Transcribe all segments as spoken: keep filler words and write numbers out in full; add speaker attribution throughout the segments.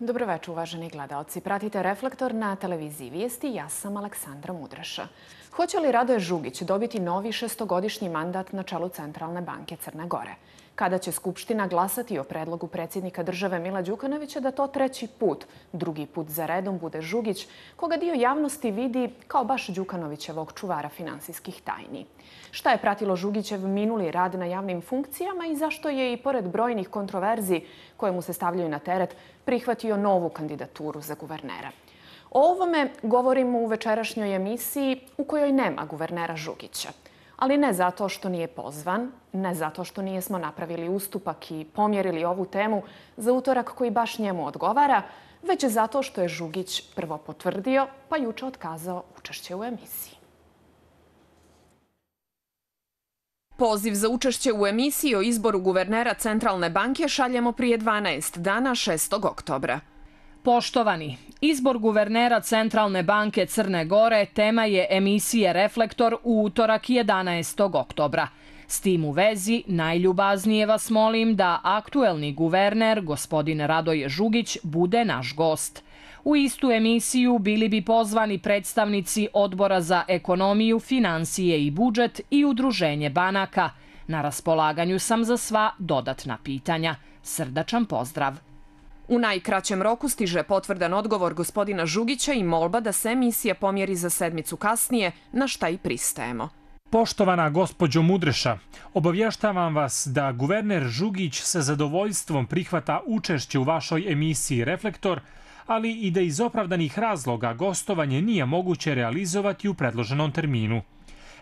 Speaker 1: Dobroveče, uvaženi gledalci. Pratite Reflektor na televiziji Vijesti. Ja sam Aleksandra Mudraša. Hoće li Radoje Žugić dobiti novi šestogodišnji mandat na čelu Centralne banke Crne Gore? Kada će Skupština glasati o predlogu predsjednika države Mila Đukanovića da to treći put, drugi put za redom, bude Žugić, koga dio javnosti vidi kao baš Đukanovićevog čuvara finansijskih tajni? Šta je pratilo Žugićev minuli rad na javnim funkcijama i zašto je i pored brojnih kontroverzi koje mu se stavljaju na teret prihvatio novu kandidaturu za guvernera? O ovome govorimo u večerašnjoj emisiji u kojoj nema guvernera Žugića. Ali ne zato što nije pozvan, ne zato što nijesmo napravili ustupak i pomjerili ovu temu za utorak koji baš njemu odgovara, već zato što je Žugić prvo potvrdio, pa juče otkazao učešće u emisiji. Poziv za učešće u emisiji o izboru guvernera Centralne banke šaljemo prije dvanaest dana, šestog oktobra.
Speaker 2: Poštovani, izbor guvernera Centralne banke Crne Gore tema je emisije Reflektor u utorak jedanaestog oktobra. S tim u vezi, najljubaznije vas molim da aktuelni guverner, gospodin Radoje Žugić, bude naš gost. U istu emisiju bili bi pozvani predstavnici Odbora za ekonomiju, financije i budžet i Udruženje banaka. Na raspolaganju sam za sva dodatna pitanja. Srdačan pozdrav.
Speaker 1: U najkraćem roku stiže potvrdan odgovor gospodina Žugića i molba da se emisija pomjeri za sedmicu kasnije, na šta i pristajemo.
Speaker 3: Poštovana gospođo Mudreša, obavještavam vas da guverner Žugić sa zadovoljstvom prihvata učešće u vašoj emisiji Reflektor, ali i da iz opravdanih razloga gostovanje nije moguće realizovati u predloženom terminu.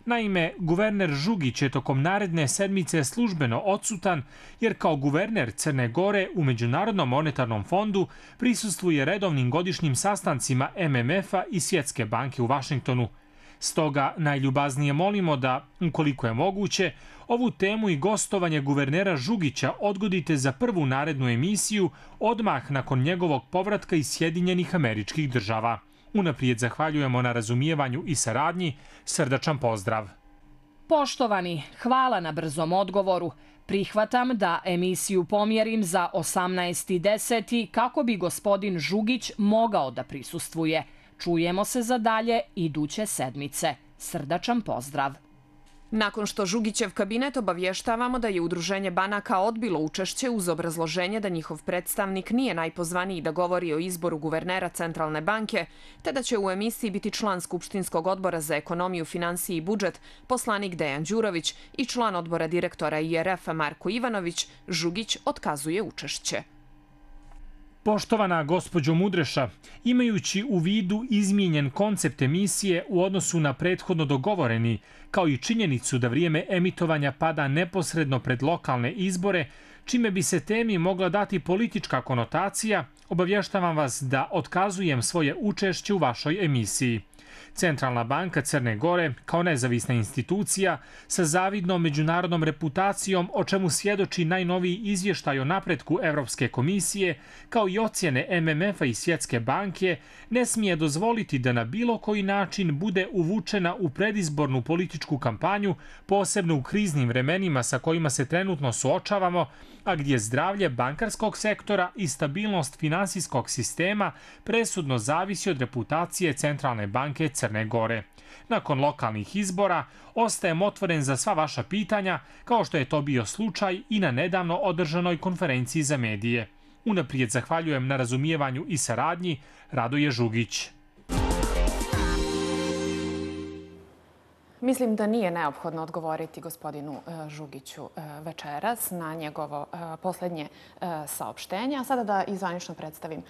Speaker 3: Naime, guverner Žugić je tokom naredne sedmice službeno odsutan jer kao guverner Crne Gore u Međunarodnom monetarnom fondu prisustvuje redovnim godišnjim sastancima M M F-a i Svjetske banke u Vašingtonu. Stoga najljubaznije molimo da, ukoliko je moguće, ovu temu i gostovanje guvernera Žugića odgodite za prvu narednu emisiju odmah nakon njegovog povratka iz Sjedinjenih Američkih Država. Unaprijed zahvaljujemo na razumijevanju i saradnji. Srdačan pozdrav.
Speaker 2: Poštovani, hvala na brzom odgovoru. Prihvatam da emisiju pomjerim za osamnaesti deseti kako bi gospodin Žugić mogao da prisustvuje. Čujemo se za dalje iduće sedmice. Srdačan pozdrav.
Speaker 1: Nakon što Žugićev kabinet obavještavamo da je Udruženje banaka odbilo učešće uz obrazloženje da njihov predstavnik nije najpozvaniji da govori o izboru guvernera Centralne banke, te da će u emisiji biti član Skupštinskog odbora za ekonomiju, financije i budžet, poslanik Dejan Đurović i član odbora direktora I R F-a Marko Ivanović, Žugić otkazuje učešće.
Speaker 3: Poštovana gospođo Mudreša, imajući u vidu izmijenjen koncept emisije u odnosu na prethodno dogovoreni, kao i činjenicu da vrijeme emitovanja pada neposredno pred lokalne izbore, čime bi se temi mogla dati politička konotacija, obavještavam vas da otkazujem svoje učešće u vašoj emisiji. Centralna banka Crne Gore, kao nezavisna institucija, sa zavidnom međunarodnom reputacijom, o čemu svjedoči najnoviji izvještaj o napretku Evropske komisije, kao i ocjene M M F-a i Svjetske banke, ne smije dozvoliti da na bilo koji način bude uvučena u predizbornu političku kampanju, posebno u kriznim vremenima sa kojima se trenutno suočavamo, a gdje zdravlje bankarskog sektora i stabilnost finansijskog sistema presudno zavisi od reputacije Centralne banke Crne Gore. Nakon lokalnih izbora ostajem otvoren za sva vaša pitanja, kao što je to bio slučaj i na nedavno održanoj konferenciji za medije. Unaprijed zahvaljujem na razumijevanju i saradnji. Radoje Žugić.
Speaker 1: Mislim da nije neophodno odgovoriti gospodinu Žugiću večeras na njegovo posljednje saopštenje. A sada da izvanično predstavim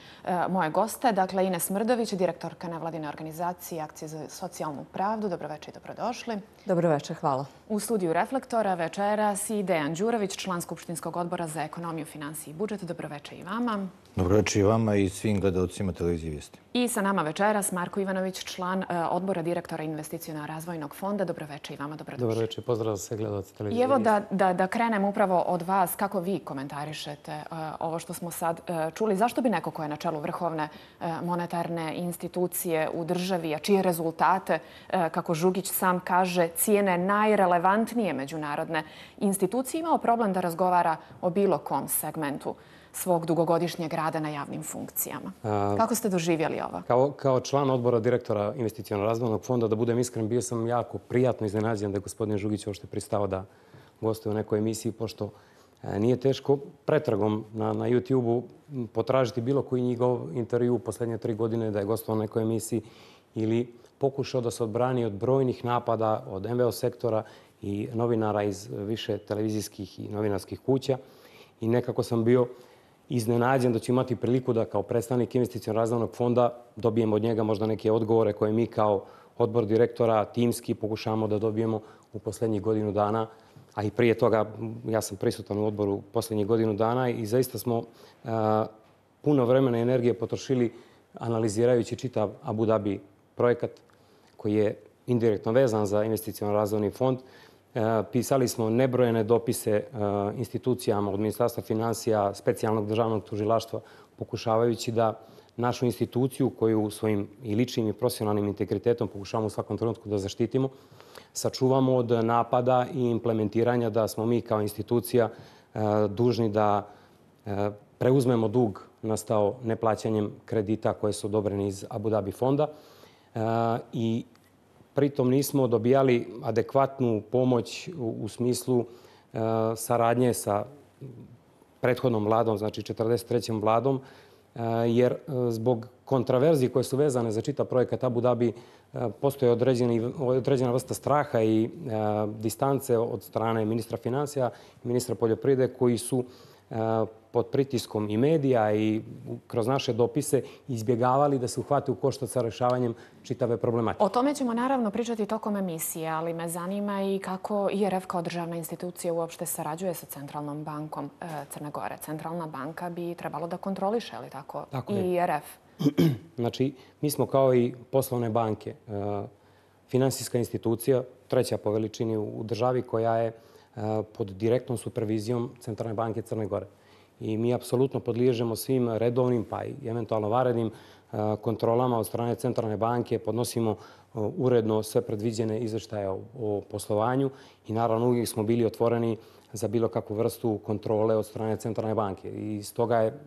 Speaker 1: moje goste. Dakle, Ines Mrdović, direktorka nevladine organizacije Akcije za socijalnu pravdu. Dobroveče i dobrodošli.
Speaker 4: Dobroveče, hvala.
Speaker 1: U studiju Reflektora večeras i Dejan Đurović, član Skupštinskog odbora za ekonomiju, financije i budžet. Dobroveče i vama.
Speaker 5: Dobroveče i vama i svim gledalcima televizije Vijesti.
Speaker 1: I sa nama večeras Marko Ivanović, član odbora direktora Investiciono-razvojnog fonda. Dobroveče i vama, dobrodošli.
Speaker 6: Dobroveče, pozdrav za sve gledalce televizije.
Speaker 1: I evo da, da, da krenem upravo od vas. Kako vi komentarišete uh, ovo što smo sad uh, čuli? Zašto bi neko ko je na čelu vrhovne uh, monetarne institucije u državi, a čije rezultate, uh, kako Žugić sam kaže, cijene najrelevantnije međunarodne institucije, imao problem da razgovara o bilo kom segmentu svog dugogodišnjeg rada na javnim funkcijama. Kako ste doživjeli ovo?
Speaker 6: Kao, kao član odbora direktora Investicionog razvojnog fonda, da budem iskren, bio sam jako prijatno iznenađen da je gospodin Žugić uopšte pristao da gostuje u nekoj emisiji, pošto nije teško pretragom na, na YouTube-u potražiti bilo koji njegov intervju u posljednje tri godine da je gostovao u nekoj emisiji ili pokušao da se odbrani od brojnih napada od em ve o sektora i novinara iz više televizijskih i novinarskih kuća. I nekako sam bio iznenađen da ću imati priliku da kao predstavnik Investicionog razvojnog fonda dobijem od njega možda neke odgovore koje mi kao odbor direktora timski pokušamo da dobijemo u posljednjih godinu dana. A i prije toga ja sam prisutan u odboru posljednjih godinu dana i zaista smo a, puno vremena i energije potrošili analizirajući čitav Abu Dhabi projekat koji je indirektno vezan za Investiciono razvojni fond. A, pisali smo nebrojene dopise a, institucijama od Ministarstva financija, specijalnog državnog tužilaštva, pokušavajući da našu instituciju koju svojim i ličnim i profesionalnim integritetom pokušavamo u svakom trenutku da zaštitimo, sačuvamo od napada i implementiranja da smo mi kao institucija e, dužni da e, preuzmemo dug nastao neplaćanjem kredita koje su odobreni iz Abu Dhabi fonda e, i pritom nismo dobijali adekvatnu pomoć u, u smislu e, saradnje sa prethodnom vladom, znači četrdeset trećom vladom, e, jer e, zbog kontraverzije koje su vezane za čitav projekat Abu Dhabi postoje određeni, određena vrsta straha i e, distance od strane ministra financija i ministra poljoprivrede koji su e, pod pritiskom i medija i kroz naše dopise izbjegavali da se uhvate u koštac sa rešavanjem čitave problematike.
Speaker 1: O tome ćemo naravno pričati tokom emisije, ali me zanima i kako I R F kao državna institucija uopšte sarađuje sa Centralnom bankom e, Crne Gore. Centralna banka bi trebalo da kontroliše, ali tako, tako I R F.
Speaker 6: Znači, mi smo kao i poslovne banke, finansijska institucija, treća po veličini u državi koja je pod direktnom supervizijom Centralne banke Crne Gore. I mi apsolutno podliježemo svim redovnim pa i eventualno varednim kontrolama od strane Centralne banke, podnosimo uredno sve predviđene izveštaje o poslovanju i naravno uvijek smo bili otvoreni za bilo kakvu vrstu kontrole od strane Centralne banke. I stoga je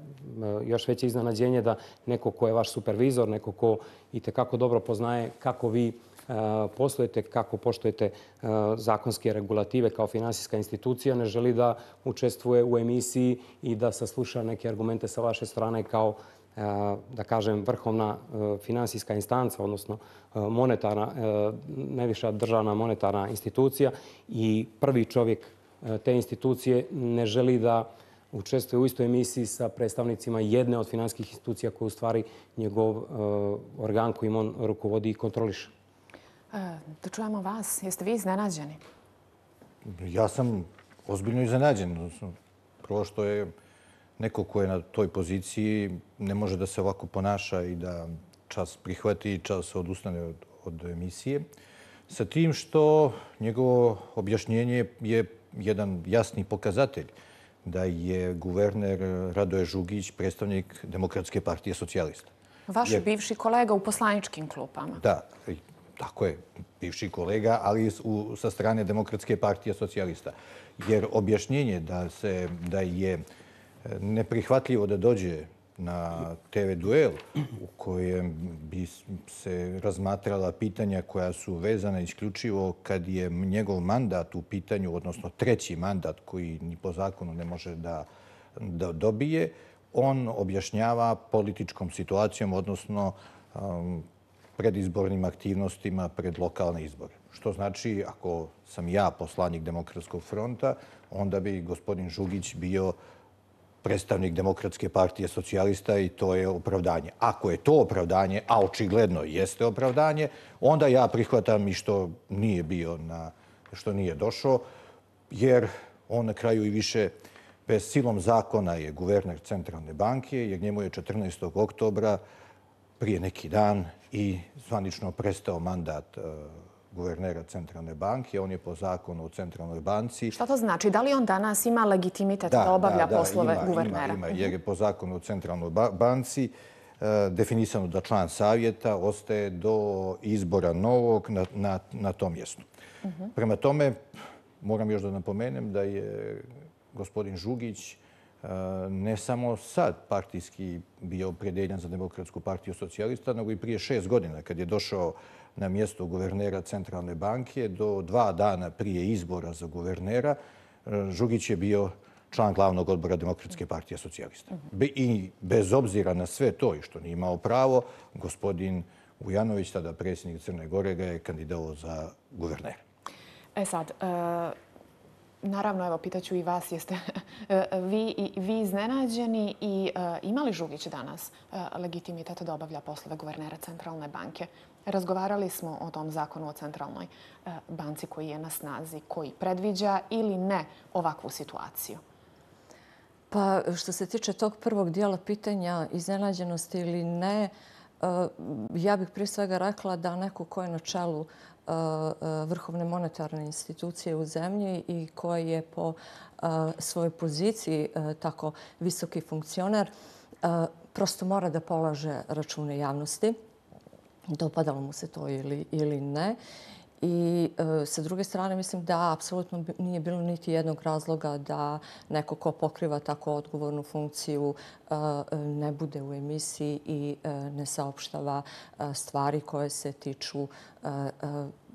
Speaker 6: još veće iznenađenje da neko ko je vaš supervizor, neko ko i tekako dobro poznaje kako vi poslujete, kako poštujete zakonske regulative kao finansijska institucija, ne želi da učestvuje u emisiji i da sasluša neke argumente sa vaše strane kao, da kažem, vrhovna finansijska instanca, odnosno monetarna, najviša državna monetarna institucija i prvi čovjek te institucije ne želi da učestvuje u istoj emisiji sa predstavnicima jedne od finansijskih institucija koja u stvari njegov organ kojim on rukovodi i kontroliše.
Speaker 1: Da čujemo vas. Jeste vi iznenađeni?
Speaker 5: Ja sam ozbiljno iznenađen. Prvo što je neko ko je na toj poziciji ne može da se ovako ponaša i da čas prihvati i čas odustane od, od emisije. Sa tim što njegovo objašnjenje je jedan jasni pokazatelj da je guverner Radoje Žugić predstavnik Demokratske partije socijalista.
Speaker 1: Vaš Jer... bivši kolega u poslaničkim klupama.
Speaker 5: Da, tako je, bivši kolega, ali u, sa strane Demokratske partije socijalista. Jer objašnjenje da, se, da je neprihvatljivo da dođe na te ve duel u kojem bi se razmatrala pitanja koja su vezana isključivo kad je njegov mandat u pitanju, odnosno treći mandat koji ni po zakonu ne može da, da dobije, on objašnjava političkom situacijom, odnosno um, predizbornim aktivnostima pred lokalne izbore. Što znači, ako sam ja poslanik Demokratskog fronta, onda bi gospodin Žugić bio predstavnik Demokratske partije socijalista i to je opravdanje. Ako je to opravdanje, a očigledno jeste opravdanje, onda ja prihvatam i što nije bio, na, što nije došao, jer on na kraju i više bez silom zakona je guverner Centralne banke, jer njemu je četrnaestog oktobra prije neki dan i zvanično prestao mandat guvernera Centralne banke. On je po zakonu u Centralnoj banci.
Speaker 1: Šta to znači? Da li on danas ima legitimitet da, da obavlja da, da, poslove
Speaker 5: ima,
Speaker 1: guvernera?
Speaker 5: Ima, ima, jer je po zakonu u Centralnoj banci uh, definisano da član savjeta ostaje do izbora novog na, na, na tom mjestu. Uh -huh. Prema tome, moram još da napomenem da je gospodin Žugić ne samo sad partijski bio opredeljen za Demokratsku partiju socijalista, nego i prije šest godina kad je došao na mjesto guvernera Centralne banke. Do dva dana prije izbora za guvernera Žugić je bio član glavnog odbora Demokratske partije socijalista. I bez obzira na sve to i što nije imao pravo, gospodin Vujanović, tada predsjednik Crne Gore, ga je kandidatovao za guvernera.
Speaker 1: E sad, naravno, evo, pitaću i vas, jeste vi, vi iznenađeni i ima li Žugić danas legitimitet da obavlja poslove guvernera Centralne banke? Razgovarali smo o tom zakonu o Centralnoj banci koji je na snazi, koji predviđa ili ne ovakvu situaciju.
Speaker 4: Pa što se tiče tog prvog dijela pitanja iznenađenosti ili ne, ja bih prije svega rekla da neko ko je na čelu vrhovne monetarne institucije u zemlji i koji je po svojoj poziciji tako visoki funkcioner, prosto mora da polaže račune javnosti. Dopadalo mu se to ili, ili ne. I e, sa druge strane mislim da apsolutno nije bilo niti jednog razloga da neko ko pokriva tako odgovornu funkciju e, ne bude u emisiji i e, ne saopštava e, stvari koje se tiču e, e,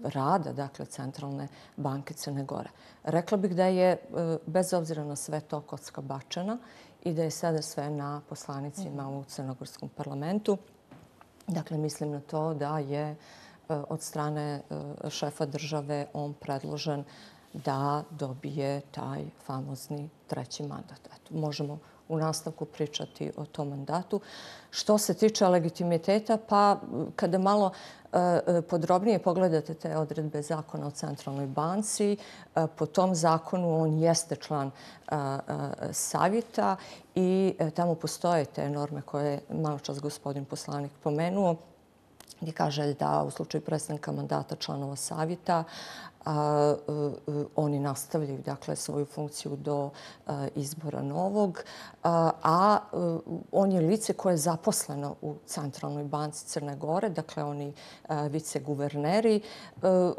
Speaker 4: rada, dakle, Centralne banke Crne Gore. Rekla bih da je, e, bez obzira na sve to, kocka bačena i da je sada sve na poslanicima u crnogorskom parlamentu. Dakle, mislim na to da je od strane šefa države on predložen da dobije taj famozni treći mandat. Eto, možemo u nastavku pričati o tom mandatu. Što se tiče legitimiteta, pa kada malo podrobnije pogledate te odredbe zakona o Centralnoj banci, po tom zakonu on jeste član savjeta i tamo postoje te norme koje je malo čas gospodin poslanik pomenuo, gdje kaže da u slučaju prestanka mandata članova savjeta a, oni nastavljaju, dakle, svoju funkciju do a, izbora novog, a, a on je lice koje je zaposleno u Centralnoj banci Crne Gore, dakle oni a, viceguverneri. A,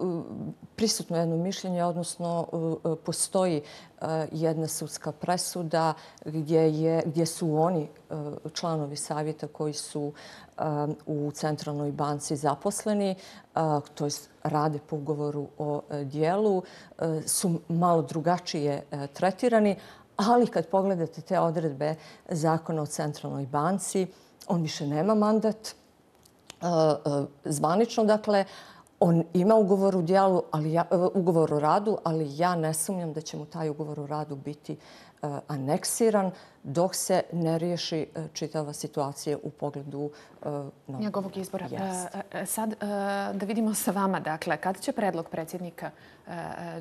Speaker 4: prisutno jedno mišljenje, odnosno a, postoji a, jedna sudska presuda gdje, je, gdje su oni a, članovi savjeta koji su u Centralnoj banci zaposleni, to je rade po ugovoru o dijelu, su malo drugačije tretirani, ali kad pogledate te odredbe zakona o Centralnoj banci, on više nema mandat zvanično, dakle, on ima ugovor u dijelu, ali ja, ugovor o radu, ali ja ne sumnjam da će mu taj ugovor o radu biti aneksiran dok se ne riješi čitava situacija u pogledu uh,
Speaker 1: njegovog izbora. Uh, sad uh, da vidimo sa vama, dakle, kad će predlog predsjednika uh,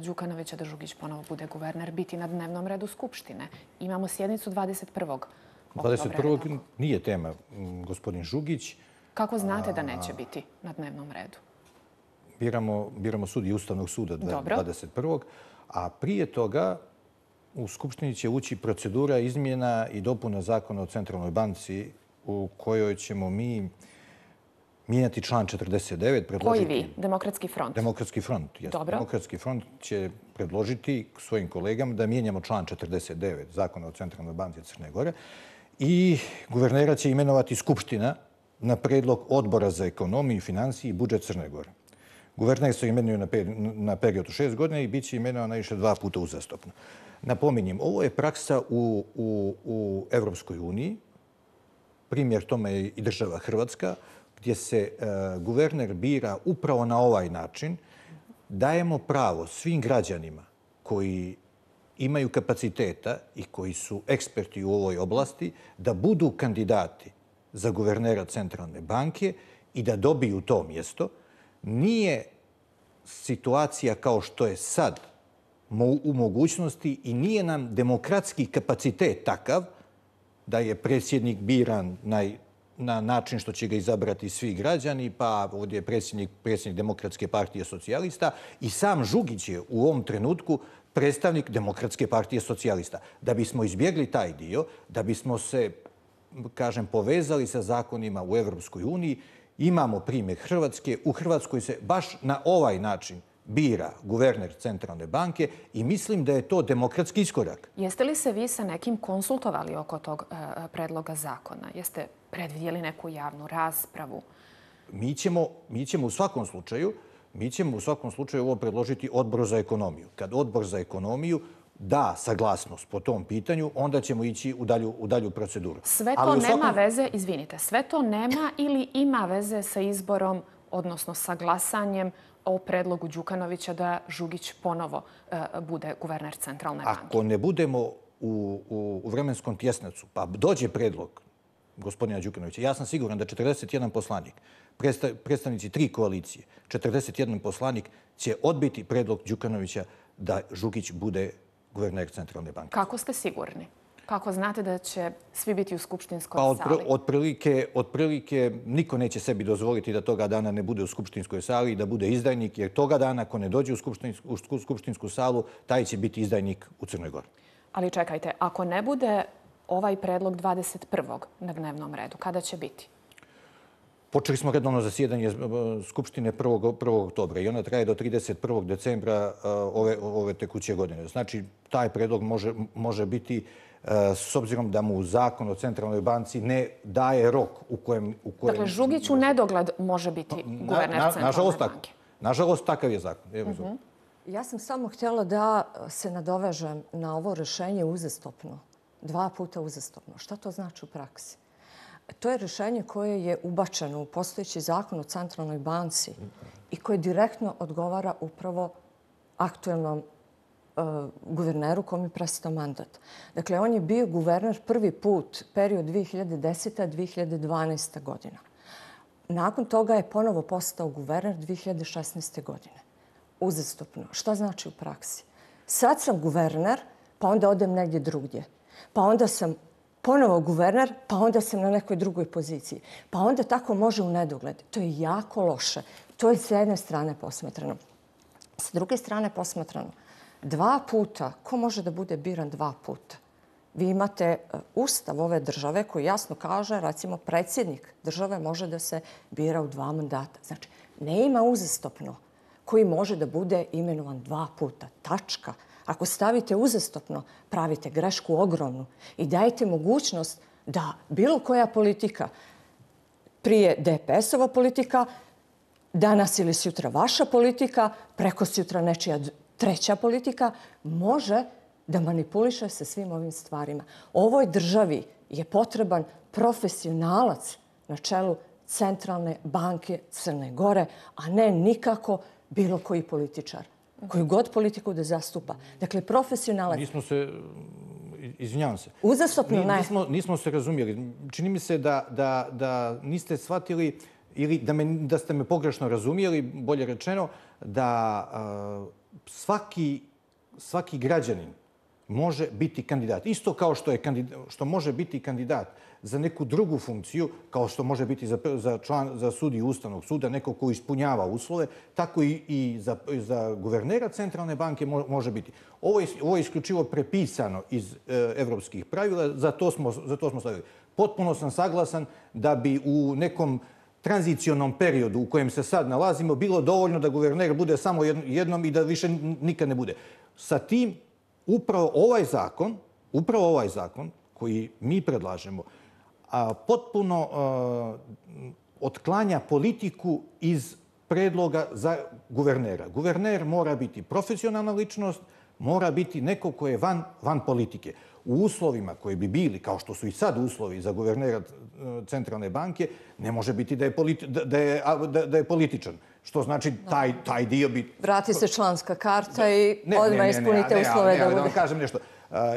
Speaker 1: Đukanovića da Žugić ponovo bude guverner biti na dnevnom redu Skupštine? Imamo sjednicu dvadeset prvog
Speaker 5: dvadeset prvog nije tema, gospodin Žugić.
Speaker 1: Kako znate da neće biti na dnevnom redu?
Speaker 5: Biramo, biramo sudije Ustavnog suda dvadeset prvog a prije toga u Skupštini će ući procedura izmjena i dopuna zakona o Centralnoj banci u kojoj ćemo mi mijenjati član četrdeset devet.
Speaker 1: Koji vi? Demokratski front?
Speaker 5: Demokratski front.
Speaker 1: Dobro.
Speaker 5: Demokratski front će predložiti svojim kolegama da mijenjamo član četrdeset devet zakona o Centralnoj banci Crne Gore i guvernera će imenovati Skupština na predlog Odbora za ekonomiju, financije i budžet Crne Gore. Guverner se imenuje na period od šest godina i bit će imenovan najviše dva puta uzastopno. Napominjem, ovo je praksa u, u, u Evropskoj uniji. Primjer tome je i država Hrvatska, gdje se uh, guverner bira upravo na ovaj način. Dajemo pravo svim građanima koji imaju kapaciteta i koji su eksperti u ovoj oblasti da budu kandidati za guvernera Centralne banke i da dobiju to mjesto. Nije situacija kao što je sad u mogućnosti i nije nam demokratski kapacitet takav da je predsjednik biran na, na način što će ga izabrati svi građani, pa ovdje je predsjednik, predsjednik Demokratske partije socijalista i sam Žugić je u ovom trenutku predstavnik Demokratske partije socijalista. Da bismo izbjegli taj dio, da bismo se, kažem, povezali sa zakonima u Evropskoj uniji, imamo primjer Hrvatske. U Hrvatskoj se baš na ovaj način bira guverner Centralne banke i mislim da je to demokratski iskorak.
Speaker 1: Jeste li se vi sa nekim konsultovali oko tog predloga zakona? Jeste predvidjeli neku javnu raspravu?
Speaker 5: Mi ćemo, mi ćemo u svakom slučaju, mi ćemo u svakom slučaju ovo predložiti Odboru za ekonomiju. Kad Odbor za ekonomiju da saglasnost po tom pitanju, onda ćemo ići u dalju, u dalju proceduru.
Speaker 1: Sve to nema svakom... veze, izvinite, sve to nema ili ima veze sa izborom, odnosno sa glasanjem o predlogu Đukanovića da Žugić ponovo uh, bude guverner Centralne banke?
Speaker 5: Ako ne budemo u, u, u vremenskom tjesnacu, pa dođe predlog gospodina Đukanovića, ja sam siguran da četrdeset jedan poslanik, predstavnici tri koalicije, četrdeset jedan poslanik će odbiti predlog Đukanovića da Žugić bude guverner Centralne banke.
Speaker 1: Kako ste sigurni? Kako znate da će svi biti u skupštinskoj
Speaker 5: pa,
Speaker 1: sali?
Speaker 5: Otprilike, otprilike niko neće sebi dozvoliti da toga dana ne bude u skupštinskoj sali i da bude izdajnik, jer toga dana ako ne dođe u skupštinsku, u skupštinsku salu, taj će biti izdajnik u Crnoj Gori.
Speaker 1: Ali čekajte, ako ne bude ovaj predlog dvadeset prvog na dnevnom redu, kada će biti?
Speaker 5: Počeli smo redovno zasjedanje Skupštine prvog oktobra i ona traje do trideset prvog decembra ove, ove tekuće godine. Znači, taj predlog može, može biti, s obzirom da mu zakon o Centralnoj banci ne daje rok u kojem... U kojem
Speaker 1: dakle, Žugić u nedogled može biti guverner na, na, Centralne nažalost, banke.
Speaker 5: Tako. Nažalost, takav je zakon. Evo, uh-huh.
Speaker 4: Ja sam samo htjela da se nadovežem na ovo rješenje uzastopno. Dva puta uzastopno. Šta to znači u praksi? To je rješenje koje je ubačeno u postojeći zakon o Centralnoj banci i koje direktno odgovara upravo aktuelnom uh, guverneru kom je prestao mandat. Dakle, on je bio guverner prvi put period dvije hiljade deseta do dvije hiljade dvanaeste. godina. Nakon toga je ponovo postao guverner dvije hiljade šesnaeste. godine. Uzastopno. Šta znači u praksi? Sad sam guverner, pa onda odem negdje drugdje. Pa onda sam ponovo guverner, pa onda sam na nekoj drugoj poziciji. Pa onda tako može u nedogled. To je jako loše. To je s jedne strane posmatrano. S druge strane posmatrano, dva puta, ko može da bude biran dva puta? Vi imate ustav ove države koji jasno kaže, recimo, predsjednik države može da se bira u dva mandata. Znači, ne ima uzastopno koji može da bude imenovan dva puta. Tačka. Ako stavite uzastopno, pravite grešku ogromnu i dajete mogućnost da bilo koja politika, prije D P S-ova politika, danas ili sutra vaša politika, preko sutra nečija treća politika, može da manipuliše sa svim ovim stvarima. Ovoj državi je potreban profesionalac na čelu Centralne banke Crne Gore, a ne nikako bilo koji političar. Koju god politiku da zastupa. Dakle, profesionalac...
Speaker 5: Nismo se... Izvinjavam se.
Speaker 4: Uzastopno ne.
Speaker 5: Nismo, nismo se razumjeli. Čini mi se da, da, da niste shvatili ili da, me, da ste me pogrešno razumijeli, bolje rečeno, da uh, svaki, svaki građanin može biti kandidat. Isto kao što, je kandidat, što može biti kandidat za neku drugu funkciju, kao što može biti za, za, član, za sudiju Ustavnog suda, neko ko ispunjava uslove, tako i, i za, za guvernera Centralne banke može biti. Ovo je, ovo je isključivo prepisano iz e, evropskih pravila, za to, smo, za to smo stavili. Potpuno sam saglasan da bi u nekom tranzicionom periodu u kojem se sad nalazimo bilo dovoljno da guverner bude samo jednom i da više nikad ne bude. Sa tim, upravo ovaj zakon, upravo ovaj zakon koji mi predlažemo, a potpuno a, otklanja politiku iz predloga za guvernera. Guverner mora biti profesionalna ličnost, mora biti neko ko je van, van politike. U uslovima koji bi bili, kao što su i sad uslovi za guvernera Centralne banke, ne može biti da je, politi, da je, da, da je političan. Što znači taj, taj dio bi...
Speaker 4: Vrati se članska karta i odmah ispunite ne, ne, uslove ne, ne, ne, da bude. Da vam
Speaker 5: kažem nešto.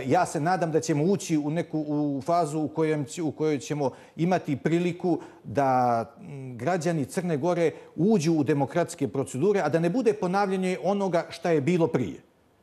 Speaker 5: Ja se nadam da ćemo ući u neku u fazu u, kojem, u kojoj ćemo imati priliku da građani Crne Gore uđu u demokratske procedure, a da ne bude ponavljanje onoga šta je bilo prije.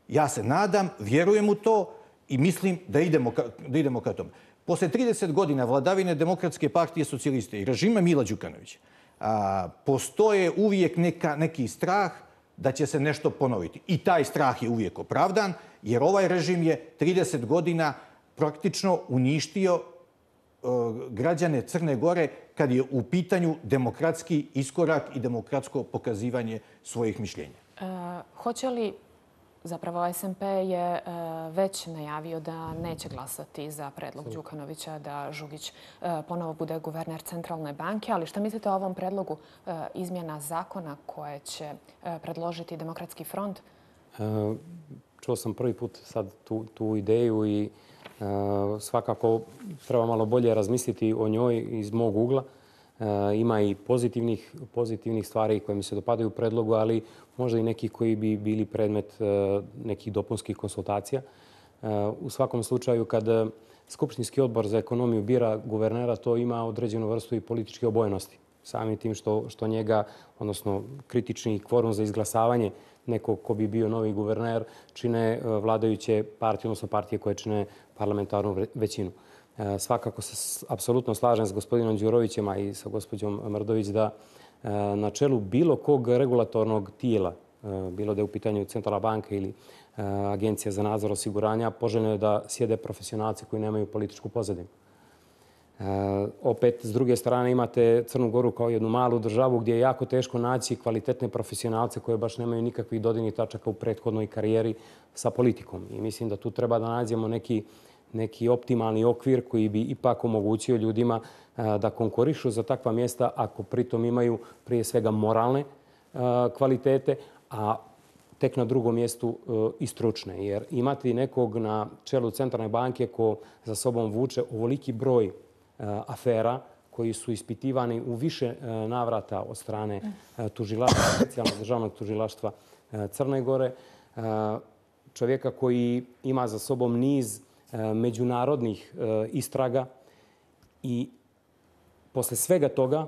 Speaker 5: Ja se nadam, vjerujem u to i mislim da idemo ka, da idemo ka tome. Posle trideset godina vladavine Demokratske partije socijaliste i režima Mila Đukanovića a, postoje uvijek neka, neki strah da će se nešto ponoviti. I taj strah je uvijek opravdan, jer ovaj režim je trideset godina praktično uništio uh, građane Crne Gore kad je u pitanju demokratski iskorak i demokratsko pokazivanje svojih mišljenja.
Speaker 1: Hoće li, zapravo S N P je već najavio da neće glasati za predlog Đukanovića da Žugić ponovo bude guverner Centralne banke, ali šta mislite o ovom predlogu izmjena zakona koje će predložiti Demokratski front?
Speaker 6: Čuo sam prvi put sad tu, tu ideju i svakako treba malo bolje razmisliti o njoj iz mog ugla. Ima i pozitivnih, pozitivnih stvari koje mi se dopadaju u predlogu, ali možda i neki koji bi bili predmet nekih dopunskih konsultacija. U svakom slučaju, kad Skupštinski odbor za ekonomiju bira guvernera, to ima određenu vrstu i političke obojenosti. Samim tim što, što njega, odnosno kritični kvorum za izglasavanje nekog ko bi bio novi guverner, čine vladajuće partije, odnosno partije koje čine parlamentarnu većinu. Svakako se apsolutno slažem s gospodinom Đurovićem i sa gospođom Mrdović da na čelu bilo kog regulatornog tijela, bilo da je u pitanju Centralna banka ili Agencija za nadzor osiguranja, poželjno je da sjede profesionalci koji nemaju političku pozadinu. Opet, s druge strane, imate Crnu Goru kao jednu malu državu gdje je jako teško naći kvalitetne profesionalce koje baš nemaju nikakvih dodirnih tačaka u prethodnoj karijeri sa politikom. I mislim da tu treba da nađemo neki neki optimalni okvir koji bi ipak omogućio ljudima da konkurišu za takva mjesta ako pritom imaju prije svega moralne kvalitete, a tek na drugom mjestu i stručne. Jer imati nekog na čelu Centralne banke ko za sobom vuče ovoliki broj afera koji su ispitivani u više navrata od strane tužilaštva, specijalnog državnog tužilaštva Crne Gore, čovjeka koji ima za sobom niz međunarodnih istraga i posle svega toga,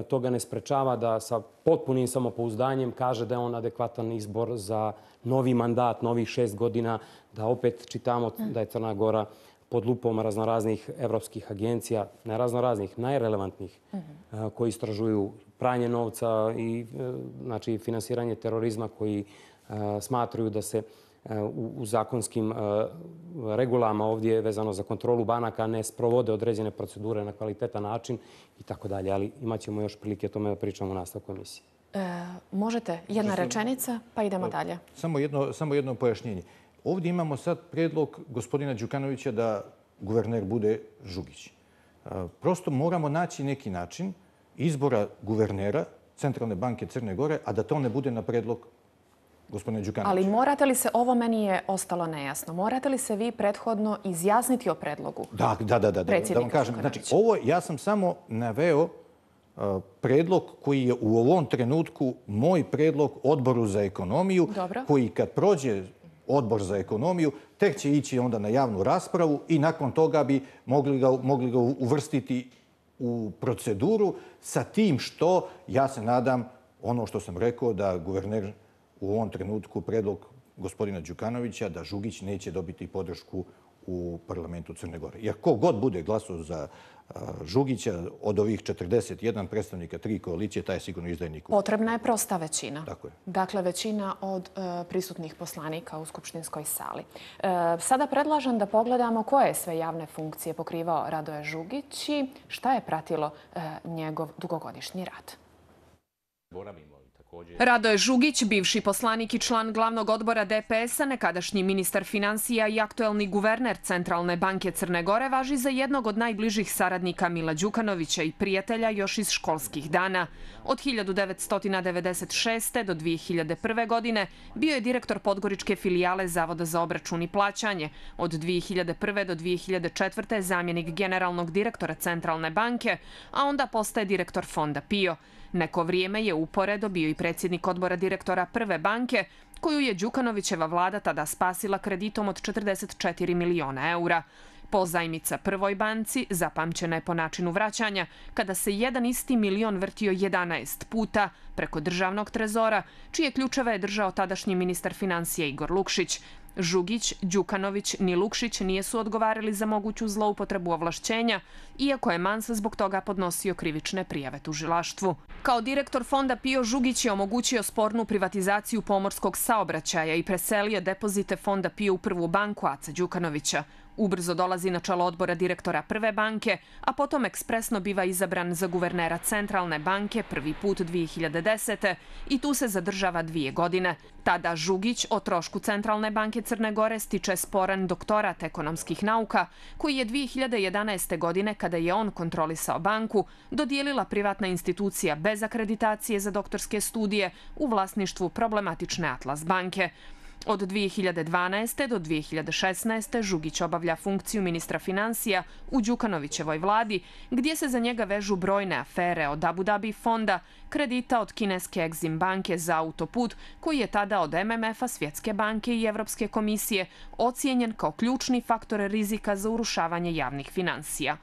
Speaker 6: toga ne sprečava da sa potpunim samopouzdanjem kaže da je on adekvatan izbor za novi mandat, novih šest godina, da opet čitamo da je Crna Gora pod lupom raznoraznih evropskih agencija, ne raznoraznih, najrelevantnih, koji istražuju pranje novca i znači, finansiranje terorizma, koji smatruju da se u zakonskim regulama ovdje vezano za kontrolu banaka ne sprovode određene procedure na kvalitetan način i tako dalje. Ali imat ćemo još prilike o tome da pričamo u nastavku emisije.
Speaker 1: E, možete jedna rečenica pa idemo dalje.
Speaker 5: Samo jedno, samo jedno pojašnjenje. Ovdje imamo sad predlog gospodina Đukanovića da guverner bude Žugić. Prosto moramo naći neki način izbora guvernera Centralne banke Crne Gore, a da to ne bude na predlog gospodine Đukanovića.
Speaker 1: Ali morate li se, ovo meni je ostalo nejasno, morate li se vi prethodno izjasniti o predlogu?
Speaker 5: Da, da, da, da, da vam kažem. Znači, ovo ja sam samo naveo uh, predlog koji je u ovom trenutku moj predlog odboru za ekonomiju,
Speaker 1: Dobro.
Speaker 5: koji kad prođe odbor za ekonomiju, tek će ići onda na javnu raspravu i nakon toga bi mogli ga, mogli ga uvrstiti u proceduru sa tim što, ja se nadam, ono što sam rekao, da guverner u ovom trenutku predlog gospodina Đukanovića da Žugić neće dobiti podršku u parlamentu Crne Gore. Jer ko god bude glasao za Žugića od ovih četrdeset jedan predstavnika, tri koalicije, taj je sigurno izdajnik.
Speaker 1: Potrebna je prosta većina.
Speaker 5: Tako je.
Speaker 1: Dakle, većina od e, prisutnih poslanika u skupštinskoj sali. E, sada predlažem da pogledamo koje sve javne funkcije pokrivao Radoje Žugić i šta je pratilo e, njegov dugogodišnji rad. Radoje Žugić, bivši poslanik i član glavnog odbora D P S-a, nekadašnji ministar financija i aktuelni guverner Centralne banke Crne Gore, važi za jednog od najbližih saradnika Mila Đukanovića i prijatelja još iz školskih dana. Od hiljadu devetsto devedeset šeste. do dvije hiljade prve. godine bio je direktor podgoričke filijale Zavoda za obračun i plaćanje. Od dvije hiljade prve. do dvije hiljade četvrte. zamjenik generalnog direktora Centralne banke, a onda postaje direktor fonda PIO. Neko vrijeme je uporedo bio i predsjednik odbora direktora Prve banke, koju je Đukanovićeva vlada tada spasila kreditom od četrdeset četiri miliona eura. Pozajmica Prvoj banci zapamćena je po načinu vraćanja, kada se jedan isti milion vrtio jedanaest puta preko državnog trezora, čije ključeve je držao tadašnji ministar financija Igor Lukšić. Žugić, Đukanović ni Lukšić nijesu odgovarali za moguću zloupotrebu ovlašćenja, iako je Mans zbog toga podnosio krivične prijave tužilaštvu. Kao direktor fonda PIO Žugić je omogućio spornu privatizaciju pomorskog saobraćaja i preselio depozite fonda PIO u Prvu banku Aca Đukanovića. Ubrzo dolazi na čelo odbora direktora Prve banke, a potom ekspresno biva izabran za guvernera Centralne banke prvi put dvije hiljade desete. i tu se zadržava dvije godine. Tada Žugić o trošku Centralne banke Crne Gore stiče sporan doktorat ekonomskih nauka, koji je dvije hiljade jedanaeste. godine, kada je on kontrolisao banku, dodijelila privatna institucija bez akreditacije za doktorske studije u vlasništvu problematične Atlas banke. Od dvije hiljade dvanaeste. do dvije hiljade šesnaeste. Žugić obavlja funkciju ministra financija u Đukanovićevoj vladi, gdje se za njega vežu brojne afere od Abu Dhabi fonda, kredita od kineske Exim banke za autoput, koji je tada od M M F-a, Svjetske banke i Evropske komisije ocijenjen kao ključni faktor rizika za urušavanje javnih financija.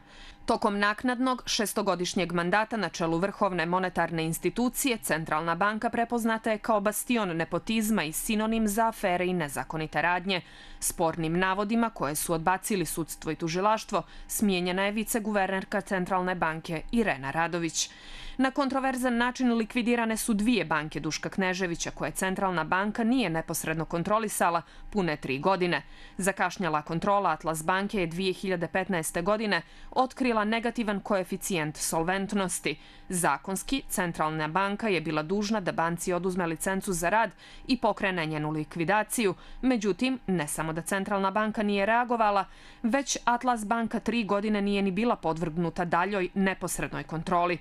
Speaker 1: Tokom naknadnog šestogodišnjeg mandata na čelu Vrhovne monetarne institucije, Centralna banka prepoznata je kao bastion nepotizma i sinonim za afere i nezakonite radnje. Spornim navodima koje su odbacili sudstvo i tužilaštvo, smijenjena je viceguvernerka Centralne banke Irena Radović. Na kontroverzan način likvidirane su dvije banke Duška Kneževića, koje Centralna banka nije neposredno kontrolisala pune tri godine. Zakašnjala kontrola Atlas banke je dvije hiljade petnaeste. godine otkrila negativan koeficijent solventnosti. Zakonski, Centralna banka je bila dužna da banci oduzme licencu za rad i pokrene njenu likvidaciju. Međutim, ne samo da Centralna banka nije reagovala, već Atlas banka tri godine nije ni bila podvrgnuta daljoj neposrednoj kontroli.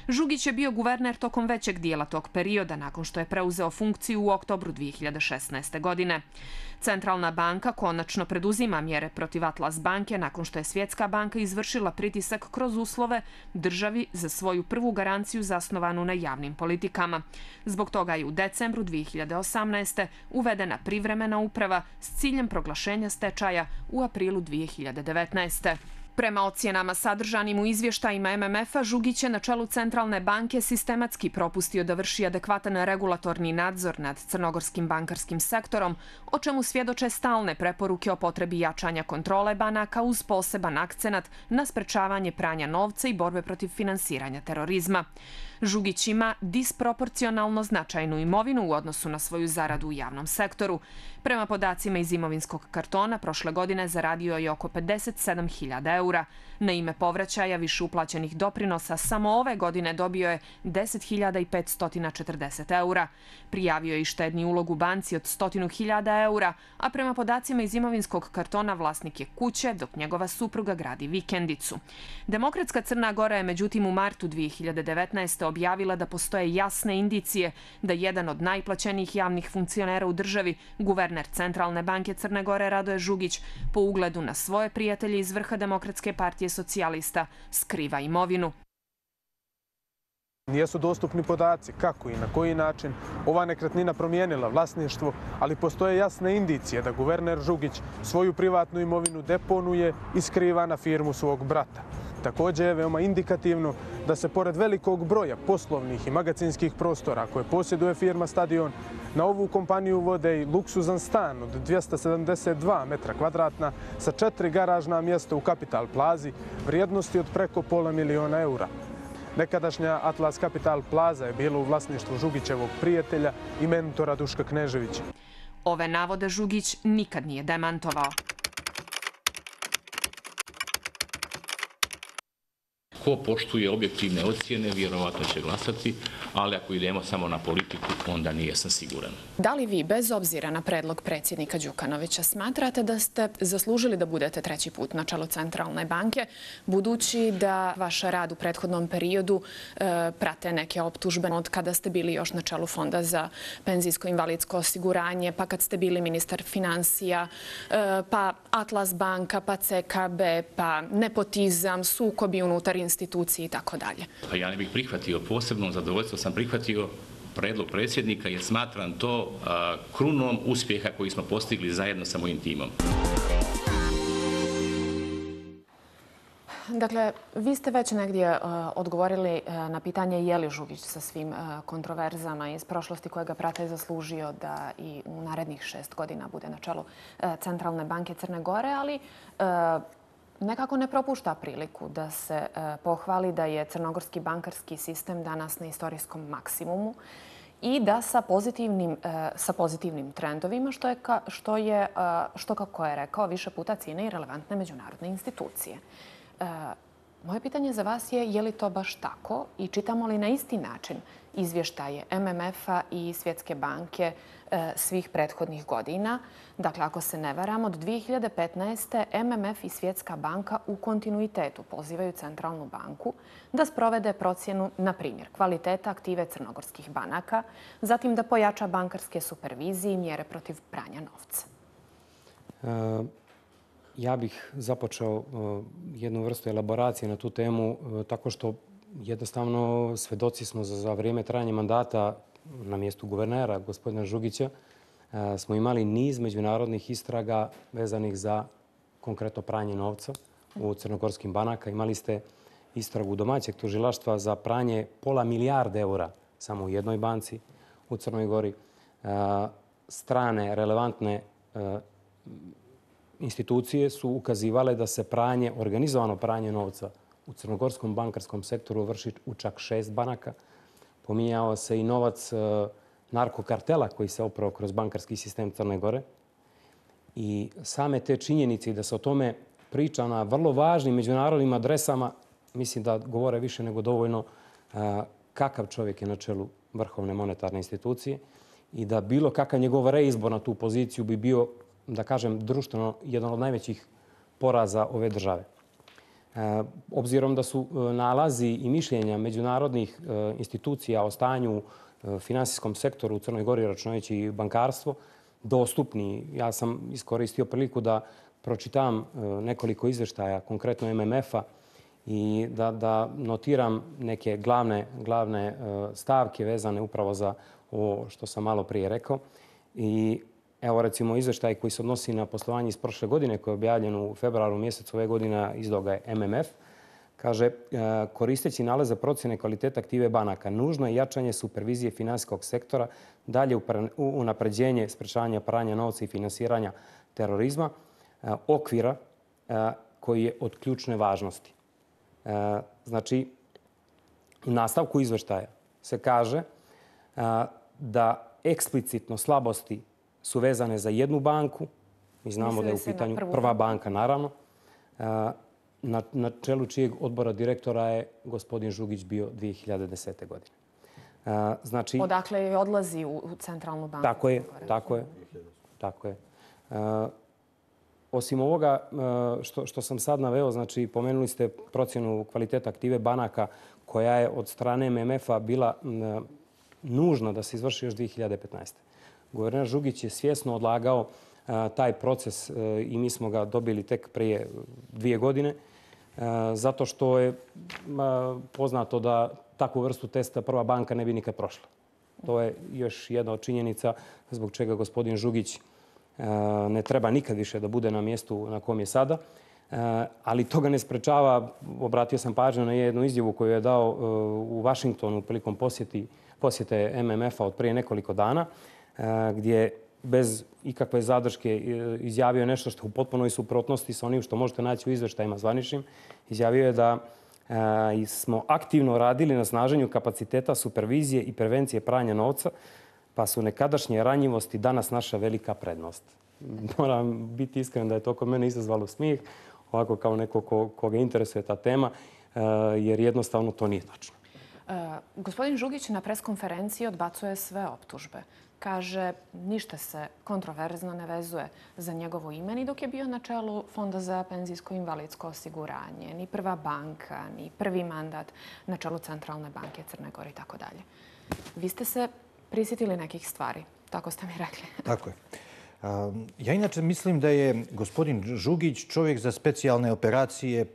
Speaker 1: Žugić je bio guverner tokom većeg dijela tog perioda, nakon što je preuzeo funkciju u oktobru dvije hiljade šesnaeste. godine. Centralna banka konačno preduzima mjere protiv Atlas banke nakon što je Svjetska banka izvršila pritisak kroz uslove državi za svoju prvu garanciju zasnovanu na javnim politikama. Zbog toga je u decembru dvije hiljade osamnaeste. uvedena privremena uprava s ciljem proglašenja stečaja u aprilu dvije hiljade devetnaeste. Prema ocjenama sadržanim u izvještajima M M F-a, Žugić je na čelu Centralne banke sistematski propustio da vrši adekvatan regulatorni nadzor nad crnogorskim bankarskim sektorom, o čemu svjedoče stalne preporuke o potrebi jačanja kontrole banaka uz poseban akcenat na sprečavanje pranja novca i borbe protiv finansiranja terorizma. Žugić ima disproporcionalno značajnu imovinu u odnosu na svoju zaradu u javnom sektoru. Prema podacima iz imovinskog kartona, prošle godine zaradio je oko pedeset sedam hiljada eura. Na ime povraćaja više uplaćenih doprinosa samo ove godine dobio je deset hiljada petsto četrdeset eura. Prijavio je i štedni ulog u banci od sto hiljada eura, a prema podacima iz imovinskog kartona vlasnik je kuće, dok njegova supruga gradi vikendicu. Demokratska Crna Gora je međutim u martu dvije hiljade devetnaeste. objavila da postoje jasne indicije da jedan od najplaćenijih javnih funkcionera u državi, guverner Centralne banke Crne Gore Radoje Žugić, po ugledu na svoje prijatelje iz vrha Demokratske partije socijalista, skriva imovinu.
Speaker 7: Nijesu dostupni podaci kako i na koji način ova nekretnina promijenila vlasništvo, ali postoje jasne indicije da guverner Žugić svoju privatnu imovinu deponuje i skriva na firmu svog brata. Također je veoma indikativno da se pored velikog broja poslovnih i magacinskih prostora koje posjeduje firma Stadion, na ovu kompaniju vode i luksuzan stan od dvjesto sedamdeset dva metra kvadratna sa četiri garažna mjesta u Kapital Plazi vrijednosti od preko pola miliona eura. Nekadašnja Atlas Capital Plaza je bila u vlasništvu Žugićevog prijatelja i mentora Duška Kneževića.
Speaker 1: Ove navode Žugić nikad nije demantovao.
Speaker 8: Ko poštuje objektivne ocjene, vjerovatno će glasati, ali ako idemo samo na politiku, onda nijesam siguran.
Speaker 1: Da li vi, bez obzira na predlog predsjednika Đukanovića, smatrate da ste zaslužili da budete treći put na čelu Centralne banke, budući da vaš rad u prethodnom periodu e, prate neke optužbe od kada ste bili još na čelu Fonda za penzijsko invalidsko osiguranje, pa kad ste bili ministar financija, e, pa Atlas banka, pa C K B, pa nepotizam, sukobi unutar institucije i tako dalje.
Speaker 8: Pa ja ne bih prihvatio, posebno zadovoljstvo sam prihvatio predlog predsjednika jer smatram to a, krunom uspjeha koji smo postigli zajedno sa mojim timom.
Speaker 1: Dakle, vi ste već negdje uh, odgovorili uh, na pitanje je li Žugić sa svim uh, kontroverzama iz prošlosti koje ga prate zaslužio da i u narednih šest godina bude na čelu uh, Centralne banke Crne Gore, ali uh, nekako ne propušta priliku da se uh, pohvali da je crnogorski bankarski sistem danas na istorijskom maksimumu i da sa pozitivnim, sa pozitivnim trendovima, što je, što je, što kako je rekao, više puta cijene i relevantne međunarodne institucije. Moje pitanje za vas je je li to baš tako i čitamo li na isti način izvještaje M M F-a i Svjetske banke svih prethodnih godina. Dakle, ako se ne varam, od dvije hiljade petnaeste. M M F i Svjetska banka u kontinuitetu pozivaju Centralnu banku da sprovede procjenu, na primjer, kvaliteta aktive crnogorskih banaka, zatim da pojača bankarske supervizije i mjere protiv pranja novca.
Speaker 6: E, ja bih započeo jednu vrstu elaboracije na tu temu tako što jednostavno svedoci smo za, za vrijeme trajanja mandata na mjestu guvernera, gospodina Žugića, smo imali niz međunarodnih istraga vezanih za konkretno pranje novca u crnogorskim banaka. Imali ste istragu domaćeg tužilaštva za pranje pola milijarde eura samo u jednoj banci u Crnoj Gori. Strane, relevantne institucije su ukazivale da se pranje, organizovano pranje novca u crnogorskom bankarskom sektoru vrši u čak šest banaka. Pominjao se i novac narkokartela koji se oprao kroz bankarski sistem Crne Gore. I same te činjenice da se o tome priča na vrlo važnim međunarodnim adresama, mislim da govore više nego dovoljno kakav čovjek je na čelu Vrhovne monetarne institucije i da bilo kakav njegov reizbor na tu poziciju bi bio, da kažem, društveno jedan od najvećih poraza ove države. Obzirom da su nalazi i mišljenja međunarodnih institucija o stanju u finansijskom sektoru u Crnoj Gori, računajući i bankarstvo, dostupni. Ja sam iskoristio priliku da pročitam nekoliko izvještaja, konkretno M M F-a, i da, da notiram neke glavne, glavne stavke vezane upravo za ovo što sam malo prije rekao. I evo recimo izvještaj koji se odnosi na poslovanje iz prošle godine, koji je objavljen u februaru mjesecu ove godine, izdao ga je M M F. Kaže, koristeći nalaze procjene kvaliteta aktive banaka, nužno je jačanje supervizije finansijskog sektora, dalje unapređenje sprečavanja pranja novca i finansiranja terorizma, okvira koji je od ključne važnosti. Znači, u nastavku izvještaja se kaže da eksplicitno slabosti su vezane za jednu banku. Mi znamo da je u pitanju prva banka, naravno. Na, na čelu čijeg odbora direktora je gospodin Žugić bio dvije hiljade desete. godine. Znači,
Speaker 1: odakle je odlazi u, u Centralnu banku?
Speaker 6: Tako je, tako je. Tako je. Osim ovoga što, što sam sad naveo, znači pomenuli ste procjenu kvaliteta aktive banaka koja je od strane M M F-a bila nužna da se izvrši još dvije hiljade petnaeste. Guverner Žugić je svjesno odlagao taj proces i mi smo ga dobili tek prije dvije godine, zato što je poznato da takvu vrstu testa prva banka ne bi nikad prošla. To je još jedna od činjenica zbog čega gospodin Žugić ne treba nikad više da bude na mjestu na kom je sada. Ali to ga ne sprečava, obratio sam pažnju na jednu izjavu koju je dao u Vašingtonu prilikom posjeti, posjete M M F-a od prije nekoliko dana, gdje bez ikakve zadrške izjavio nešto što u potpunoj suprotnosti sa onim što možete naći u izveštajima zvaničnim. Izjavio je da smo aktivno radili na snaženju kapaciteta supervizije i prevencije pranja novca, pa su nekadašnje ranjivosti danas naša velika prednost. Moram biti iskren da je to kod mene izazvalo smijeh, ovako kao neko ko, koga interesuje ta tema, jer jednostavno to nije tačno.
Speaker 1: Uh, gospodin Žugić na preskonferenciji odbacuje sve optužbe. Kaže, ništa se kontroverzno ne vezuje za njegovo ime, ni dok je bio na čelu Fonda za penzijsko invalidsko osiguranje, ni prva banka, ni prvi mandat na čelu Centralne banke Crne Gore i tako dalje. Vi ste se prisjetili nekih stvari, tako ste mi rekli.
Speaker 5: Tako je. Ja inače mislim da je gospodin Žugić čovjek za specijalne operacije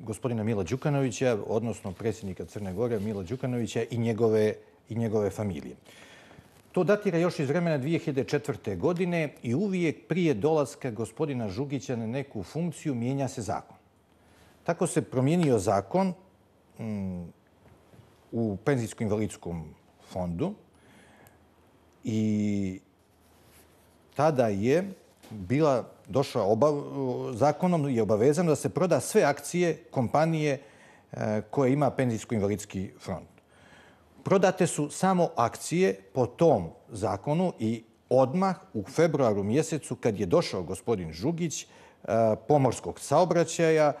Speaker 5: gospodina Mila Đukanovića, odnosno predsjednika Crne Gore Mila Đukanovića i njegove, i njegove familije. To datira još iz vremena dvije hiljade četvrte. godine i uvijek prije dolaska gospodina Žugića na neku funkciju mijenja se zakon. Tako se promijenio zakon um, u penzijsko-invalidskom fondu i tada je bila došla obav, zakonom je obavezano da se proda sve akcije kompanije koje ima penzijsko-invalidski fond. Prodate su samo akcije po tom zakonu i odmah u februaru mjesecu kad je došao gospodin Žugić pomorskog saobraćaja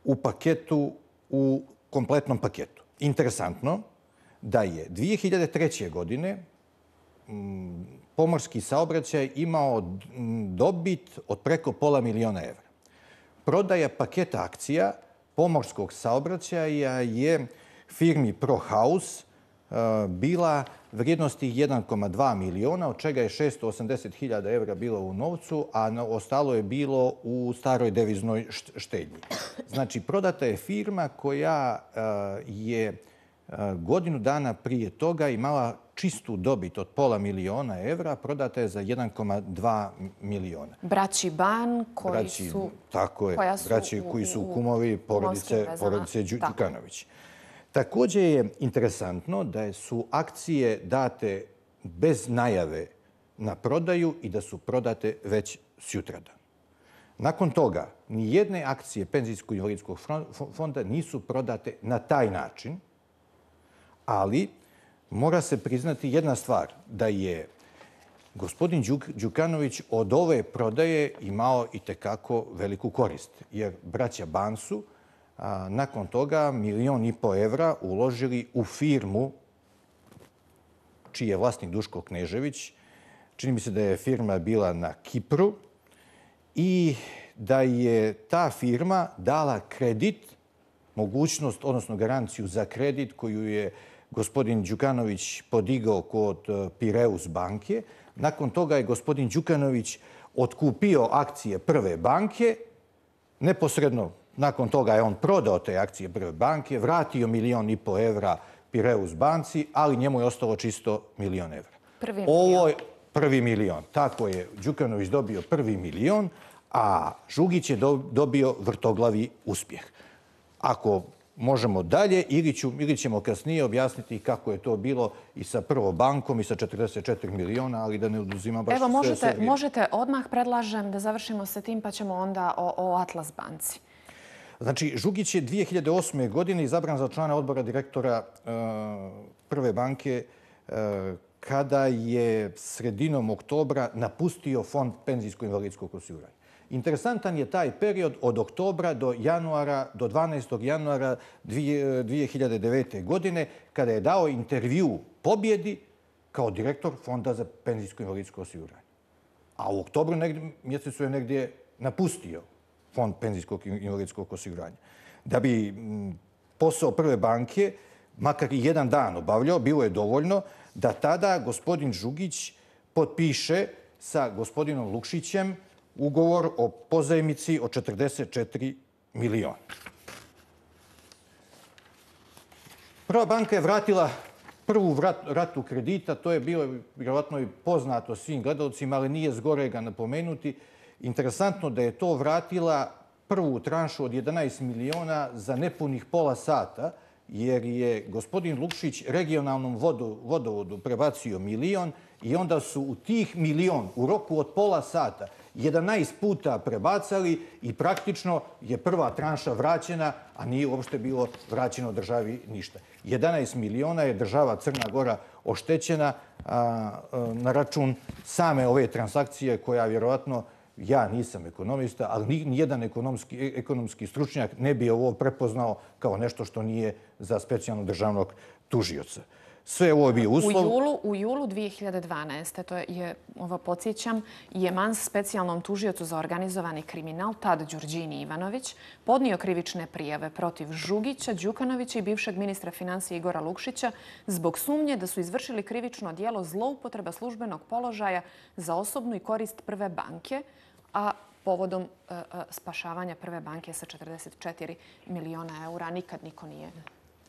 Speaker 5: u paketu, u kompletnom paketu. Interesantno da je dvije hiljade treće. godine pomorski saobraćaj imao dobit od preko pola miliona evra. Prodaja paketa akcija pomorskog saobraćaja je firmi ProHaus bila vrijednosti jedan zarez dva miliona, od čega je šesto osamdeset hiljada evra bilo u novcu, a ostalo je bilo u staroj deviznoj štednji. Znači, prodata je firma koja je godinu dana prije toga imala čistu dobit od pola miliona evra, prodata je za jedan zarez dva miliona.
Speaker 1: Braći Ban koji su...
Speaker 5: Tako je, braći koji su kumovi porodice Đukanović. Također je interesantno da su akcije date bez najave na prodaju i da su prodate već sutradan. Nakon toga, nijedne akcije Penzijsko-invalidskog fonda nisu prodate na taj način, ali mora se priznati jedna stvar, da je gospodin Đukanović od ove prodaje imao i tekako veliku korist, jer braća Ban su nakon toga milion i po evra uložili u firmu čiji je vlasnik Duško Knežević. Čini mi se da je firma bila na Kipru i da je ta firma dala kredit, mogućnost, odnosno garanciju za kredit koju je gospodin Đukanović podigao kod Pireus banke. Nakon toga je gospodin Đukanović otkupio akcije Prve banke, neposredno nakon toga je on prodao te akcije Prve banke, vratio milion i po evra Pireus banci, ali njemu je ostalo čisto milion evra.
Speaker 1: Prvi milion.
Speaker 5: Ovo je prvi milion. Tako je Đukanović dobio prvi milion, a Žugić je dobio vrtoglavi uspjeh. Ako možemo dalje, ili ćemo kasnije objasniti kako je to bilo i sa Prvom bankom i sa četrdeset četiri miliona, ali da ne oduzima baš sve.
Speaker 1: Evo, možete, možete odmah, predlažem da završimo sa tim, pa ćemo onda o, o Atlas banci.
Speaker 5: Znači, Žugić je dvije hiljade osme. godine izabran za člana odbora direktora Prve banke kada je sredinom oktobra napustio fond penzijsko-invalidskog osiguranja. Interesantan je taj period od oktobra do januara, do dvanaestog januara dvije hiljade devete. godine, kada je dao intervju Pobjedi kao direktor Fonda za penzijsko-invalidsko osiguranje. A u oktobru mjesecu je negdje napustio Fond penzijskog invalidskog osiguranja. Da bi posao Prve banke makar i jedan dan obavljao, bilo je dovoljno da tada gospodin Žugić potpiše sa gospodinom Lukšićem ugovor o pozajmici od četrdeset četiri miliona. Prva banka je vratila prvu ratu kredita, to je bilo vjerovatno i poznato svim gledalcima, ali nije zgorega napomenuti. Interesantno da je to vratila prvu tranšu od jedanaest miliona za nepunih pola sata, jer je gospodin Lukšić regionalnom vodovodu prebacio milion i onda su u tih milion u roku od pola sata jedanaest puta prebacali i praktično je prva tranša vraćena, a nije uopšte bilo vraćeno državi ništa. jedanaest miliona je država Crna Gora oštećena na račun same ove transakcije koja vjerovatno, ja nisam ekonomista, ali nijedan ekonomski stručnjak ne bi ovo prepoznao kao nešto što nije za specijalnog državnog tužioca. Sve ovo je bio uslov.
Speaker 1: U julu dvije hiljade dvanaeste. to je, ovo podsjećam, je Mans specijalnom tužiocu za organizovani kriminal, tad Đurđini Ivanović, podnio krivične prijave protiv Žugića, Đukanovića i bivšeg ministra financija Igora Lukšića zbog sumnje da su izvršili krivično djelo zloupotreba službenog položaja za osobnu i korist Prve banke, a povodom spašavanja Prve banke sa četrdeset četiri miliona eura nikad niko nije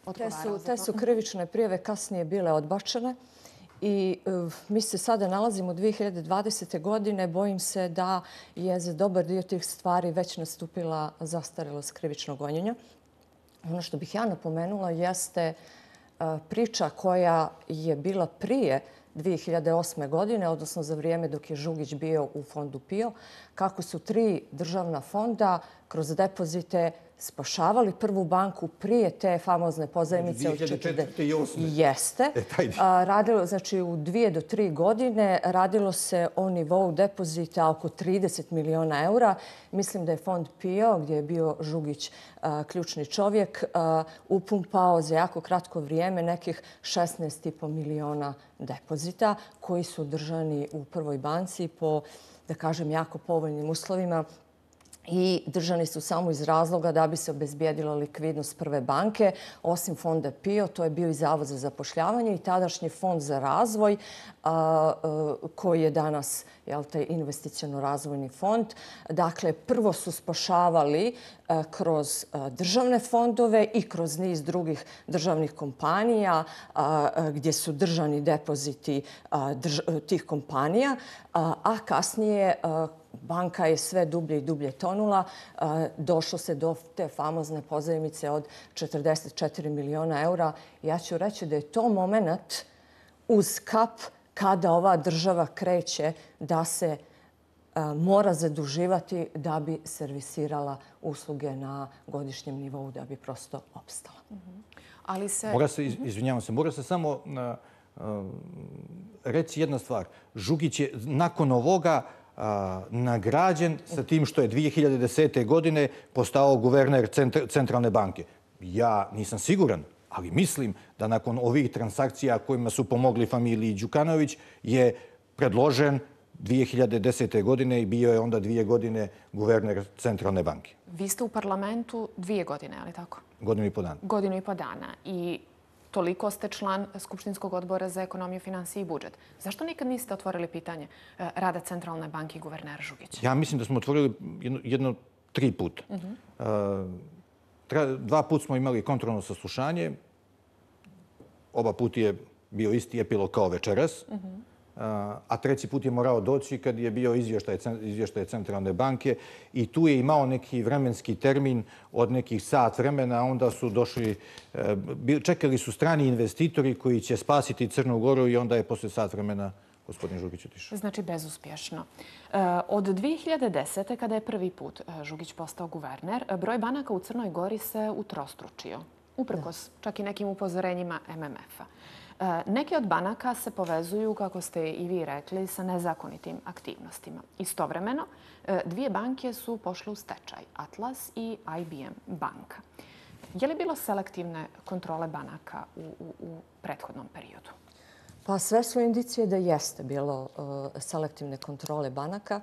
Speaker 1: odgovarao za to.
Speaker 4: Te su krivične prijave kasnije bile odbačene i mi se sada nalazimo u dvije hiljade dvadesete. godine. Bojim se da je za dobar dio tih stvari već nastupila zastarelost krivičnog gonjenja. Ono što bih ja napomenula jeste priča koja je bila prije dvije hiljade osme. godine, odnosno za vrijeme dok je Žugić bio u fondu P I O, kako su tri državna fonda kroz depozite spašavali prvu banku prije te famozne pozajmice od četrdeset osme. Jeste. Radilo, znači u dvije do tri godine radilo se o nivou depozita oko trideset miliona eura. Mislim da je fond P I O, gdje je bio Žugić ključni čovjek, upumpao za jako kratko vrijeme nekih šesnaest i po miliona depozita koji su držani u prvoj banci po, da kažem, jako povoljnim uslovima i držani su samo iz razloga da bi se obezbijedila likvidnost prve banke. Osim fonda P I O, to je bio i Zavod za zapošljavanje i tadašnji fond za razvoj koji je danas taj investiciono-razvojni fond. Dakle, prvo su spašavali kroz državne fondove i kroz niz drugih državnih kompanija gdje su držani depoziti tih kompanija, a kasnije banka je sve dublje i dublje tonula. Došlo se do te famozne pozajmice od četrdeset četiri miliona eura. Ja ću reći da je to moment uz kap kada ova država kreće da se mora zaduživati da bi servisirala usluge na godišnjem nivou, da bi prosto opstala.
Speaker 1: Ali se...
Speaker 5: Mora se, izvinjavam se, mora se samo reći jedna stvar. Žugić je nakon ovoga nagrađen sa tim što je dvije hiljade desete. godine postao guverner Centralne banke. Ja nisam siguran, ali mislim da nakon ovih transakcija kojima su pomogli familiji Đukanović je predložen dvije hiljade desete. godine i bio je onda dvije godine guverner Centralne banke.
Speaker 1: Vi ste u parlamentu dvije godine, ali tako?
Speaker 5: Godinu i po dana.
Speaker 1: Godinu i po dana. I toliko ste član Skupštinskog odbora za ekonomiju, finansije i budžet. Zašto nikad niste otvorili pitanje rada Centralne banke i guvernera Žugića?
Speaker 5: Ja mislim da smo otvorili jedno, jedno tri puta. Uh-huh. Dva puta smo imali kontrolno saslušanje. Oba put je bio isti epilog kao večeras. Uh-huh. A treći put je morao doći kad je bio izvještaj, izvještaj Centralne banke i tu je imao neki vremenski termin od nekih sat vremena, a onda su došli, čekali su strani investitori koji će spasiti Crnu Goru i onda je posle sat vremena gospodin Žugić otišao.
Speaker 1: Znači bezuspješno. Od dvije hiljade desete. kada je prvi put Žugić postao guverner, broj banaka u Crnoj Gori se utrostručio, uprkos čak i nekim upozorenjima M M F-a. Neke od banaka se povezuju, kako ste i vi rekli, sa nezakonitim aktivnostima. Istovremeno, dvije banke su pošle u stečaj, Atlas i I B M banka. Je li bilo selektivne kontrole banaka u, u, u prethodnom periodu?
Speaker 4: Pa sve su indicije da jeste bilo selektivne kontrole banaka.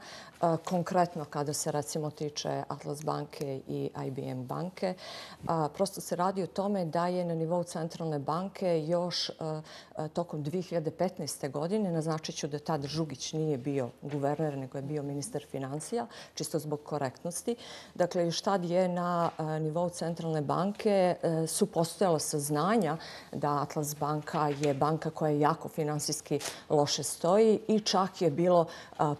Speaker 4: Konkretno kada se recimo tiče Atlas banke i I B M banke, prosto se radi o tome da je na nivou Centralne banke još tokom dvije hiljade petnaeste. godine, naznačit ću da tad Žugić nije bio guverner, nego je bio ministar financija, čisto zbog korektnosti. Dakle, još tad je na nivou Centralne banke su postojala saznanja da Atlas banka je banka koja je jako finansijski loše stoji i čak je bilo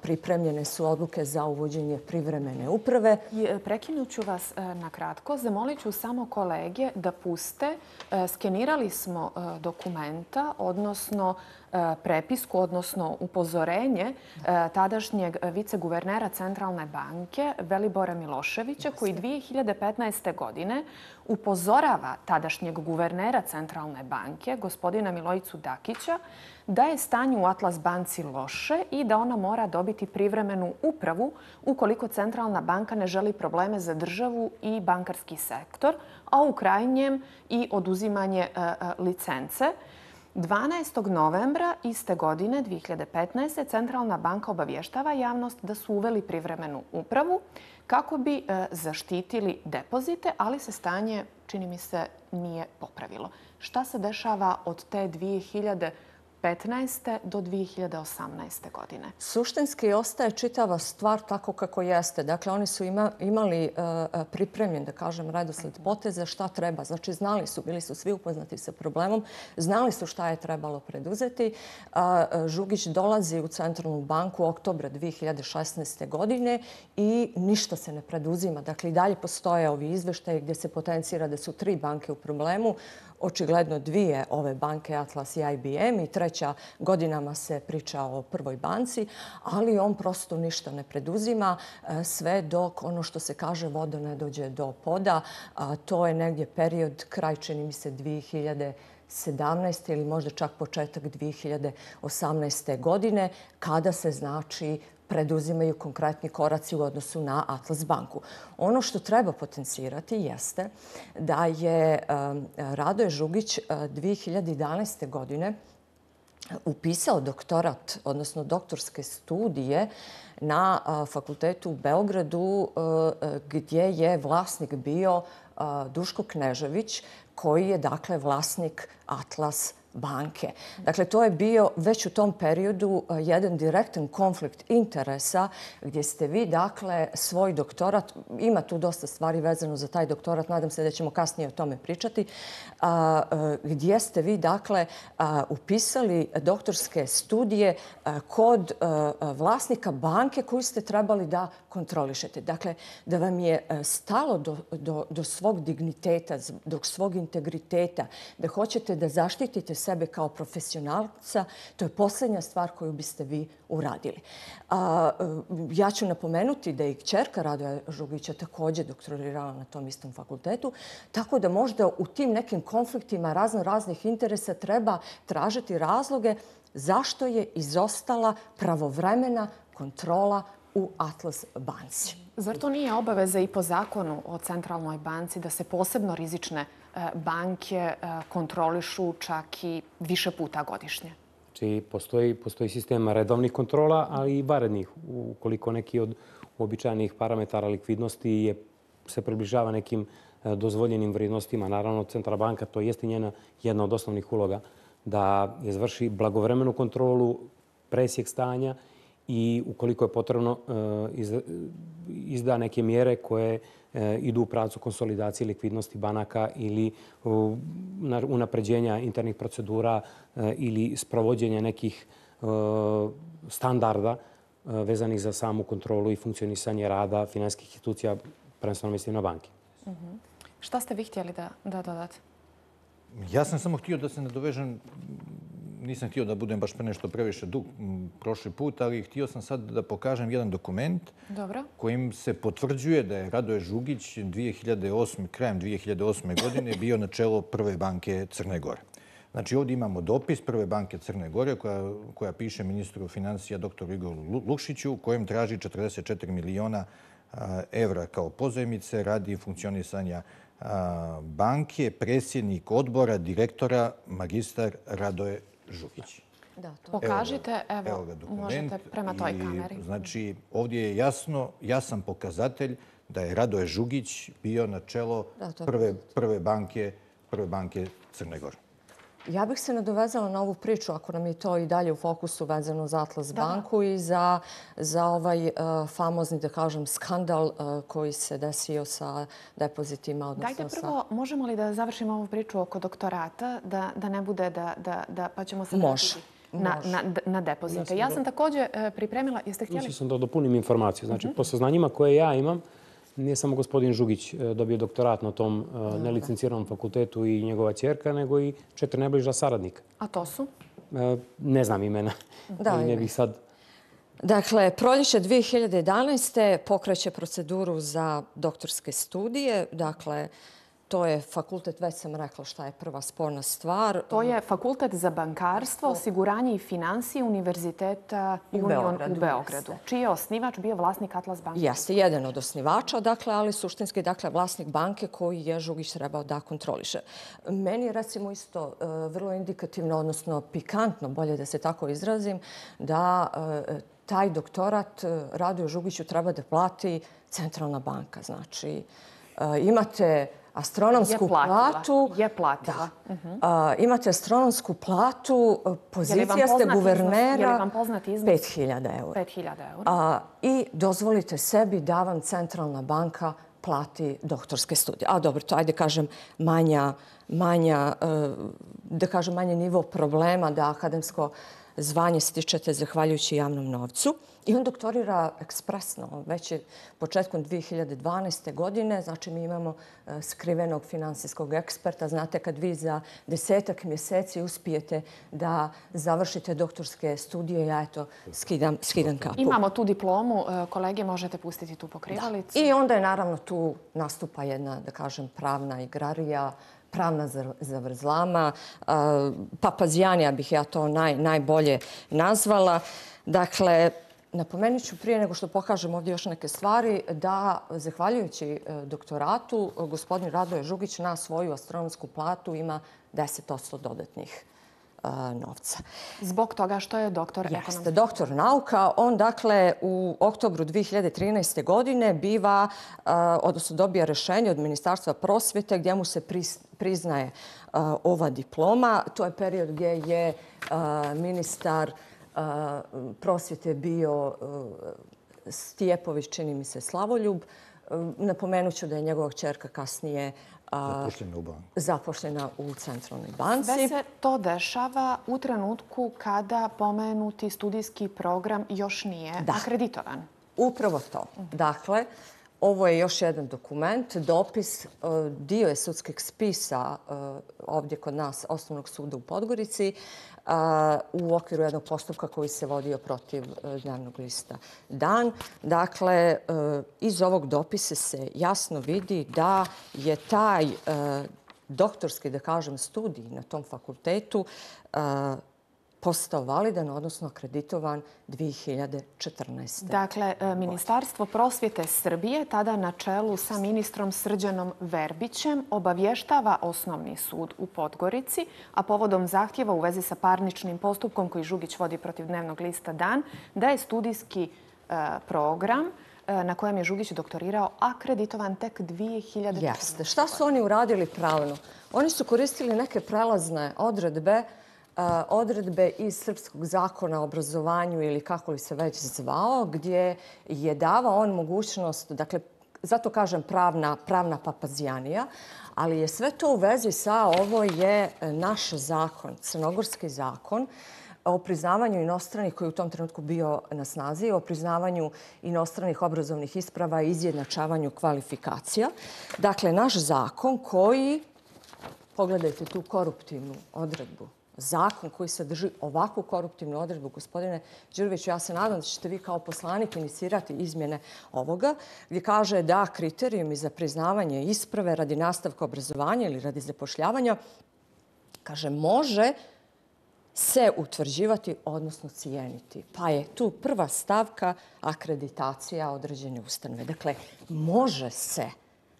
Speaker 4: pripremljene su odluke za uvođenje privremene uprave.
Speaker 1: Prekinuću vas na kratko. Zamolit ću samo kolege da puste. Skenirali smo dokumenta, odnosno prepisku, odnosno upozorenje tadašnjeg viceguvernera Centralne banke Velibora Miloševića, koji dvije hiljade petnaeste. godine upozorava tadašnjeg guvernera Centralne banke, gospodina Milojicu Dakića, da je stanje u Atlas banci loše i da ona mora dobiti privremenu upravu ukoliko Centralna banka ne želi probleme za državu i bankarski sektor, a u krajnjem i oduzimanje licence. dvanaestog novembra iste godine, dvije hiljade petnaeste. Centralna banka obavještava javnost da su uveli privremenu upravu kako bi zaštitili depozite, ali se stanje, čini mi se, nije popravilo. Šta se dešava od te dvije hiljade petnaeste. do dvije hiljade osamnaeste. godine?
Speaker 4: Suštinski ostaje čitava stvar tako kako jeste. Dakle, oni su ima, imali uh, pripremljen, da kažem, redosled poteza šta treba. Znači, znali su, bili su svi upoznati sa problemom, znali su šta je trebalo preduzeti. Uh, Žugić dolazi u Centralnu banku u oktobra dvije hiljade šesnaeste. godine i ništa se ne preduzima. Dakle, i dalje postoje ovi izveštaji gdje se potencira da su tri banke u problemu. očigledno dvije ove banke, Atlas i I B M, i treća godinama se priča o prvoj banci, ali on prosto ništa ne preduzima sve dok ono što se kaže voda ne dođe do poda. To je negdje period, kraj čini mi se dvije hiljade sedamnaeste ili možda čak početak dvije hiljade osamnaeste. godine, kada se znači preduzimaju konkretni koraci u odnosu na Atlas banku. Ono što treba potencirati jeste da je Radoje Žugić dvije hiljade jedanaeste. godine upisao doktorat, odnosno doktorske studije na fakultetu u Beogradu, gdje je vlasnik bio Duško Knežević, koji je dakle vlasnik Atlas banke. Dakle, to je bio već u tom periodu jedan direktan konflikt interesa gdje ste vi, dakle, svoj doktorat, ima tu dosta stvari vezano za taj doktorat, nadam se da ćemo kasnije o tome pričati, gdje ste vi, dakle, upisali doktorske studije kod vlasnika banke koju ste trebali da kontrolišete. Dakle, da vam je stalo do, do, do svog digniteta, do svog integriteta, da hoćete da zaštitite sebe kao profesionalca, to je posljednja stvar koju biste vi uradili. A, ja ću napomenuti da je i kćerka Radoja Žugića također doktorirala na tom istom fakultetu, tako da možda u tim nekim konfliktima razno raznih interesa treba tražiti razloge zašto je izostala pravovremena kontrola u Atlas banci.
Speaker 1: Zar to nije obaveza i po zakonu o centralnoj banci da se posebno rizične banke kontrolišu čak i više puta godišnje?
Speaker 6: Znači, postoji, postoji sistem redovnih kontrola, ali i vanrednih. Ukoliko neki od uobičajenih parametara likvidnosti je, se približava nekim dozvoljenim vrijednostima, naravno Centralna banka, to jeste njena jedna od osnovnih uloga, da izvrši blagovremenu kontrolu, presjek stanja i ukoliko je potrebno izda neke mjere koje idu u pravcu konsolidacije likvidnosti banaka ili unapređenja internih procedura ili sprovođenja nekih standarda vezanih za samu kontrolu i funkcionisanje rada finansijskih institucija, prvenstveno mislim na banke.
Speaker 1: Uh-huh. Šta ste vi htjeli da, da dodate?
Speaker 5: Ja sam samo htio da se nadovežem, nisam htio da budem baš pre nešto previše dug prošli put, ali htio sam sad da pokažem jedan dokument
Speaker 1: Dobro.
Speaker 5: kojim se potvrđuje da je Radoje Žugić dvije hiljade osme. krajem dvije hiljade osme. godine bio na čelo Prve banke Crne Gore. Znači ovdje imamo dopis Prve banke Crne Gore koja, koja piše ministru financija doktoru Igoru Lukšiću, kojem traži četrdeset četiri miliona evra kao pozajmice radi funkcionisanja banke, predsjednik odbora, direktora, magistar Radoje Žugić.
Speaker 1: Da, to. Pokažite, evo, evo ga možete prema toj kameri.
Speaker 5: I, znači, ovdje je jasno, jasan pokazatelj da je Radoje Žugić bio na čelo da, prve, prve, banke, prve banke Crne Gore.
Speaker 4: Ja bih se nadovezala na ovu priču, ako nam je to i dalje u fokusu vezano za Atlas da. banku i za, za ovaj uh, famozni, da kažem, skandal uh, koji se desio sa depozitima. Odnosno
Speaker 1: Dajte prvo, sa... možemo li da završimo ovu priču oko doktorata, da, da ne bude da, da, da pa ćemo se
Speaker 4: vratiti
Speaker 1: na, na, na depozite. Ja sam također uh, pripremila, jeste htjeli?
Speaker 6: Mislio sam da dopunim informaciju. Znači, uh-huh. po saznanjima koje ja imam, nije samo gospodin Žugić dobio doktorat na tom uh, nelicenciranom fakultetu i njegova ćerka, nego i četiri najbliža saradnika.
Speaker 1: A to su?
Speaker 6: Uh, ne znam imena. Da, ne bih sad...
Speaker 4: Dakle, proljeće dvije hiljade jedanaeste. pokreće proceduru za doktorske studije. Dakle, to je fakultet, već sam rekla šta je prva sporna stvar.
Speaker 1: To je fakultet za bankarstvo, osiguranje i financije Univerziteta Union u Beogradu, u Beogradu čiji je osnivač bio vlasnik Atlas banke.
Speaker 4: Jeste, jedan od osnivača, dakle, ali suštinski dakle, vlasnik banke koji je Žugić trebao da kontroliše. Meni je recimo isto vrlo indikativno, odnosno pikantno, bolje da se tako izrazim, da taj doktorat Radoju Žugiću treba da plati Centralna banka. Znači, imate astronomsku
Speaker 1: je platila,
Speaker 4: platu.
Speaker 1: Je platila.
Speaker 4: Da. Uh-huh. Uh, imate astronomsku platu, pozicija ste guvernera.
Speaker 1: Je li vam poznat iznos?
Speaker 4: pet hiljada eura.
Speaker 1: pet hiljada eura.
Speaker 4: Uh, I dozvolite sebi da vam Centralna banka plati doktorske studije. A dobro, to ajde kažem manja, manja, uh, da kažem manje nivo problema da akademsko zvanje stičete zahvaljujući javnom novcu. I on doktorira ekspresno, već je početkom dvije hiljade dvanaeste. godine. Znači, mi imamo skrivenog finansijskog eksperta. Znate, kad vi za desetak mjeseci uspijete da završite doktorske studije, ja eto skidam, skidam kapu.
Speaker 1: Imamo tu diplomu. Kolege, možete pustiti tu pokrivalicu.
Speaker 4: Da. I onda je naravno tu nastupa jedna, da kažem, pravna igrarija, pravna zavrzlama. Papazijanija bih ja to naj, najbolje nazvala. Dakle, napomenut ću prije nego što pokažem ovdje još neke stvari da, zahvaljujući doktoratu, gospodin Radoje Žugić na svoju astronomsku platu ima deset posto dodatnih novca.
Speaker 1: Zbog toga što je doktor ekonomije.
Speaker 4: Jeste, doktor nauka. On, dakle, u oktobru dvije hiljade trinaeste. godine biva, odnosno dobija rješenje od Ministarstva prosvjete gdje mu se priznaje ova diploma. To je period gdje je ministar prosvjete bio Stijepović, čini mi se Slavoljub. Napomenut ću da je njegova kćerka kasnije
Speaker 5: zapošljena u banku.
Speaker 4: Zapošljena u centralnoj banci.
Speaker 1: Sve se to dešava u trenutku kada pomenuti studijski program još nije da. akreditovan.
Speaker 4: Upravo to. Dakle, ovo je još jedan dokument, dopis, dio je sudskih spisa ovdje kod nas Osnovnog suda u Podgorici u okviru jednog postupka koji se vodio protiv dnevnog lista Dan. Dakle, iz ovog dopisa se jasno vidi da je taj doktorski, da kažem, studij na tom fakultetu postao validan, odnosno akreditovan dvije hiljade četrnaeste.
Speaker 1: Dakle, Ministarstvo prosvjete Srbije, tada na čelu sa ministrom Srđanom Verbićem, obavještava Osnovni sud u Podgorici, a povodom zahtjeva u vezi sa parničnim postupkom koji Žugić vodi protiv dnevnog lista Dan, da je studijski program na kojem je Žugić doktorirao akreditovan tek dvije hiljade četrnaeste.
Speaker 4: Jeste. Šta su oni uradili pravilno? Oni su koristili neke prelazne odredbe odredbe iz Srpskog zakona o obrazovanju ili kako li se već zvao, gdje je davao on mogućnost, dakle, zato kažem pravna, pravna papazijanija, ali je sve to u vezi sa ovo je naš zakon, crnogorski zakon, o priznavanju inostranih, koji je u tom trenutku bio na snazi, o priznavanju inostranih obrazovnih isprava i izjednačavanju kvalifikacija. Dakle, naš zakon koji, pogledajte tu koruptivnu odredbu, zakon koji sadrži ovakvu koruptivnu odredbu, gospodine Đuroviću, ja se nadam da ćete vi kao poslanik inicirati izmjene ovoga, gdje kaže da kriterijumi za priznavanje isprave radi nastavka obrazovanja ili radi zapošljavanja, kaže, može se utvrđivati, odnosno cijeniti. Pa je tu prva stavka akreditacija određene ustanove. Dakle, može se,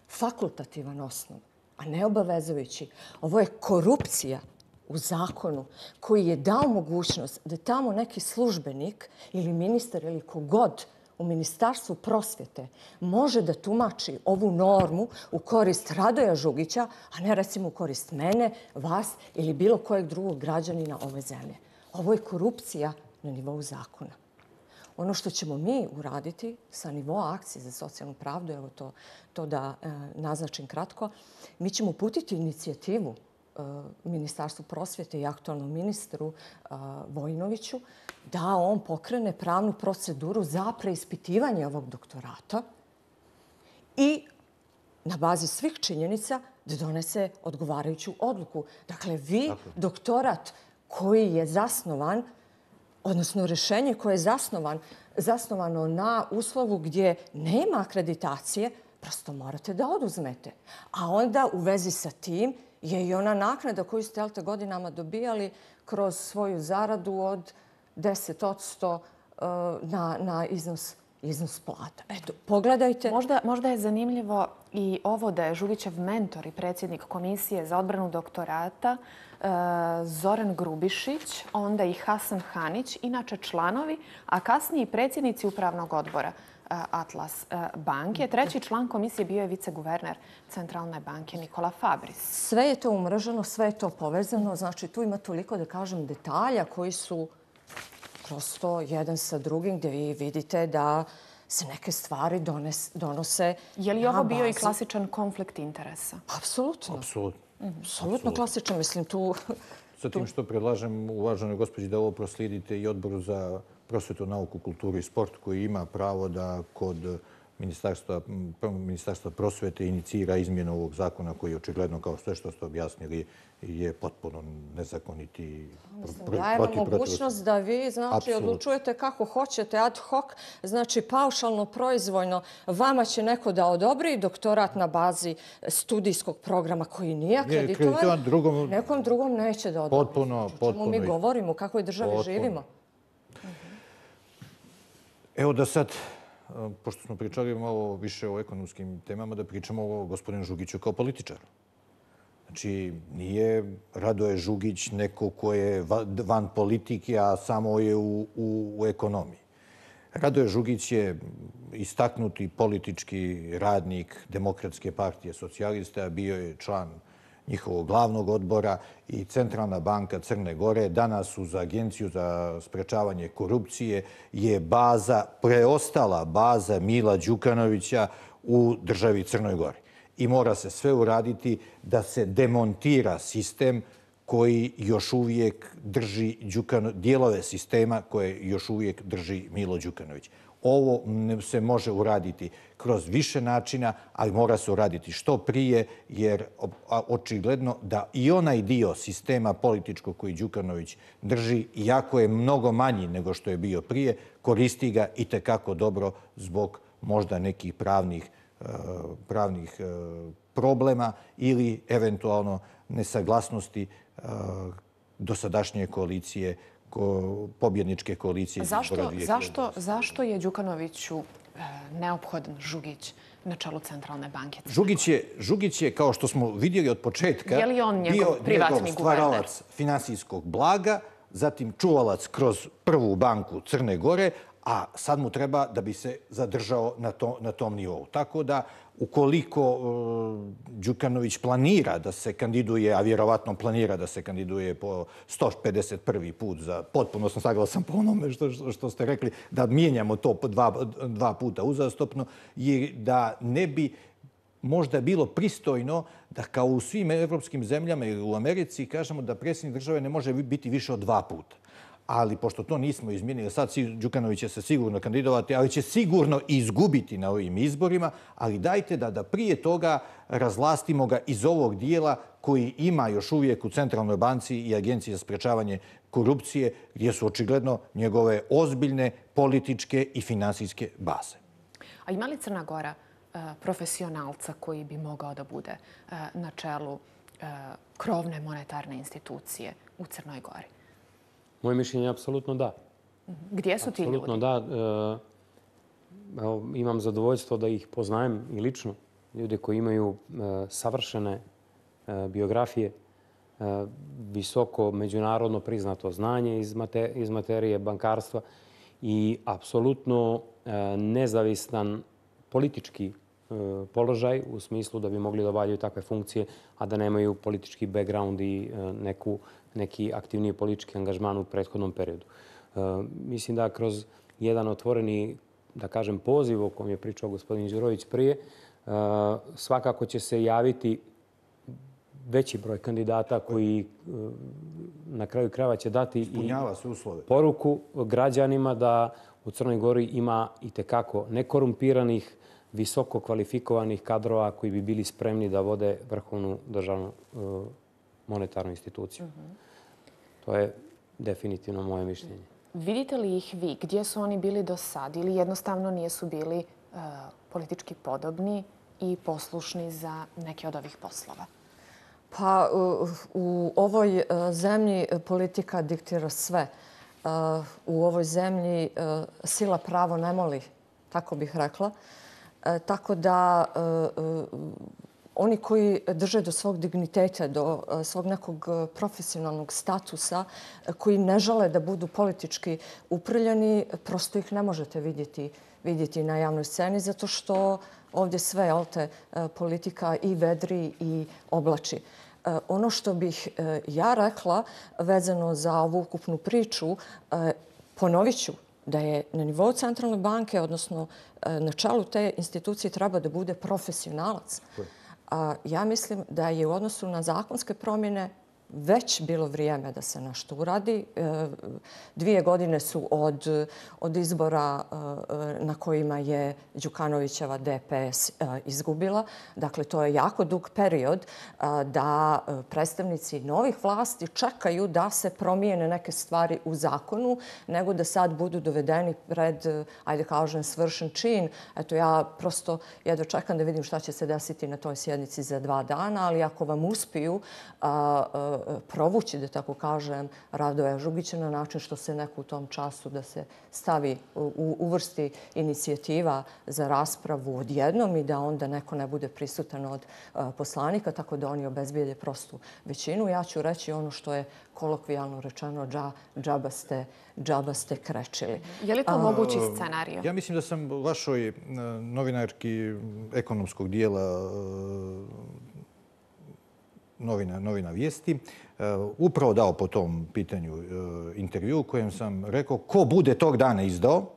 Speaker 4: fakultativan osnov, a ne obavezujući. Ovo je korupcija u zakonu koji je dao mogućnost da tamo neki službenik ili ministar ili kogod u Ministarstvu prosvjete može da tumači ovu normu u korist Radoja Žugića, a ne recimo u korist mene, vas ili bilo kojeg drugog građanina ove zemlje. Ovo je korupcija na nivou zakona. Ono što ćemo mi uraditi sa nivoa akcije za socijalnu pravdu, evo to, to da e, naznačim kratko, mi ćemo uputiti inicijativu Ministarstvu prosvjete i aktualnom ministru Vojinoviću da on pokrene pravnu proceduru za preispitivanje ovog doktorata i na bazi svih činjenica da donese odgovarajuću odluku. Dakle, vi doktorat koji je zasnovan, odnosno rješenje koje je zasnovan, zasnovano na uslovu gdje nema akreditacije, prosto morate da oduzmete. A onda u vezi sa tim je i ona naknada koju ste te godinama dobijali kroz svoju zaradu od deset posto na, na iznos, iznos plata. Eto, pogledajte.
Speaker 1: Možda, možda je zanimljivo i ovo da je Žugićev mentor i predsjednik Komisije za odbranu doktorata Zoran Grubišić, onda i Hasan Hanić, inače članovi, a kasnije i predsjednici upravnog odbora Atlas banke. Treći član komisije bio je viceguverner Centralne banke Nikola Fabris.
Speaker 4: Sve je to umrženo, sve je to povezano. Znači, tu ima toliko, da kažem, detalja koji su prosto jedan sa drugim, gdje vi vidite da se neke stvari dones, donose.
Speaker 1: Je li ovo bio i klasičan konflikt interesa?
Speaker 4: Apsolutno.
Speaker 5: Apsolutno.
Speaker 4: Apsolutno klasičan. Mislim, tu
Speaker 5: Sa tim što predlažem uvaženoj gospođi da ovo proslijedite i Odboru za prosvetu, nauku, kulturu i sport koji ima pravo da kod Ministarstva, Ministarstva prosvete inicira izmjenu ovog zakona koji je očigledno, kao sve što ste objasnili, je potpuno nezakoniti.
Speaker 4: Dajemo mogućnost da vi znači, odlučujete kako hoćete ad hoc, znači paušalno, proizvoljno. Vama će neko da odobri doktorat na bazi studijskog programa koji nije akreditovan,
Speaker 5: drugom,
Speaker 4: nekom drugom neće da odobri.
Speaker 5: Potpuno, potpuno.
Speaker 4: Mi govorimo u kakvoj državi potpuno. živimo.
Speaker 5: Evo da sad, pošto smo pričali malo više o ekonomskim temama, da pričamo o gospodinu Žugiću kao političaru. Znači, nije Radoje Žugić neko ko je van politike, a samo je u, u, u ekonomiji. Radoje Žugić je istaknuti politički radnik Demokratske partije socijalista, bio je član njihovog glavnog odbora i Centralna banka Crne Gore danas uz Agenciju za sprečavanje korupcije je baza, preostala baza Mila Đukanovića u državi Crnoj Gori. I mora se sve uraditi da se demontira sistem koji još uvijek drži Đukano, dijelove sistema koje još uvijek drži Milo Đukanović. Ovo se može uraditi kroz više načina, ali mora se uraditi što prije, jer očigledno da i onaj dio sistema političkog koji Đukanović drži, iako je mnogo manji nego što je bio prije, koristi ga i tekako dobro zbog možda nekih pravnih pravnih problema ili eventualno nesaglasnosti dosadašnje koalicije, pobjedničke koalicije.
Speaker 1: Zašto, zašto, zašto je Đukanoviću neophodan Žugić na čelu Centralne banke?
Speaker 5: Žugić je, Žugić je, kao što smo vidjeli od početka,
Speaker 1: je li on njegov
Speaker 5: bio
Speaker 1: privatni
Speaker 5: njegov stvaralac finansijskog blaga, zatim čuvalac kroz prvu banku Crne Gore, a sad mu treba da bi se zadržao na, to, na tom nivou. Tako da, ukoliko uh, Đukanović planira da se kandiduje, a vjerovatno planira da se kandiduje po sto pedeset prvi put, za, potpuno sam saglasan po onome što, što, što ste rekli, da mijenjamo to dva, dva puta uzastopno, jer da ne bi možda bilo pristojno da kao u svim evropskim zemljama ili u Americi kažemo da predsjednik države ne može biti više od dva puta. Ali pošto to nismo izmijenili, sad Đukanović će se sigurno kandidovati, ali će sigurno izgubiti na ovim izborima, ali dajte da, da prije toga razlastimo ga iz ovog dijela koji ima još uvijek u Centralnoj banci i Agenciji za sprečavanje korupcije, gdje su očigledno njegove ozbiljne političke i finansijske baze.
Speaker 1: A ima li Crna Gora profesionalca koji bi mogao da bude na čelu krovne monetarne institucije u Crnoj Gori?
Speaker 6: Moje mišljenje je apsolutno da.
Speaker 1: Gdje su ti ljudi?
Speaker 6: Apsolutno da. Evo, imam zadovoljstvo da ih poznajem i lično. Ljude koji imaju savršene biografije, visoko međunarodno priznato znanje iz materije bankarstva i apsolutno nezavistan politički položaj u smislu da bi mogli da obavljaju takve funkcije, a da nemaju politički background i neku neki aktivniji politički angažman u prethodnom periodu. Mislim da kroz jedan otvoreni, da kažem, poziv o kojem je pričao gospodin Đurović prije, svakako će se javiti veći broj kandidata koji na kraju krajeva će dati i poruku građanima da u Crnoj Gori ima i tekako nekorumpiranih, visoko kvalifikovanih kadrova koji bi bili spremni da vode vrhovnu državnu monetarnu instituciju. To je definitivno moje mišljenje.
Speaker 1: Vidite li ih vi? Gdje su oni bili do sad? Ili jednostavno nisu bili uh, politički podobni i poslušni za neke od ovih poslova?
Speaker 4: Pa u, u ovoj uh, zemlji politika diktira sve. Uh, u ovoj zemlji uh, sila pravo ne moli, tako bih rekla. Uh, tako da uh, uh, oni koji drže do svog digniteta, do svog nekog profesionalnog statusa, koji ne žele da budu politički uprljani, prosto ih ne možete vidjeti, vidjeti na javnoj sceni, zato što ovdje sve alte politika i vedri i oblači. Ono što bih ja rekla vezano za ovu ukupnu priču, ponovit ću da je na nivou Centralne banke, odnosno na čelu te institucije, treba da bude profesionalac. Ja mislim da je u odnosu na zakonske promjene već bilo vrijeme da se nešto uradi. Dvije godine su od, od izbora na kojima je Đukanovićeva D P S izgubila. Dakle, to je jako dug period da predstavnici novih vlasti čekaju da se promijene neke stvari u zakonu, nego da sad budu dovedeni pred, ajde kažem, svršen čin. Eto, ja prosto jedva čekam da vidim šta će se desiti na toj sjednici za dva dana, ali ako vam uspiju a, a, provući, da tako kažem, Radoja Žugića na način što se neko u tom času da se stavi, u, uvrsti inicijativa za raspravu odjednom i da onda neko ne bude prisutan od a, poslanika, tako da oni obezbijede prostu većinu. Ja ću reći ono što je kolokvijalno rečeno, dža, džaba, ste, džaba ste krečili.
Speaker 1: Je li to mogući scenarij?
Speaker 5: Ja mislim da sam vašoj novinarki ekonomskog dijela novina, novina Vijesti upravo dao po tom pitanju intervju u kojem sam rekao ko bude tog dana izdao,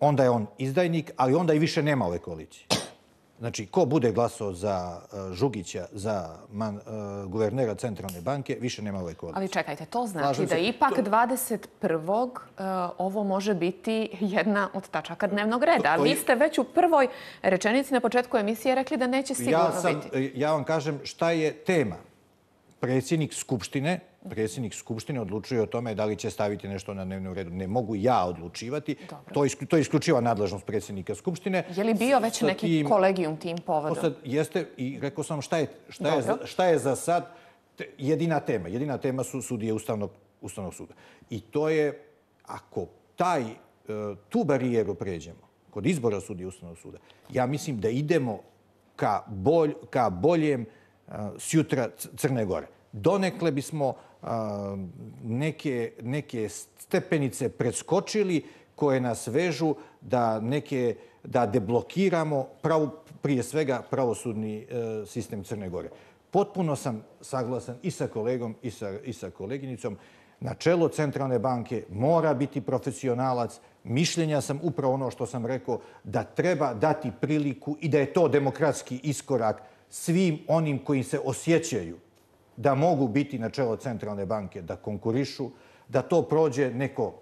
Speaker 5: onda je on izdajnik, ali onda i više nema ove koalicije. Znači, ko bude glasao za Žugića, za man, uh, guvernera Centralne banke, više nema ove koalicije.
Speaker 1: Ali čekajte, to znači da ipak dvadeset prvog Uh, ovo može biti jedna od tačaka dnevnog reda. To, to je... Vi ste već u prvoj rečenici na početku emisije rekli da neće sigurno
Speaker 5: ja sam,
Speaker 1: biti.
Speaker 5: Ja vam kažem šta je tema. Predsjednik Skupštine Predsjednik Skupštine odlučuje o tome da li će staviti nešto na dnevnom redu. Ne mogu ja odlučivati. To je, to je isključiva nadležnost predsjednika Skupštine.
Speaker 1: Je li bio već neki tim, kolegijum tim povodom?
Speaker 5: Sad jeste i rekao sam šta je, šta je, za, šta je za sad jedina tema. Jedina tema su sudije Ustavnog, Ustavnog suda. I to je, ako taj, tu barijeru pređemo kod izbora sudije Ustavnog suda, ja mislim da idemo ka, bolj, ka boljem sjutra Crne Gore. Donekle bismo a, neke, neke stepenice preskočili koje nas vežu da, neke, da deblokiramo prav, prije svega pravosudni e, sistem Crne Gore. Potpuno sam saglasan i sa kolegom i sa, i sa koleginicom. Na čelo Centralne banke mora biti profesionalac. Mišljenja sam upravo ono što sam rekao, da treba dati priliku i da je to demokratski iskorak svim onim koji se osjećaju da mogu biti na čelo Centralne banke, da konkurišu, da to prođe neko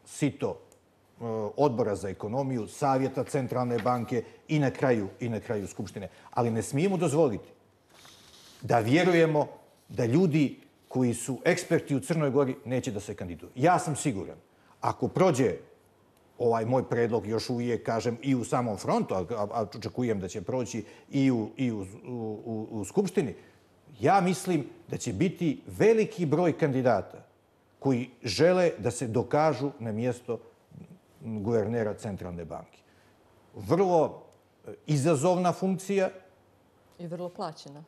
Speaker 5: sito odbora za ekonomiju, savjeta Centralne banke i na kraju, i na kraju Skupštine. Ali ne smijemo dozvoliti da vjerujemo da ljudi koji su eksperti u Crnoj Gori neće da se kandiduju. Ja sam siguran, ako prođe ovaj moj predlog još uvijek, kažem, i u samom frontu, a, a očekujem da će proći i u, i u, u, u, u Skupštini, ja mislim da će biti veliki broj kandidata koji žele da se dokažu na mjesto guvernera Centralne banke. Vrlo izazovna funkcija.
Speaker 4: I vrlo plaćena.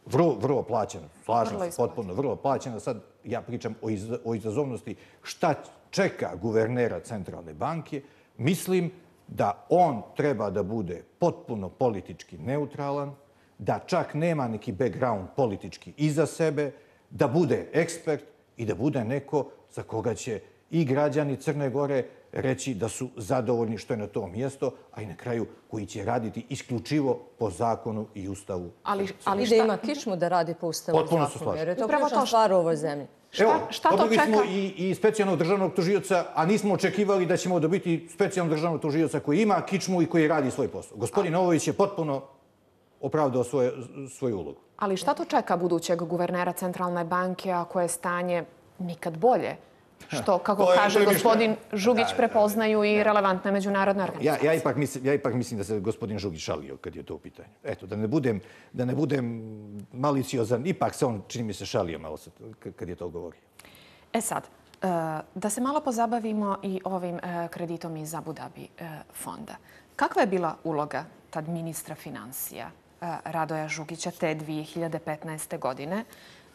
Speaker 5: Vrlo, vrlo plaćena, slažem se potpuno, vrlo plaćena. Sad ja pričam o, iz, o izazovnosti šta čeka guvernera Centralne banke. Mislim da on treba da bude potpuno politički neutralan, da čak nema neki background politički iza sebe, da bude ekspert i da bude neko za koga će i građani Crne Gore reći da su zadovoljni što je na tom mjesto, a i na kraju koji će raditi isključivo po zakonu i ustavu.
Speaker 4: Ali, ali šta... I da ima kičmu da radi po ustavu i zakonu, jer je to ključna stvar u ovoj zemlji.
Speaker 5: Šta, Evo, šta to čeka? Smo i, i specijalnog državnog tužioca, a nismo očekivali da ćemo dobiti specijalnog državnog tužioca koji ima kičmu i koji radi svoj posao. Gospodin Novović je potpuno opravdao svoje, svoju ulogu.
Speaker 1: Ali šta to čeka budućeg guvernera Centralne banke ako je stanje nikad bolje? Što, kako je, kaže gospodin Žugić, da, prepoznaju da, da, i relevantne međunarodne organizacije.
Speaker 5: Ja, ja, ipak mislim, ja ipak mislim da se gospodin Žugić šalio kad je to u pitanju. Eto, da ne budem, da ne budem maliciozan, ipak se on, čini mi se, šalio malo kad je to govorio.
Speaker 1: E sad, da se malo pozabavimo i ovim kreditom iz Abu Dhabi fonda. Kakva je bila uloga tad ministra financija Radoja Žugića te dvije hiljade petnaeste. godine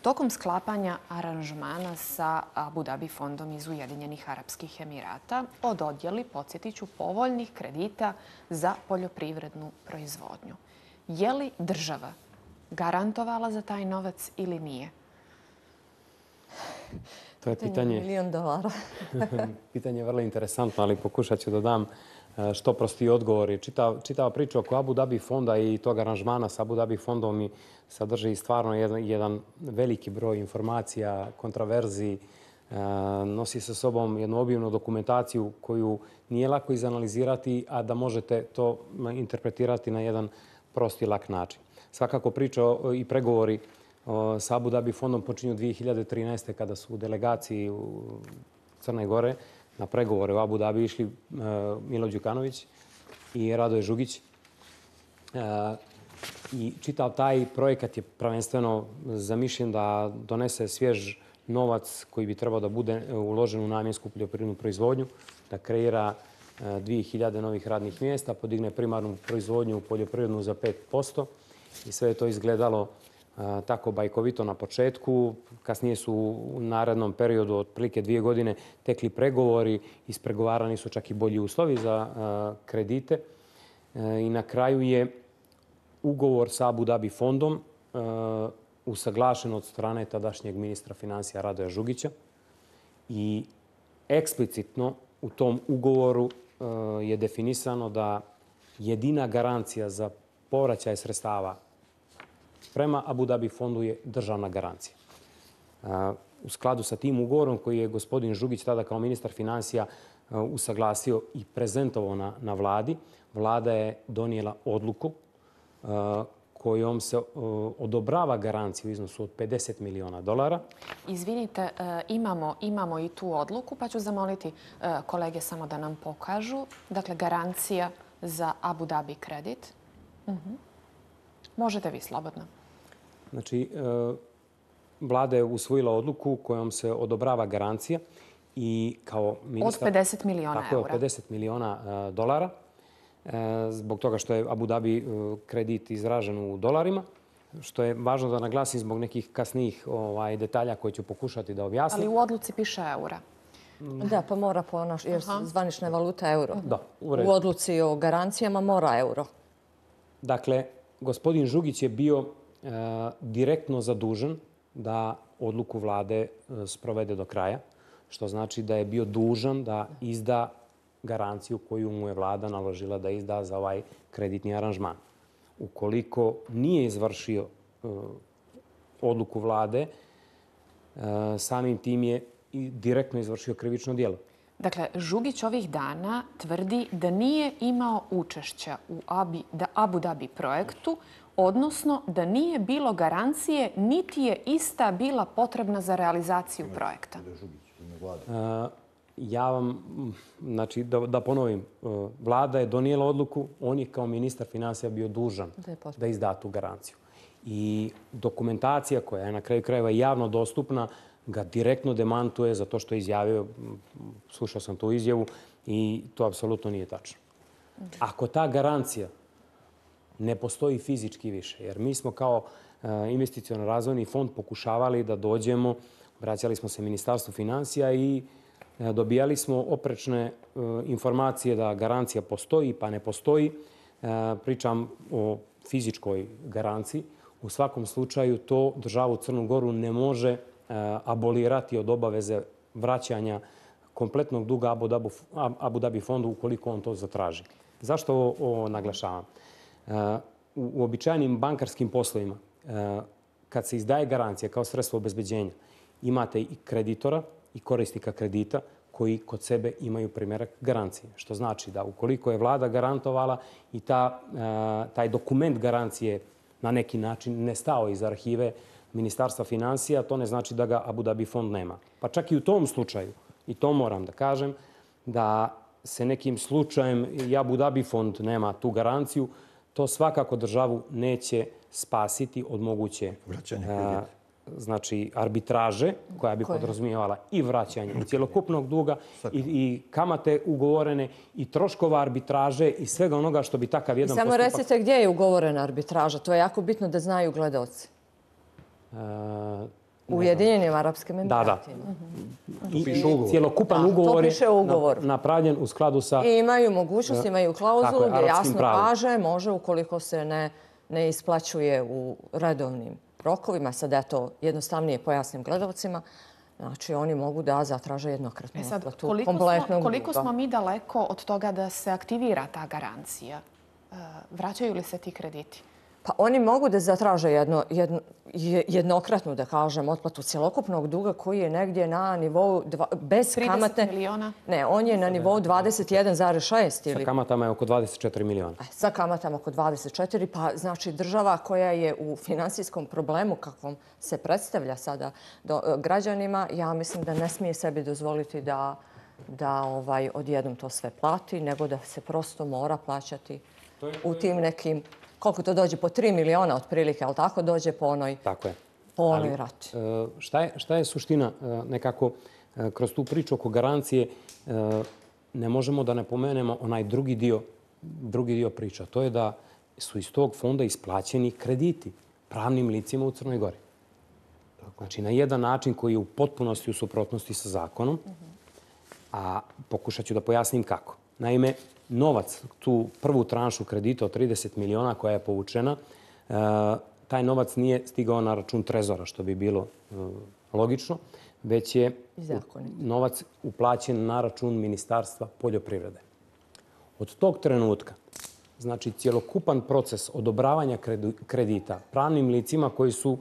Speaker 1: tokom sklapanja aranžmana sa Abu Dhabi fondom iz Ujedinjenih Arapskih Emirata o dodjeli, podsjetiću, povoljnih kredita za poljoprivrednu proizvodnju? Je li država garantovala za taj novac ili nije?
Speaker 6: To je pitanje...
Speaker 4: Milion dolara.
Speaker 6: Pitanje je vrlo interesantno, ali pokušat ću da dam što prostiji odgovori. Čitava priča oko Abu Dhabi fonda i tog aranžmana sa Abu Dhabi fondom i sadrži stvarno jedan veliki broj informacija, kontraverzi, nosi sa sobom jednu obimnu dokumentaciju koju nije lako izanalizirati, a da možete to interpretirati na jedan prost i lak način. Svakako priča i pregovori sa Abu Dhabi fondom počinju dvije hiljade trinaeste. kada su u delegaciji u Crne Gore na pregovore u Abu Dhabi išli Milo Đukanović i Radoje Žugić. I čitav taj projekat je prvenstveno zamišljen da donese svjež novac koji bi trebao da bude uložen u namjensku poljoprivrednu proizvodnju, da kreira dvije hiljade novih radnih mjesta, podigne primarnu proizvodnju poljoprivrednu za pet posto i sve je to izgledalo tako bajkovito na početku. Kasnije su u narednom periodu, otprilike dvije godine, tekli pregovori, ispregovarani su čak i bolji uslovi za kredite i na kraju je ugovor sa Abu Dhabi fondom usaglašen od strane tadašnjeg ministra financija Radoja Žugića i eksplicitno u tom ugovoru je definisano da jedina garancija za povraćaj sredstava prema Abu Dhabi fondu je državna garancija. U skladu sa tim ugovorom koji je gospodin Žugić tada kao ministar financija usaglasio i prezentovao na, na vladi, vlada je donijela odluku kojom se odobrava garanciju u iznosu od pedeset miliona dolara.
Speaker 1: Izvinite, imamo, imamo i tu odluku, pa ću zamoliti kolege samo da nam pokažu. Dakle, garancija za Abu Dhabi kredit. Uh-huh. Možete vi slobodno.
Speaker 6: Znači, vlada je usvojila odluku kojom se odobrava garancija i kao ministar...
Speaker 1: Od pedeset miliona
Speaker 6: tako,
Speaker 1: eura.
Speaker 6: Tako, pedeset miliona dolara. Zbog toga što je Abu Dhabi kredit izražen u dolarima, što je važno da naglasim zbog nekih kasnijih ovaj, detalja koje ću pokušati da objasnim.
Speaker 1: Ali u odluci piše eura.
Speaker 4: Da, pa mora po naš, jer zvanična valuta euro.
Speaker 6: Da, u,
Speaker 4: u odluci o garancijama mora euro.
Speaker 6: Dakle, gospodin Žugić je bio e, direktno zadužen da odluku vlade e, sprovede do kraja, što znači da je bio dužan da izda garanciju koju mu je vlada naložila da izda za ovaj kreditni aranžman. Ukoliko nije izvršio uh, odluku vlade, uh, samim tim je i direktno izvršio krivično djelo.
Speaker 1: Dakle, Žugić ovih dana tvrdi da nije imao učešća u Abi, da Abu Dhabi projektu, odnosno da nije bilo garancije, niti je ista bila potrebna za realizaciju projekta.
Speaker 6: Uh, Ja vam, znači, da, da ponovim, vlada je donijela odluku, on je kao ministar financija bio dužan da izda tu garanciju. I dokumentacija koja je na kraju krajeva javno dostupna ga direktno demantuje za to što je izjavio, slušao sam tu izjavu i to apsolutno nije tačno. Ako ta garancija ne postoji fizički više, jer mi smo kao investiciono razvojni fond pokušavali da dođemo, vraćali smo se Ministarstvu financija i dobijali smo oprečne informacije da garancija postoji pa ne postoji. Pričam o fizičkoj garanciji. U svakom slučaju to državu Crnu Goru ne može abolirati od obaveze vraćanja kompletnog duga Abu Dhabi, Abu Dhabi fondu ukoliko on to zatraži. Zašto ovo, ovo naglašavam? U uobičajenim bankarskim poslovima, kad se izdaje garancija kao sredstvo obezbeđenja, imate i kreditora i korisnika kredita koji kod sebe imaju primjerak garancije. Što znači da ukoliko je vlada garantovala i ta, taj dokument garancije na neki način ne stao iz arhive Ministarstva financija, to ne znači da ga Abu Dhabi fond nema. Pa čak i u tom slučaju, i to moram da kažem, da se nekim slučajem i Abu Dhabi fond nema tu garanciju, to svakako državu neće spasiti od moguće
Speaker 5: vraćanje kredita.
Speaker 6: Znači arbitraže koja bi podrazumijevala i vraćanje cjelokupnog duga i, i kamate ugovorene i troškova arbitraže i svega onoga što bi takav jedan
Speaker 4: postupak...
Speaker 6: postupak...
Speaker 4: Samo recite gdje je ugovorena arbitraža. To je jako bitno da znaju gledaoci.
Speaker 6: Uh,
Speaker 4: U Ujedinjenim Arapskim Emiratima.
Speaker 6: Da, da. I, I cjelokupan da, ugovor je ugovor. napravljen u skladu sa...
Speaker 4: I imaju mogućnost, imaju klauzulu gdje jasno pravom. kaže može ukoliko se ne, ne isplaćuje u redovnim rokovima, sad ja to jednostavnije pojasnim gledalcima, Znači, oni mogu da zatraže jednokratnu
Speaker 1: E sad,
Speaker 4: otplatu
Speaker 1: koliko
Speaker 4: kompletnog
Speaker 1: smo, koliko
Speaker 4: duga.
Speaker 1: smo mi daleko od toga da se aktivira ta garancija? E, Vraćaju li se ti krediti?
Speaker 4: Pa oni mogu da zatraže jedno, jedno, jednokratnu, da kažem, otplatu cjelokupnog duga koji je negdje na nivou dva, bez kamate.
Speaker 1: trideset miliona?
Speaker 4: Ne, on je na nivou dvadeset jedan zarez šest. Ili...
Speaker 6: Sa kamatama je oko dvadeset četiri miliona.
Speaker 4: Sa kamatama oko dvadeset četiri, pa znači država koja je u finansijskom problemu kakvom se predstavlja sada do, građanima, ja mislim da ne smije sebi dozvoliti da, da ovaj, odjednom to sve plati, nego da se prosto mora plaćati u tim nekim... Koliko to dođe? Po tri miliona otprilike, ali tako dođe po onoj,
Speaker 6: tako je.
Speaker 4: Po onoj rati.
Speaker 6: Šta je, šta je suština nekako kroz tu priču oko garancije? Ne možemo da ne pomenemo onaj drugi dio, drugi dio priča. To je da su iz tog fonda isplaćeni krediti pravnim licima u Crnoj Gori. Znači, na jedan način koji je u potpunosti u suprotnosti sa zakonom, a pokušat ću da pojasnim kako. Naime, novac, tu prvu tranšu kredita od trideset miliona koja je povučena, taj novac nije stigao na račun Trezora, što bi bilo logično, već je novac uplaćen na račun Ministarstva poljoprivrede. Od tog trenutka, znači cjelokupan proces odobravanja kredita pravnim licima koji su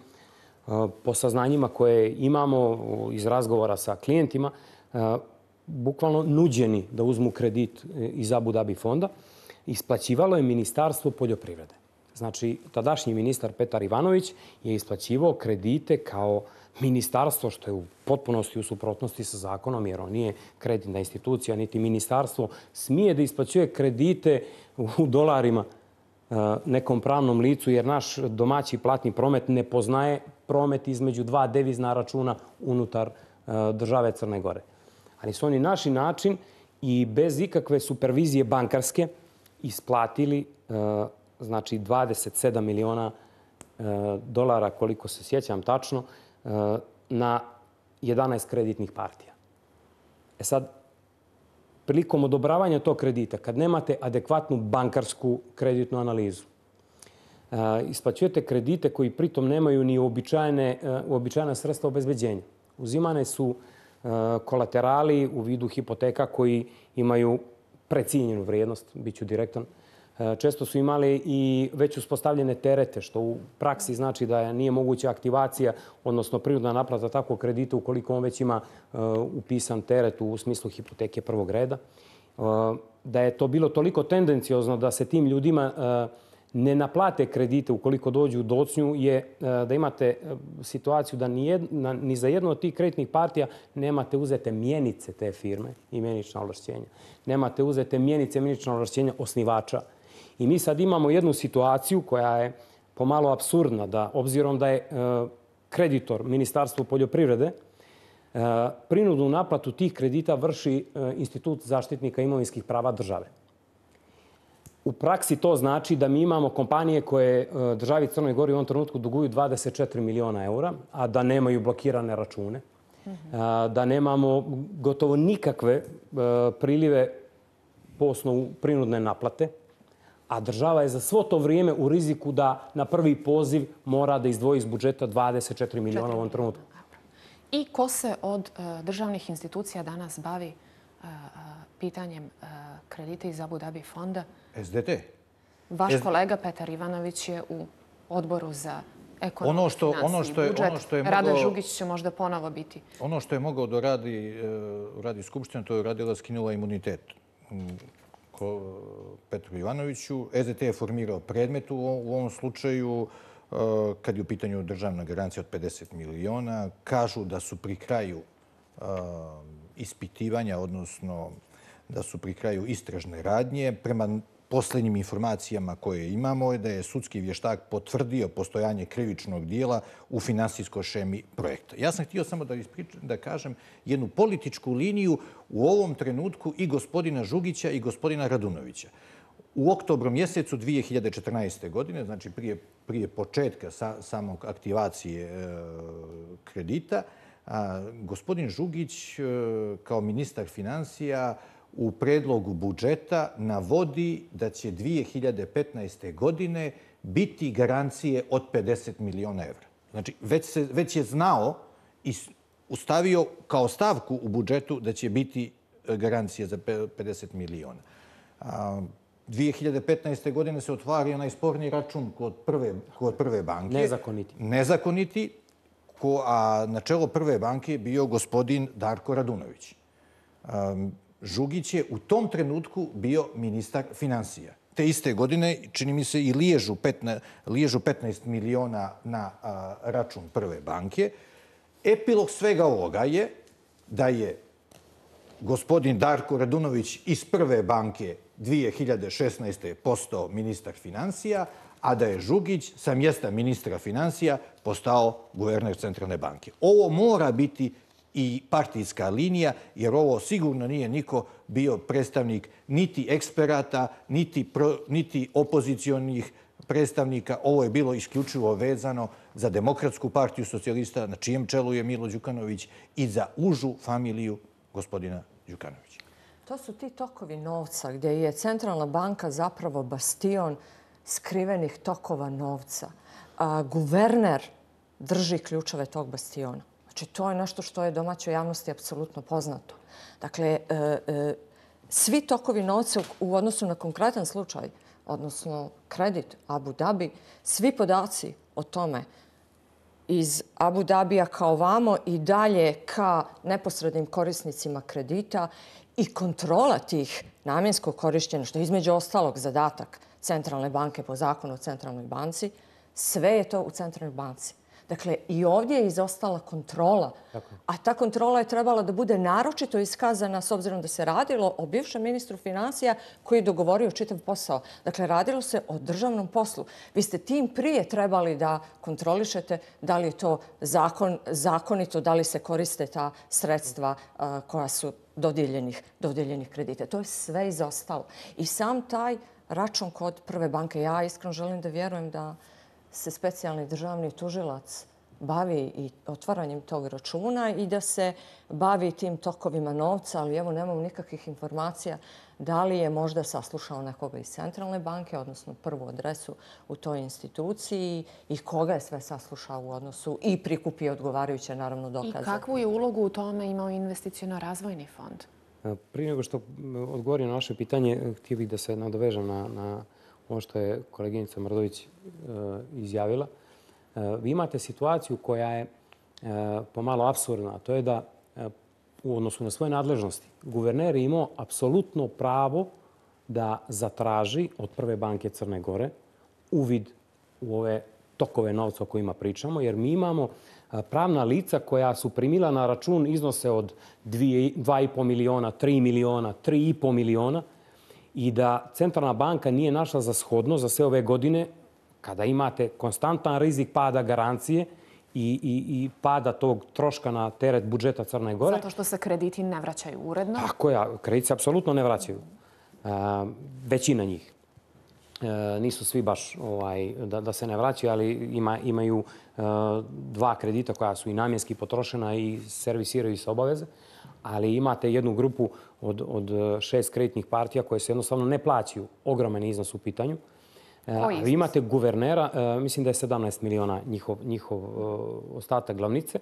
Speaker 6: po saznanjima koje imamo iz razgovora sa klijentima, bukvalno nuđeni da uzmu kredit iz Abu Dhabi fonda, isplaćivalo je Ministarstvo poljoprivrede. Znači, tadašnji ministar Petar Ivanović je isplaćivao kredite kao ministarstvo, što je u potpunosti u suprotnosti sa zakonom, jer on nije kreditna institucija, niti ministarstvo smije da isplaćuje kredite u dolarima nekom pravnom licu, jer naš domaći platni promet ne poznaje promet između dva devizna računa unutar države Crne Gore. Ali su oni naši način i bez ikakve supervizije bankarske isplatili znači dvadeset sedam miliona dolara, koliko se sjećam tačno, na jedanaest kreditnih partija. E sad, prilikom odobravanja tog kredita, kad nemate adekvatnu bankarsku kreditnu analizu, isplaćujete kredite koji pritom nemaju ni uobičajena sredstva obezbeđenja. Uzimane su kolaterali u vidu hipoteka koji imaju precijenjenu vrijednost, bit ću direktan. Često su imali i već uspostavljene terete, što u praksi znači da nije moguća aktivacija, odnosno prinudna naplata takvog kredita ukoliko on već ima upisan teret u smislu hipoteke prvog reda. Da je to bilo toliko tendenciozno da se tim ljudima ne naplate kredite ukoliko dođu u docnju, je da imate situaciju da ni, jedna, ni za jednu od tih kreditnih partija nemate uzete mjenice te firme i mjenična ovlašćenja. Nemate uzete mjenice i mjenična ovlašćenja osnivača. I mi sad imamo jednu situaciju koja je pomalo apsurdna, da obzirom da je kreditor Ministarstvo poljoprivrede, prinudnu naplatu tih kredita vrši Institut zaštitnika imovinskih prava države. U praksi to znači da mi imamo kompanije koje državi Crnoj Gori u ovom trenutku duguju dvadeset četiri miliona eura, a da nemaju blokirane račune, da nemamo gotovo nikakve prilive po osnovu prinudne naplate, a država je za svo to vrijeme u riziku da na prvi poziv mora da izdvoji iz budžeta dvadeset četiri miliona u ovom trenutku.
Speaker 1: I ko se od državnih institucija danas bavi pitanjem kredita iz Abu Dhabi fonda?
Speaker 5: S D T.
Speaker 1: Vaš kolega Petar Ivanović je u odboru za ekonomiju,
Speaker 5: ono što,
Speaker 1: finansiju
Speaker 5: ono što je,
Speaker 1: i budžet.
Speaker 5: ono što je
Speaker 1: Rado
Speaker 5: mogao,
Speaker 1: Žugić će možda ponovo biti.
Speaker 5: Ono što je mogao da radi, radi Skupština, to je radila, skinula imunitet Petru Ivanoviću. S D T je formirao predmet u ovom slučaju kad je u pitanju državna garancija od pedeset miliona. Kažu da su pri kraju ispitivanja, odnosno da su pri kraju istražne radnje. Prema posljednjim informacijama koje imamo je da je sudski vještak potvrdio postojanje krivičnog dijela u finansijskoj šemi projekta. Ja sam htio samo da, ispričam, da kažem jednu političku liniju u ovom trenutku i gospodina Žugića i gospodina Radunovića. U oktobru mjesecu dvije hiljade četrnaeste. godine, znači prije, prije početka sa, samog aktivacije e, kredita, a, gospodin Žugić e, kao ministar financija u predlogu budžeta navodi da će dvije hiljade petnaeste. godine biti garancije od pedeset miliona evra. Znači, već, se, već je znao i ustavio kao stavku u budžetu da će biti garancije za pedeset miliona. dvije hiljade petnaeste. godine se otvario najsporniji račun kod prve, kod prve banke.
Speaker 6: Nezakoniti.
Speaker 5: Nezakoniti, ko, a na čelo prve banke bio gospodin Darko Radunović. Žugić je u tom trenutku bio ministar financija. Te iste godine, čini mi se, i liježu, petna, liježu petnaest miliona na a, račun prve banke. Epilog svega ovoga je da je gospodin Darko Radunović iz prve banke dvije hiljade šesnaeste. postao ministar financija, a da je Žugić sa mjesta ministra financija postao guverner Centralne banke. Ovo mora biti i partijska linija, jer ovo sigurno nije niko bio predstavnik niti eksperata, niti, pro, niti opozicionih predstavnika. Ovo je bilo isključivo vezano za Demokratsku partiju socijalista, na čijem čelu je Milo Đukanović, i za užu familiju gospodina Đukanovića.
Speaker 4: To su ti tokovi novca gdje je Centralna banka zapravo bastion skrivenih tokova novca. A guverner drži ključeve tog bastiona. Znači, to je nešto što je domaćoj javnosti apsolutno poznato. Dakle, e, e, svi tokovi novca u odnosu na konkretan slučaj, odnosno kredit Abu Dhabi, svi podaci o tome iz Abu Dhabija kao vamo i dalje ka neposrednim korisnicima kredita i kontrola tih namjenskog korištenja, što je između ostalog zadatak Centralne banke po zakonu o Centralnoj banci, sve je to u Centralnoj banci. Dakle, i ovdje je izostala kontrola, a ta kontrola je trebala da bude naročito iskazana s obzirom da se radilo o bivšem ministru financija koji je dogovorio čitav posao. Dakle, radilo se o državnom poslu. Vi ste tim prije trebali da kontrolišete da li je to zakon, zakonito, da li se koriste ta sredstva a, koja su dodijeljenih, dodijeljenih kredita. To je sve izostalo. I sam taj račun kod prve banke, ja iskreno želim da vjerujem da se specijalni državni tužilac bavi i otvaranjem tog računa i da se bavi tim tokovima novca, ali evo nemam nikakvih informacija da li je možda saslušao nekoga iz Centralne banke, odnosno prvu adresu u toj instituciji i koga je sve saslušao u odnosu i prikupio odgovarajuće, naravno, dokaze.
Speaker 1: I kakvu je ulogu u tome imao investiciono-razvojni fond?
Speaker 6: Prije nego što odgovorim na vaše pitanje, htio bih da se nadovežem na, na ono što je koleginica Mrdović e, izjavila. E, vi imate situaciju koja je e, pomalo apsurdna, a to je da e, u odnosu na svoje nadležnosti guverner je imao apsolutno pravo da zatraži od prve banke Crne Gore uvid u ove tokove novca o kojima pričamo, jer mi imamo pravna lica koja su primila na račun iznose od dva i po miliona, tri miliona, tri i po miliona, i da Centralna banka nije našla za shodno za sve ove godine, kada imate konstantan rizik pada garancije i, i, i pada tog troška na teret budžeta Crne Gore.
Speaker 1: Zato što se krediti ne vraćaju uredno?
Speaker 6: Tako je, krediti se apsolutno ne vraćaju. A, većina njih. E, nisu svi baš ovaj, da, da se ne vraćaju, ali ima, imaju e, dva kredita koja su i namjenski potrošena i servisiraju se obaveze. Ali imate jednu grupu od, od šest kreditnih partija koje se jednostavno ne plaćaju. Ogroman iznos u pitanju.
Speaker 1: Koji
Speaker 6: Vi imate guvernera, mislim da je sedamnaest miliona njihov, njihov ostatak glavnice.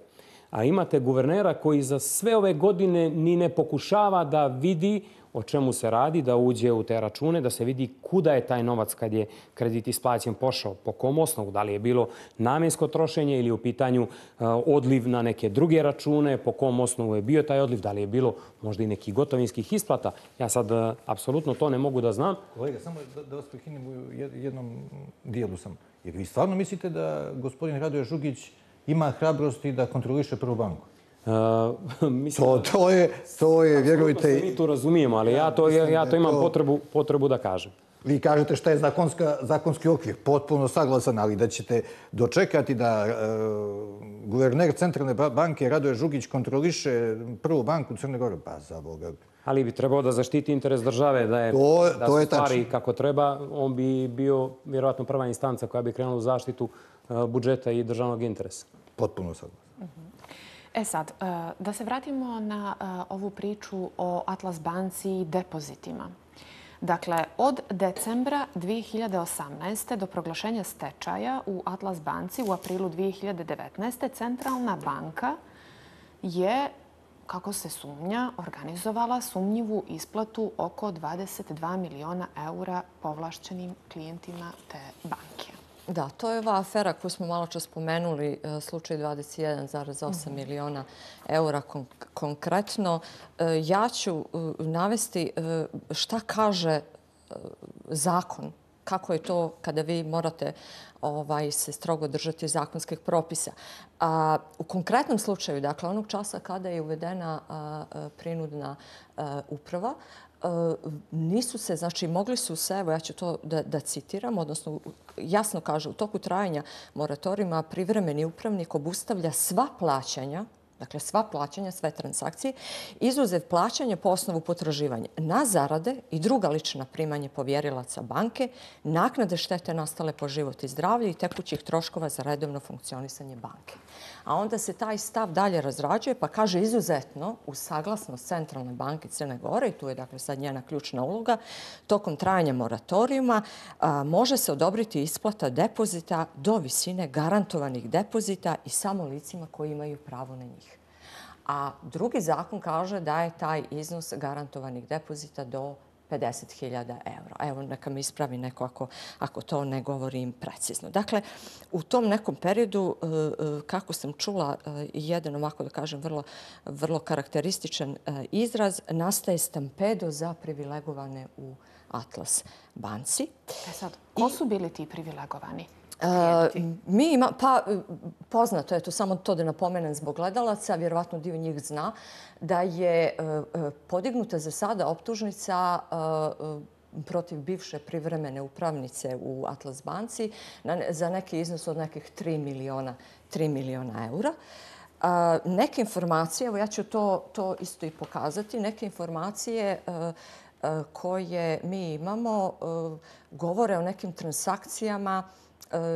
Speaker 6: A imate guvernera koji za sve ove godine ni ne pokušava da vidi o čemu se radi, da uđe u te račune, da se vidi kuda je taj novac kad je kredit isplaćen pošao, po kom osnovu, da li je bilo namjensko trošenje ili u pitanju odliv na neke druge račune, po kom osnovu je bio taj odliv, da li je bilo možda i nekih gotovinskih isplata. Ja sad apsolutno to ne mogu da znam.
Speaker 5: Kolega, samo da, da vas prekinem u jednom dijelu sam. Jer vi stvarno mislite da gospodin Radoje Žugić ima hrabrosti da kontroliše prvu banku?
Speaker 6: Uh, mislim,
Speaker 5: to, to je, to je, vjerujte...
Speaker 6: Mi to razumijemo, ali ja to, ja, ja to imam to... Potrebu, potrebu da kažem.
Speaker 5: Vi kažete šta je zakonska, zakonski okvir, potpuno saglasan, ali da ćete dočekati da e, guverner Centralne banke Radoje Žugić kontroliše prvu banku Crne Gore, pa za Boga.
Speaker 6: Ali bi trebao da zaštiti interes države, da, je,
Speaker 5: to,
Speaker 6: da
Speaker 5: to
Speaker 6: se stvari kako treba. On bi bio vjerojatno prva instanca koja bi krenula u zaštitu uh, budžeta i državnog interesa.
Speaker 5: Potpuno saglasan.
Speaker 1: Uh-huh. E sad, da se vratimo na ovu priču o Atlas banci i depozitima. Dakle, od decembra dvije hiljade osamnaeste. do proglašenja stečaja u Atlas banci u aprilu dvije hiljade devetnaeste. Centralna banka je, kako se sumnja, organizovala sumnjivu isplatu oko dvadeset dva miliona eura povlašćenim klijentima te banke.
Speaker 4: Da, to je ova afera koju smo malo čas spomenuli, slučaj dvadeset jedan zarez osam miliona eura konkretno. Ja ću navesti šta kaže zakon, kako je to kada vi morate se strogo držati zakonskih propisa. U konkretnom slučaju, dakle, onog časa kada je uvedena prinudna uprava, nisu se, znači mogli su se, evo ja ću to da, da citiram, odnosno jasno kaže, u toku trajanja moratorijuma privremeni upravnik obustavlja sva plaćanja, dakle sva plaćanja, sve transakcije, izuzev plaćanja po osnovu potraživanja na zarade i druga lična primanja povjerilaca banke, naknade štete nastale po život i zdravlje i tekućih troškova za redovno funkcionisanje banke. A onda se taj stav dalje razrađuje pa kaže izuzetno uz saglasnost Centralne banke Crne Gore, i tu je dakle sad njena ključna uloga, tokom trajanja moratorijuma a, može se odobriti isplata depozita do visine garantovanih depozita i samo licima koji imaju pravo na njih. A drugi zakon kaže da je taj iznos garantovanih depozita do pedeset hiljada eura. Evo, neka mi ispravi neko ako, ako to ne govorim precizno. Dakle, u tom nekom periodu, kako sam čula, jedan ovako da kažem vrlo, vrlo karakterističan izraz, nastaje stampedo za privilegovane u Atlas banci.
Speaker 1: E sad, ko su bili ti privilegovani?
Speaker 4: Uh, mi ima, pa poznato je to, samo to da napomenem zbog gledalaca, vjerovatno dio njih zna, da je uh, podignuta za sada optužnica uh, protiv bivše privremene upravnice u Atlas banci na, za neki iznos od nekih tri miliona eura. Uh, neke informacije, evo ja ću to, to isto i pokazati, neke informacije uh, uh, koje mi imamo uh, govore o nekim transakcijama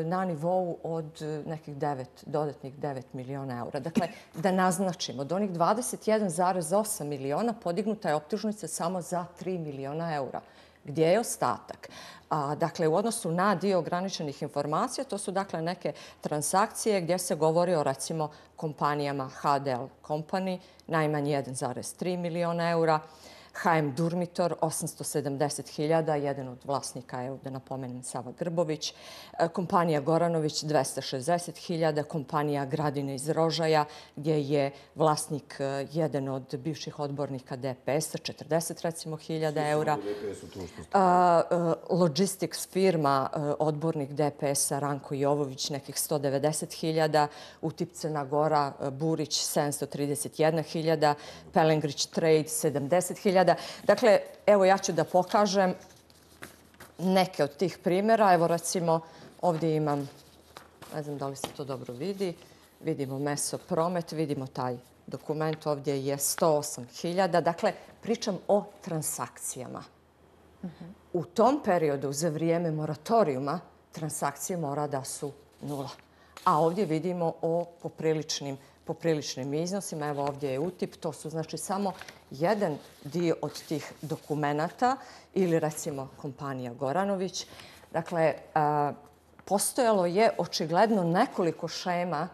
Speaker 4: na nivou od nekih devet, dodatnih devet miliona eura. Dakle, da naznačimo, od onih dvadeset jedan zarez osam miliona podignuta je optužnica samo za tri miliona eura. Gdje je ostatak? A, dakle, u odnosu na dio ograničenih informacija, to su dakle neke transakcije gdje se govori o recimo kompanijama H D L Company, najmanje jedan zarez tri miliona eura, H M Durmitor, osamsto sedamdeset hiljada, jedan od vlasnika je, da napomenem, Sava Grbović, kompanija Goranović, dvesta šezdeset hiljada, kompanija Gradine iz Rožaja, gdje je vlasnik jedan od bivših odbornika D P S-a, četrdeset recimo hiljada eura. Logistics firma, odbornik D P S-a Ranko Jovović, nekih sto devedeset hiljada, Utip Crna Gora, Burić, sedamsto trideset jedna hiljada, Pelengrić Trade, sedamdeset hiljada. Dakle, evo ja ću da pokažem neke od tih primjera. Evo recimo ovdje imam, ne znam da li se to dobro vidi, vidimo Meso Promet, vidimo taj dokument, ovdje je sto osam hiljada. Dakle, pričam o transakcijama. U tom periodu, za vrijeme moratorijuma, transakcije mora da su nula. A ovdje vidimo o popriličnim popriličnim iznosima. Evo ovdje je Utip. To su znači samo jedan dio od tih dokumenata ili recimo kompanija Goranović. Dakle, postojalo je očigledno nekoliko šema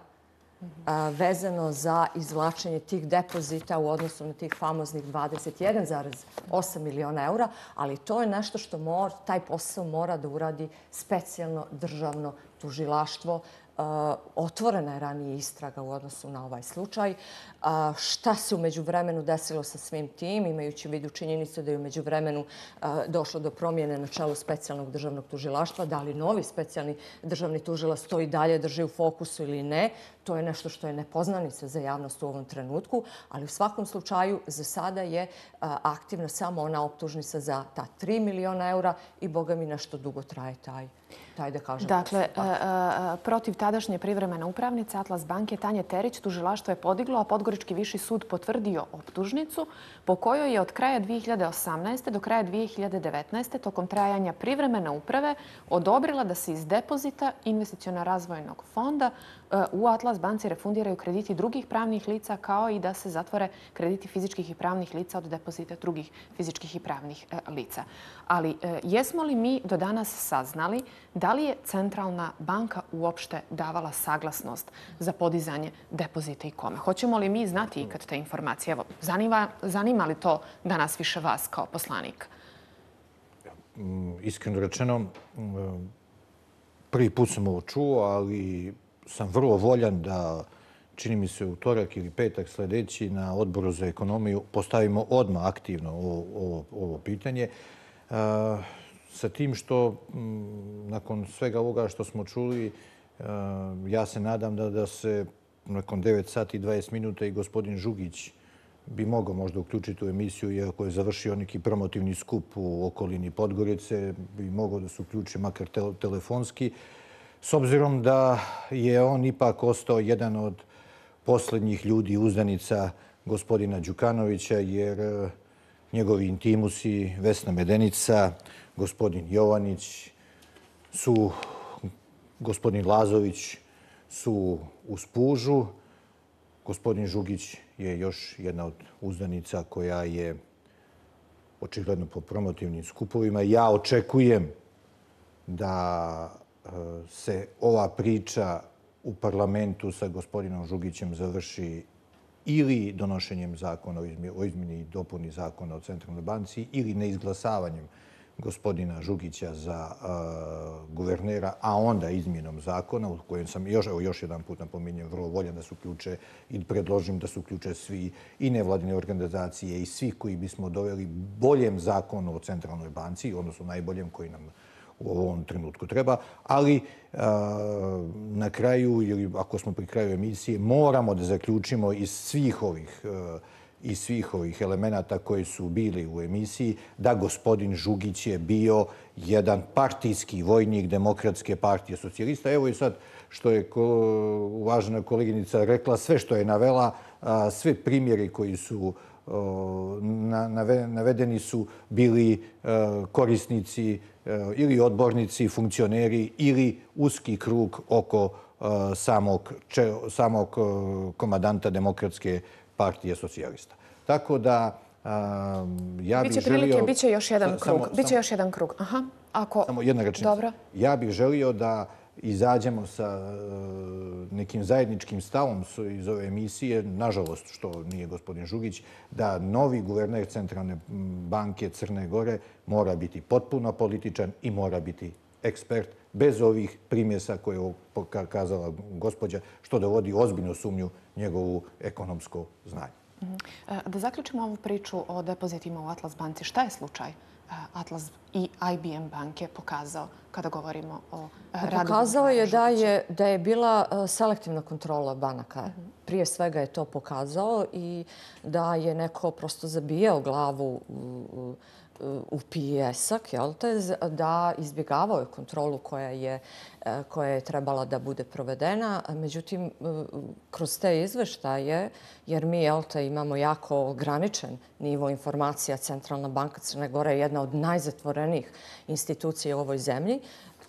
Speaker 4: vezano za izvlačenje tih depozita u odnosu na tih famoznih dvadeset jedan zarez osam miliona eura, ali to je nešto što mora, taj posao mora da uradi specijalno državno tužilaštvo. Uh, otvorena je ranije istraga u odnosu na ovaj slučaj. Uh, šta se u međuvremenu desilo sa svim tim, imajući u vidu činjenicu da je u međuvremenu uh, došlo do promjene na čelu specijalnog državnog tužilaštva, da li novi specijalni državni tužilac to i dalje drži u fokusu ili ne, to je nešto što je nepoznanica za javnost u ovom trenutku, ali u svakom slučaju za sada je uh, aktivna samo ona optužnica za ta tri miliona eura i boga mi nešto dugo traje taj, taj da kažem.
Speaker 1: Dakle, uh, uh, protiv tadašnje privremene upravnice Atlas banke Tanje Terić tužilaštvo je podiglo, a Podgorički viši sud potvrdio optužnicu po kojoj je od kraja dvije hiljade osamnaeste. do kraja dvije hiljade devetnaeste. tokom trajanja privremene uprave odobrila da se iz depozita investiciono razvojnog fonda u Atlas banci refundiraju krediti drugih pravnih lica kao i da se zatvore krediti fizičkih i pravnih lica od depozita drugih fizičkih i pravnih lica. Ali jesmo li mi do danas saznali da li je Centralna banka uopšte davala saglasnost za podizanje depozita i kome? Hoćemo li mi znati ikad te informacije? Evo, zanima, zanima li to danas više vas kao poslanika?
Speaker 5: Iskreno rečeno, prvi put sam ovo čuo, ali sam vrlo voljan da, čini mi se, utorak ili petak sljedeći na Odboru za ekonomiju postavimo odmah aktivno ovo, ovo, ovo pitanje. Sa tim što, nakon svega ovoga što smo čuli, ja se nadam da, da se nakon devet sati i dvadeset minuta i gospodin Žugić bi mogao možda uključiti u emisiju, iako je završio neki promotivni skup u okolini Podgorice, bi mogao da se uključi makar telefonski, s obzirom da je on ipak ostao jedan od posljednjih ljudi uzdanica gospodina Đukanovića, jer njegovi intimusi, Vesna Medenica, gospodin Jovanić, su, gospodin Lazović su u spužu. Gospodin Žugić je još jedna od uzdanica koja je očigledno po promotivnim skupovima. Ja očekujem da se ova priča u parlamentu sa gospodinom Žugićem završi ili donošenjem zakona o izmjeni i dopuni zakona o Centralnoj banci ili neizglasavanjem gospodina Žugića za uh, guvernera, a onda izmjenom zakona, u kojem sam još, evo, još jedan put napominjem, vrlo voljan da se uključe i predložim da se uključe svi i nevladine organizacije i svi koji bismo doveli boljem zakonu o Centralnoj banci, odnosno najboljem koji nam u ovom trenutku treba, ali uh, na kraju, ili ako smo pri kraju emisije, moramo da zaključimo iz svih ovih uh, i svih ovih elemenata koji su bili u emisiji, da gospodin Žugić je bio jedan partijski vojnik Demokratske partije socijalista. Evo i sad što je uvažena koleginica rekla, sve što je navela, sve primjeri koji su navedeni su bili korisnici ili odbornici, funkcioneri ili uski krug oko samog, samog komadanta Demokratske partije socijalista. Tako da um, ja bih
Speaker 1: biće
Speaker 5: želio...
Speaker 1: Prilike, biće još jedan
Speaker 5: sa,
Speaker 1: krug.
Speaker 5: Samo,
Speaker 1: biće
Speaker 5: samo,
Speaker 1: još jedan krug. Aha. Ako...
Speaker 5: Samo jedna rečenica.
Speaker 1: Dobro.
Speaker 5: Ja bih želio da izađemo sa uh, nekim zajedničkim stavom iz ove emisije, nažalost što nije gospodin Žugić, da novi guverner Centralne banke Crne Gore mora biti potpuno političan i mora biti ekspert, bez ovih primjesa koje je pokazala gospođa, što dovodi ozbiljnu sumnju njegovu ekonomsko znanje.
Speaker 1: Da zaključimo ovu priču o depozitima u Atlas banci. Šta je slučaj Atlas i I B M banke pokazao kada govorimo o radu?
Speaker 4: Pokazao je da je, da je bila selektivna kontrola banaka. Prije svega je to pokazao i da je neko prosto zabijao glavu u, u pijesak, jel te, da izbjegavao je kontrolu koja je, koja je trebala da bude provedena. Međutim, kroz te izveštaje, jer mi, jel te, imamo jako ograničen nivo informacija, Centralna banka Crne Gore je jedna od najzatvorenijih institucija u ovoj zemlji,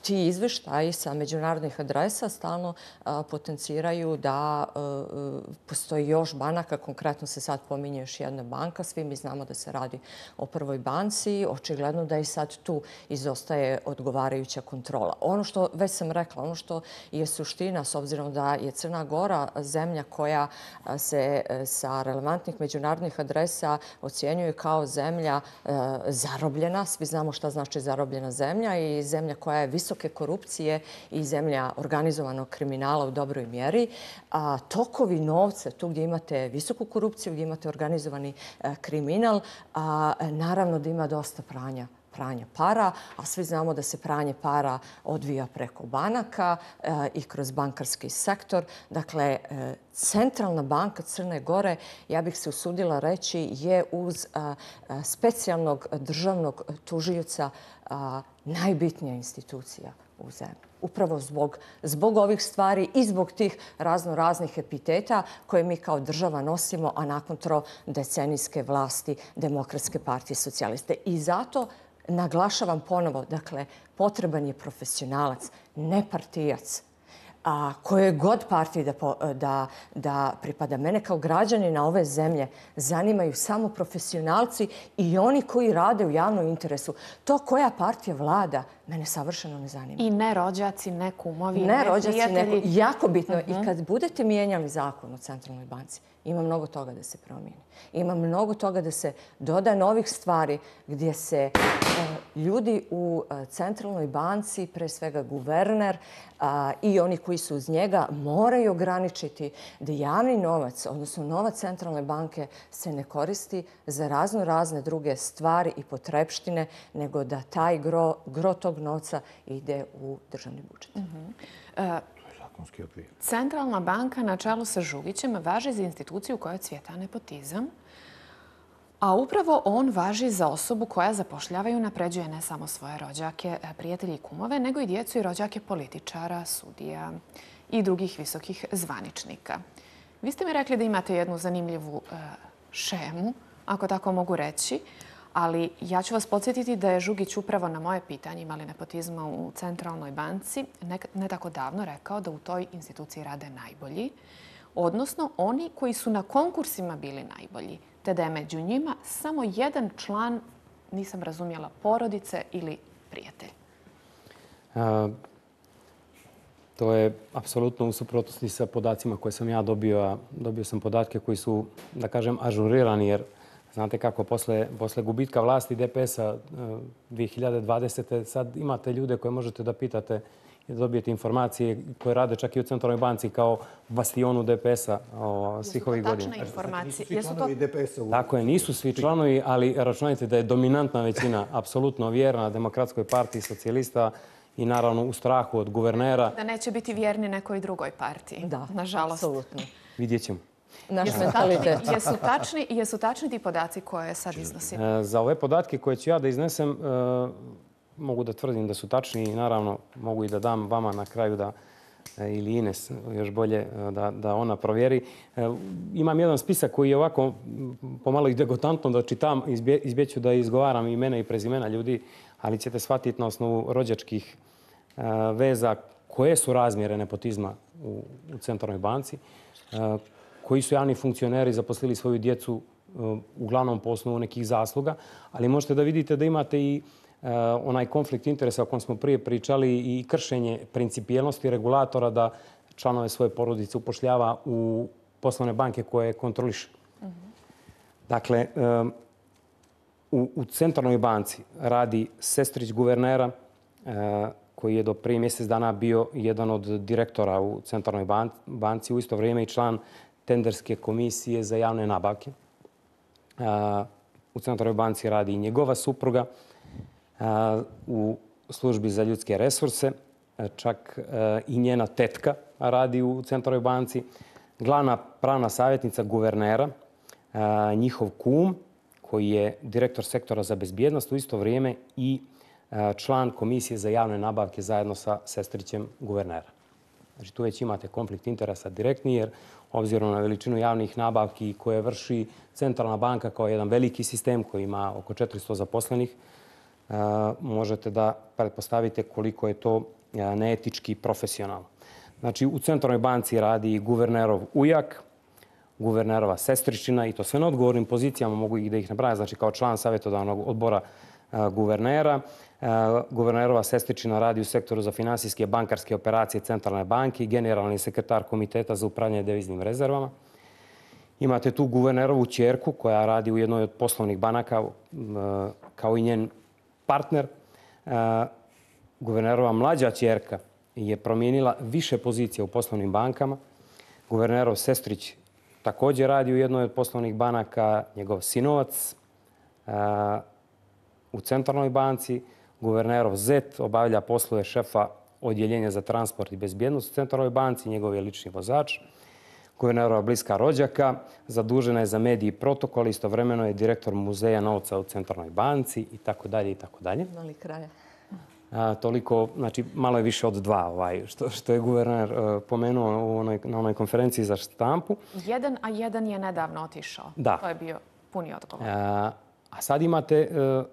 Speaker 4: ti izveštaji sa međunarodnih adresa stalno a, potenciraju da a, postoji još banaka. Konkretno se sad pominje još jedna banka. Svi mi znamo da se radi o prvoj banci. Očigledno da i sad tu izostaje odgovarajuća kontrola. Ono što već sam rekla, ono što je suština, s obzirom da je Crna Gora zemlja koja se sa relevantnih međunarodnih adresa ocjenjuje kao zemlja a, zarobljena. Svi znamo šta znači zarobljena zemlja i zemlja koja je visoko korupcije i zemlja organizovanog kriminala u dobroj mjeri. A tokovi novca, tu gdje imate visoku korupciju, gdje imate organizovani kriminal, a, naravno da ima dosta pranja pranja para, a svi znamo da se pranje para odvija preko banaka e, i kroz bankarski sektor. Dakle, e, Centralna banka Crne Gore, ja bih se usudila reći, je uz a, a, specijalnog državnog tužioca a, najbitnija institucija u zemlji. Upravo zbog, zbog ovih stvari i zbog tih razno raznih epiteta koje mi kao država nosimo, a nakon trodecenijske vlasti Demokratske partije socijaliste. I zato naglašavam ponovo, dakle, potreban je profesionalac, ne partijac. a koje god partiji da, da, da pripada. Mene kao građanina ove zemlje zanimaju samo profesionalci i oni koji rade u javnom interesu. To koja partija vlada, mene savršeno ne zanima.
Speaker 1: I ne rođaci, ne kumovi, ne,
Speaker 4: ne rođaci,
Speaker 1: prijatelji.
Speaker 4: Neko, jako bitno. Uh-huh. I kad budete mijenjali zakon o Centralnoj banci, ima mnogo toga da se promijeni. Ima mnogo toga da se doda novih stvari gdje se uh, ljudi u uh, Centralnoj banci, pre svega guverner uh, i oni koji su uz njega, moraju ograničiti da javni novac, odnosno novac Centralne banke, se ne koristi za razno razne druge stvari i potrepštine, nego da taj gro, gro tog novca ide u državni budžet.
Speaker 1: Uh-huh. Uh, Centralna banka na čelu sa Žugićem važi za instituciju koja cvjeta nepotizam, a upravo on važi za osobu koja zapošljava i unapređuje ne samo svoje rođake, prijatelji i kumove, nego i djecu i rođake političara, sudija i drugih visokih zvaničnika. Vi ste mi rekli da imate jednu zanimljivu uh, šemu, ako tako mogu reći, ali ja ću vas podsjetiti da je Žugić upravo na moje pitanje imali nepotizma u Centralnoj banci ne, ne tako davno rekao da u toj instituciji rade najbolji, odnosno oni koji su na konkursima bili najbolji, te da je među njima samo jedan član, nisam razumjela, porodice ili prijatelj.
Speaker 6: A, to je apsolutno u suprotnosti sa podacima koje sam ja dobio. A dobio sam podatke koji su, da kažem, ažurirani, jer znate kako, posle, posle gubitka vlasti D P S-a dvije hiljade dvadesete. sad imate ljude koje možete da pitate i da dobijete informacije koje rade čak i u Centralnoj banci kao bastionu D P S-a svih ovih godina.
Speaker 1: Jesu to tačne informacije?
Speaker 5: Jesu to D P S-a?
Speaker 6: Tako je, nisu svi članovi, ali računajte da je dominantna većina apsolutno vjerna Demokratskoj partiji socijalista i naravno u strahu od guvernera.
Speaker 1: Da neće biti vjerni nekoj drugoj partiji.
Speaker 4: Da,
Speaker 1: nažalost.
Speaker 4: Apsolutno.
Speaker 6: Vidjet ćemo.
Speaker 1: Jesu tačni, jesu, tačni, jesu tačni ti podaci koje sad iznosim?
Speaker 6: Za ove podatke koje ću ja da iznesem, mogu da tvrdim da su tačni i naravno mogu i da dam vama na kraju da ili Ines još bolje da, da ona provjeri. Imam jedan spisak koji je ovako pomalo i degotantno da čitam, izbje, izbjeću da izgovaram imena i prezimena ljudi, ali ćete shvatiti na osnovu rođačkih veza koje su razmjere nepotizma u, u Centralnoj banci, koji su javni funkcioneri zaposlili svoju djecu uglavnom po osnovu nekih zasluga, ali možete da vidite da imate i onaj konflikt interesa o kojem smo prije pričali i kršenje principijelnosti regulatora da članove svoje porodice upošljava u poslovne banke koje kontroliše. Mm-hmm. Dakle, u, u Centralnoj banci radi sestrić guvernera koji je do prije mjesec dana bio jedan od direktora u Centralnoj banci, u isto vrijeme i član tenderske komisije za javne nabavke. U Centralnoj banci radi i njegova supruga, u službi za ljudske resurse, čak i njena tetka radi u Centralnoj banci, glavna pravna savjetnica guvernera, njihov kum, koji je direktor sektora za bezbjednost u isto vrijeme i član komisije za javne nabavke zajedno sa sestrićem guvernera. Znači, tu već imate konflikt interesa direktni, jer obzirom na veličinu javnih nabavki koje vrši Centralna banka kao jedan veliki sistem koji ima oko četiristo zaposlenih, možete da pretpostavite koliko je to neetički i profesionalno. Znači, u Centralnoj banci radi guvernerov ujak, guvernerova sestričina i to sve na odgovornim pozicijama, mogu i da ih nabrajam, znači kao član savjetodavnog odbora guvernera. Guvernerova sestričina radi u sektoru za finansijske bankarske operacije Centralne banke i generalni sekretar Komiteta za upravljanje deviznim rezervama. Imate tu guvernerovu ćerku koja radi u jednoj od poslovnih banaka kao i njen partner. Guvernerova mlađa ćerka je promijenila više pozicija u poslovnim bankama. Guvernerov sestrić također radi u jednoj od poslovnih banaka, njegov sinovac u Centralnoj banci. Guvernerov zet obavlja poslove šefa odjeljenja za transport i bezbjednost u Centralnoj banci, njegov je lični vozač. Guvernerova bliska rođaka zadužena je za mediji i protokol, istovremeno je direktor muzeja novca u Centralnoj banci i tako dalje i tako dalje.
Speaker 4: Mali kraja.
Speaker 6: A, toliko, znači malo je više od dva ovaj, što, što je guverner uh, pomenuo u onoj, na onoj konferenciji za štampu.
Speaker 1: Jedan, a jedan je nedavno otišao.
Speaker 6: Da.
Speaker 1: To je bio puni odgovor.
Speaker 6: A, a sad imate uh,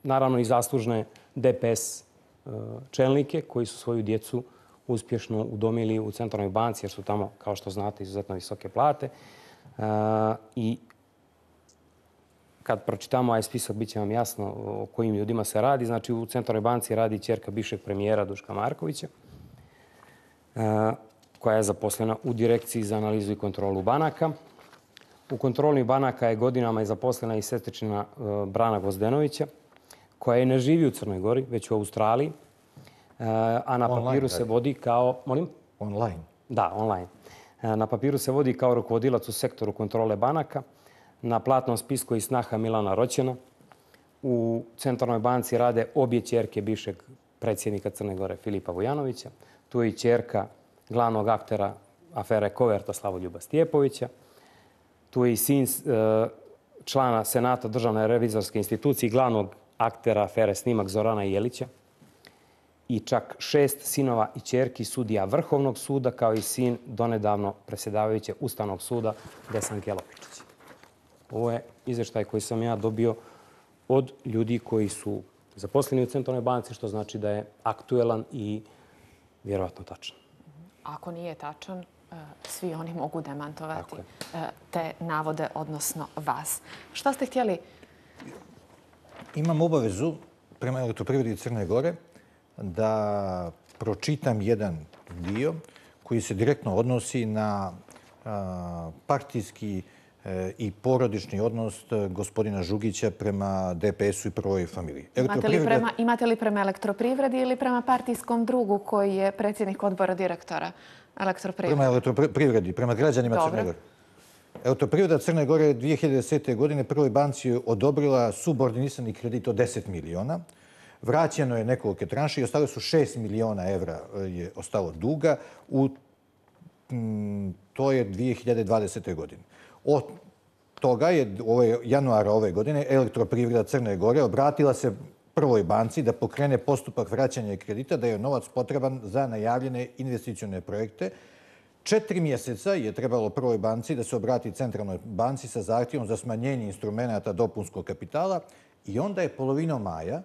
Speaker 6: naravno i zaslužne D P S uh, čelnike koji su svoju djecu uspješno udomili u Centralnoj banci jer su tamo, kao što znate, izuzetno visoke plate. I kad pročitamo ovaj spisak, bit će vam jasno o kojim ljudima se radi. Znači, u Centralnoj banci radi ćerka bivšeg premijera Duška Markovića, koja je zaposlena u Direkciji za analizu i kontrolu banaka. U kontrolnih banaka je godinama je zaposlena i sestričina Brana Gvozdenovića, koja je ne živi u Crnoj Gori, već u Australiji, a na papiru se vodi kao... Molim?
Speaker 5: Online.
Speaker 6: Da, online. Na papiru se vodi kao rukovodilac u sektoru kontrole banaka. Na platnom spisku je snaha Milana Roćena. U Centralnoj banci rade obje ćerke bivšeg predsjednika Crne Gore Filipa Vujanovića. Tu je i ćerka glavnog aktera afere Koverta Slavoljuba Stijepovića. Tu je i sin člana Senata Državne revizorske institucije i glavnog aktera afere Snimak Zorana Jelića. I čak šest sinova i ćerki sudija Vrhovnog suda, kao i sin donedavno predsjedavajuće Ustavnog suda Desanke Lopičić. Ovo je izvještaj koji sam ja dobio od ljudi koji su zaposleni u Centralnoj banci, što znači da je aktuelan i vjerovatno tačan.
Speaker 1: Ako nije tačan, svi oni mogu demantovati te navode, odnosno vas. Šta ste htjeli?
Speaker 5: Imam obavezu prema Elektroprivredi Crne Gore da pročitam jedan dio koji se direktno odnosi na partijski i porodični odnos gospodina Žugića prema D P S-u i prvoj familiji.
Speaker 1: Imate li prema Elektroprivredi ili prema partijskom drugu koji je predsjednik odbora direktora Elektroprivrede?
Speaker 5: Prema Elektroprivredi, prema građanima Crne Gore. Elektroprivreda Crne Gore dvije hiljade desete. godine prvoj banci odobrila subordinisani kredit od deset miliona. Vraćeno je nekoliko tranši i ostalo su šest miliona evra je ostalo duga. To je dvije hiljade dvadesete. godine. Od toga je januara ove godine Elektroprivreda Crne Gore obratila se prvoj banci da pokrene postupak vraćanja kredita, da je novac potreban za najavljene investicione projekte. Četiri mjeseca je trebalo prvoj banci da se obrati Centralnoj banci sa zahtjevom za smanjenje instrumenta dopunskog kapitala i onda je polovinom maja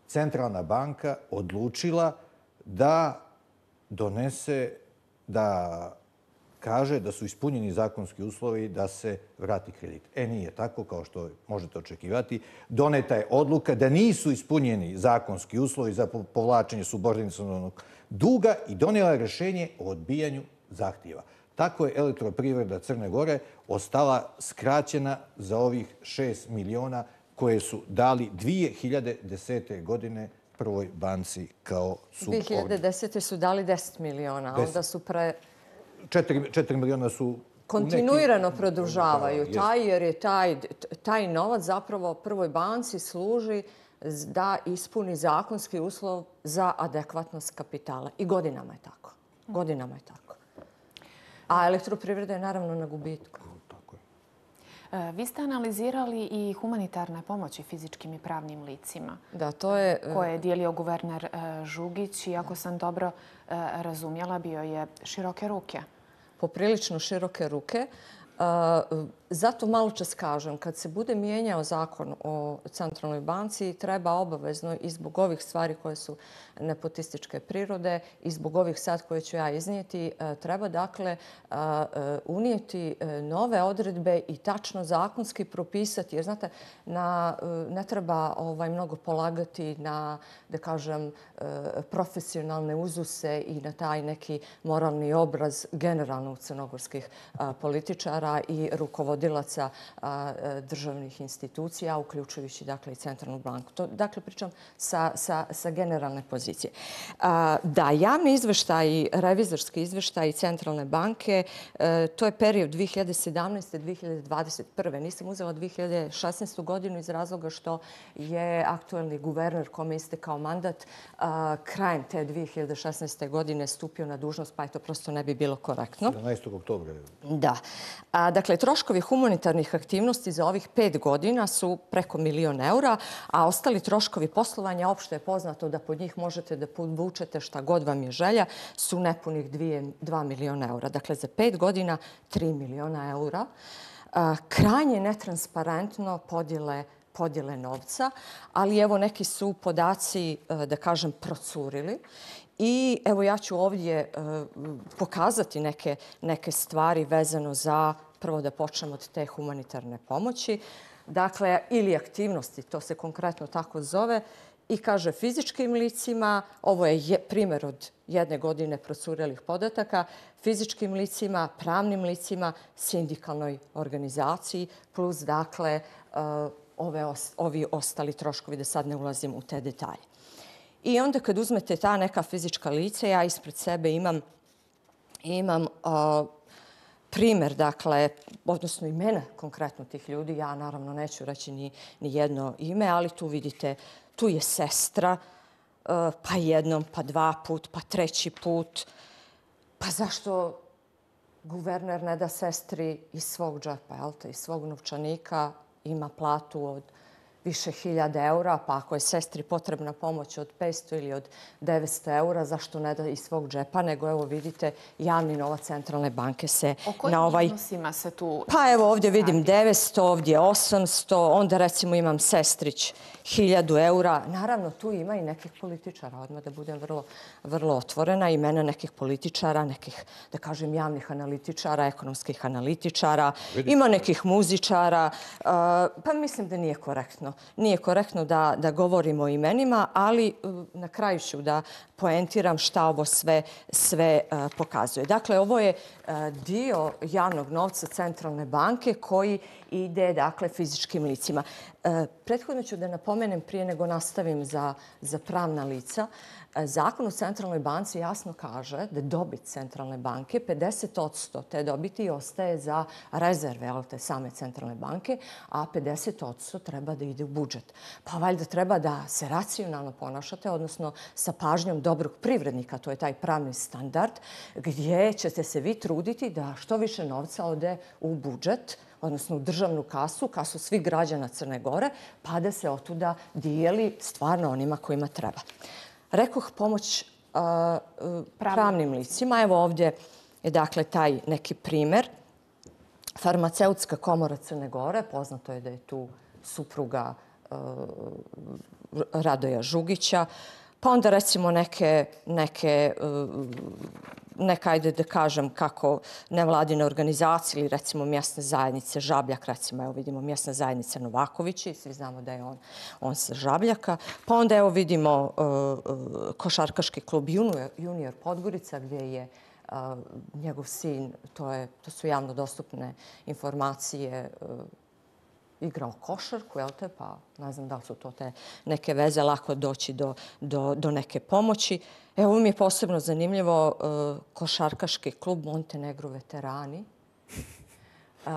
Speaker 5: Centralna banka odlučila da donese, da kaže da su ispunjeni zakonski uslovi da se vrati kredit. E, nije tako, kao što možete očekivati. Doneta je odluka da nisu ispunjeni zakonski uslovi za povlačenje subordinacionog duga i donijela je rješenje o odbijanju zahtjeva. Tako je Elektroprivreda Crne Gore ostala skraćena za ovih šest miliona koje su dali dvije hiljade desete. godine prvoj banci kao subordinat.
Speaker 4: dvije hiljade desete. su dali deset miliona, a onda su pre...
Speaker 5: Četiri miliona su...
Speaker 4: Kontinuirano produžavaju taj, jer je taj, taj novac zapravo prvoj banci služi da ispuni zakonski uslov za adekvatnost kapitala. I godinama je tako. Godinama je tako. A Elektroprivreda je naravno na gubitku.
Speaker 1: Vi ste analizirali i humanitarne pomoći fizičkim i pravnim licima.
Speaker 4: Da, to je...
Speaker 1: Koje je dijelio guverner Žugić i ako sam dobro razumjela, bio je široke ruke.
Speaker 4: Poprilično široke ruke. Zato malo čas kažem, kad se bude mijenjao zakon o Centralnoj banci, treba obavezno i zbog ovih stvari koje su nepotističke prirode i zbog ovih sad koje ću ja iznijeti, treba dakle unijeti nove odredbe i tačno zakonski propisati. Jer znate, na, ne treba ovaj, mnogo polagati na, da kažem, profesionalne uzuse i na taj neki moralni obraz generalno crnogorskih političara i rukovodilaca državnih institucija, uključujući dakle i Centralnu banku. To, dakle, pričam sa, sa, sa generalne pozicije. Da, javni izveštaj, revizorski izveštaj Centralne banke, to je period dvije hiljade sedamnaeste. do dvije hiljade dvadeset prve. Nisam uzela dvije hiljade šesnaestu. godinu iz razloga što je aktuelni guverner kome istekao mandat krajem te dvije hiljade šesnaeste. godine stupio na dužnost, pa je to prosto ne bi bilo korektno.
Speaker 5: sedamnaestog oktobra.
Speaker 4: Da. A, dakle, troškovi humanitarnih aktivnosti za ovih pet godina su preko milion eura, a ostali troškovi poslovanja, opšte je poznato da pod njih možete da podvučete šta god vam je želja, su nepunih dva miliona eura. Dakle, za pet godina tri miliona eura. A, krajnje netransparentno podjele podjele novca, ali evo neki su podaci, da kažem, procurili I evo ja ću ovdje pokazati neke, neke stvari vezano za, prvo da počnemo od te humanitarne pomoći, dakle, ili aktivnosti, to se konkretno tako zove, i kaže fizičkim licima, ovo je primjer od jedne godine procurelih podataka, fizičkim licima, pravnim licima, sindikalnoj organizaciji, plus dakle ove, ovi ostali troškovi, da sad ne ulazim u te detalje. I onda kad uzmete ta neka fizička lica, ja ispred sebe imam, imam uh, primjer, dakle, odnosno imena konkretno tih ljudi. Ja naravno neću reći ni, ni jedno ime, ali tu vidite, tu je sestra, uh, pa jednom, pa dva put, pa treći put. Pa zašto guverner ne da sestri iz svog džepa, jel te, iz svog novčanika, ima platu od više hiljada eura, pa ako je sestri potrebna pomoć od petsto ili od devetsto eura, zašto ne da iz svog džepa, nego evo vidite, javni novac centralne banke se
Speaker 1: o kojim
Speaker 4: na ovaj...
Speaker 1: iznosima se tu...
Speaker 4: Pa evo ovdje vidim devetsto, ovdje osamsto, onda recimo imam sestrić hiljadu eura. Naravno, tu ima i nekih političara, odmah da budem vrlo, vrlo otvorena, imena nekih političara, nekih, da kažem, javnih analitičara, ekonomskih analitičara, ima nekih muzičara, pa mislim da nije korektno. Nije korektno da, da govorimo o imenima, ali na kraju ću da poentiram šta ovo sve, sve uh, pokazuje. Dakle, ovo je uh, dio javnog novca centralne banke koji ide, dakle, fizičkim licima. Uh, prethodno ću da napomenem prije nego nastavim za, za pravna lica. Zakon o centralnoj banci jasno kaže da dobit centralne banke, pedeset posto te dobiti ostaje za rezerve te same centralne banke, a pedeset posto treba da ide u budžet. Pa valjda treba da se racionalno ponašate, odnosno sa pažnjom dobrog privrednika, to je taj pravni standard, gdje ćete se vi truditi da što više novca ode u budžet, odnosno u državnu kasu, kasu svih građana Crne Gore, pa da se otuda dijeli stvarno onima kojima treba. Rekoh pomoć uh, pravnim licima. Evo ovdje je dakle taj neki primjer. Farmaceutska komora Crne Gore, poznato je da je tu supruga uh, Radoja Žugića. Pa onda recimo neke, neke uh, neka, ajde da kažem, kako nevladine organizacije ili recimo mjesne zajednice Žabljak, recimo, evo vidimo mjesna zajednica Novakovići, svi znamo da je on, on sa Žabljaka. Pa onda evo vidimo uh, uh, košarkaški klub Junior, Junior Podgorica, gdje je uh, njegov sin, to, je, to su javno dostupne informacije, uh, igrao košarku, jel te, pa ne znam da li su to te neke veze, lako doći do, do, do neke pomoći. Evo mi je posebno zanimljivo uh, košarkaški klub Montenegro veterani. Uh,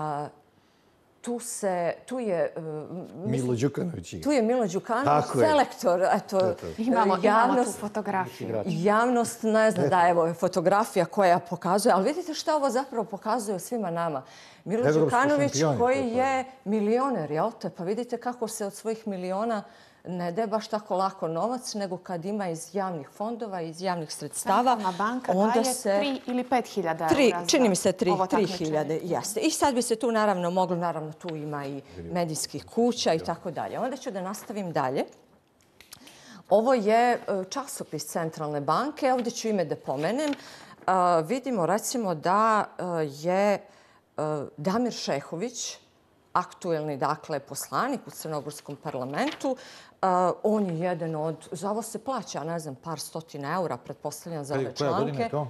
Speaker 4: tu, se, tu je... Uh,
Speaker 5: Milo Đukanović.
Speaker 4: Tu je Milo Đukanović, selektor. Eto,
Speaker 1: to, to. Imamo,
Speaker 4: javnost,
Speaker 1: imamo tu fotografiju.
Speaker 4: Javnost ne zna da evo je fotografija koja pokazuje, ali vidite šta ovo zapravo pokazuje svima nama. Milo Đukanović koji je milioner, jel te? Pa vidite kako se od svojih miliona ne daje baš tako lako novac, nego kad ima iz javnih fondova, iz javnih sredstava.
Speaker 1: Centralna banka daje se... tri ili pet hiljada eura.
Speaker 4: Čini mi se tri, tri hiljade, jeste. I sad bi se tu naravno moglo, naravno tu ima i medijskih kuća i tako dalje. Onda ću da nastavim dalje. Ovo je časopis Centralne banke. Ovdje ću ime da pomenem. Uh, vidimo recimo da uh, je uh, Damir Šehović, aktuelni, dakle, poslanik u Crnogorskom parlamentu. Uh, on je jedan od, za ovo se plaća, ne znam, par stotina eura, pretpostavljam za ove članke. Koja godina je to?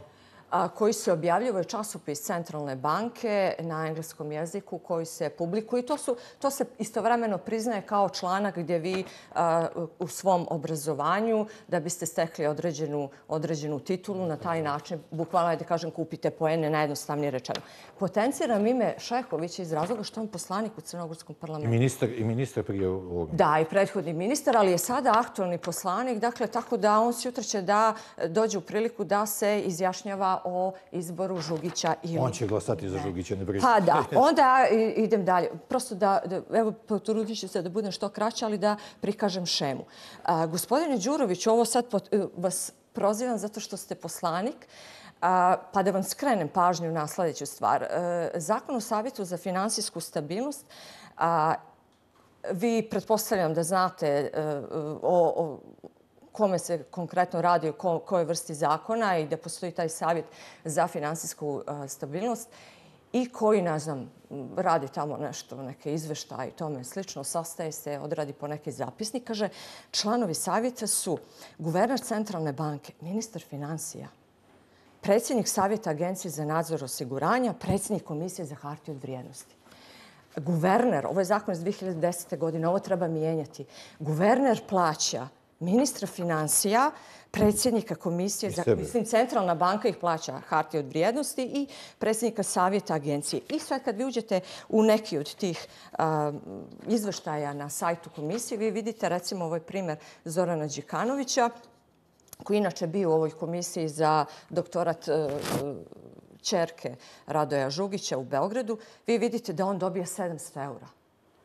Speaker 4: Koji se objavljuje časopis Centralne banke na engleskom jeziku koji se publikuje. To, su, to se istovremeno priznaje kao članak gdje vi a, u svom obrazovanju, da biste stekli određenu, određenu titulu, na taj način, bukvalno da kažem, kupite poene, najjednostavnije rečeno. Potenciram ime Šehovića iz razloga što on poslanik u Crnogorskom parlamentu.
Speaker 5: I ministar, i ministar prije ovoga.
Speaker 4: Da, i prethodni ministar, ali je sada aktualni poslanik, dakle, tako da on sutra će da dođe u priliku da se izjašnjava o izboru Žugića. Ili...
Speaker 5: On će glasati za Žugića, ne briga.
Speaker 4: Pa da, onda idem dalje. Prosto da, da evo, potrudit ću se da budem što kraće, ali da prikažem šemu. A, gospodine Đurović, ovo sad pot, vas prozivam zato što ste poslanik, a, pa da vam skrenem pažnju na sljedeću stvar. A, Zakon o savjetu za finansijsku stabilnost, a, vi pretpostavljam da znate a, o, o kome se konkretno radi, o kojoj vrsti zakona i da postoji taj savjet za finansijsku stabilnost i koji, ne znam, radi tamo nešto, neke izveštaje i tome slično, sastaje se, odradi po neki zapisnik. Kaže, članovi savjeta su guverner Centralne banke, ministar finansija, predsjednik savjeta Agencije za nadzor osiguranja, predsjednik Komisije za hartije od vrijednosti. Guverner, ovo je zakon iz dvije hiljade desete. godine, ovo treba mijenjati. Guverner plaća ministra finansija, predsjednika komisije, za, mislim, Centralna banka ih plaća hartije od vrijednosti i predsjednika savjeta agencije. I sad kad vi uđete u neki od tih a, izveštaja na sajtu komisije, vi vidite recimo ovaj primjer Zorana Đikanovića, koji inače bio u ovoj komisiji za doktorat a, ćerke Radoja Žugića u Beogradu, vi vidite da on dobija sedamsto eura.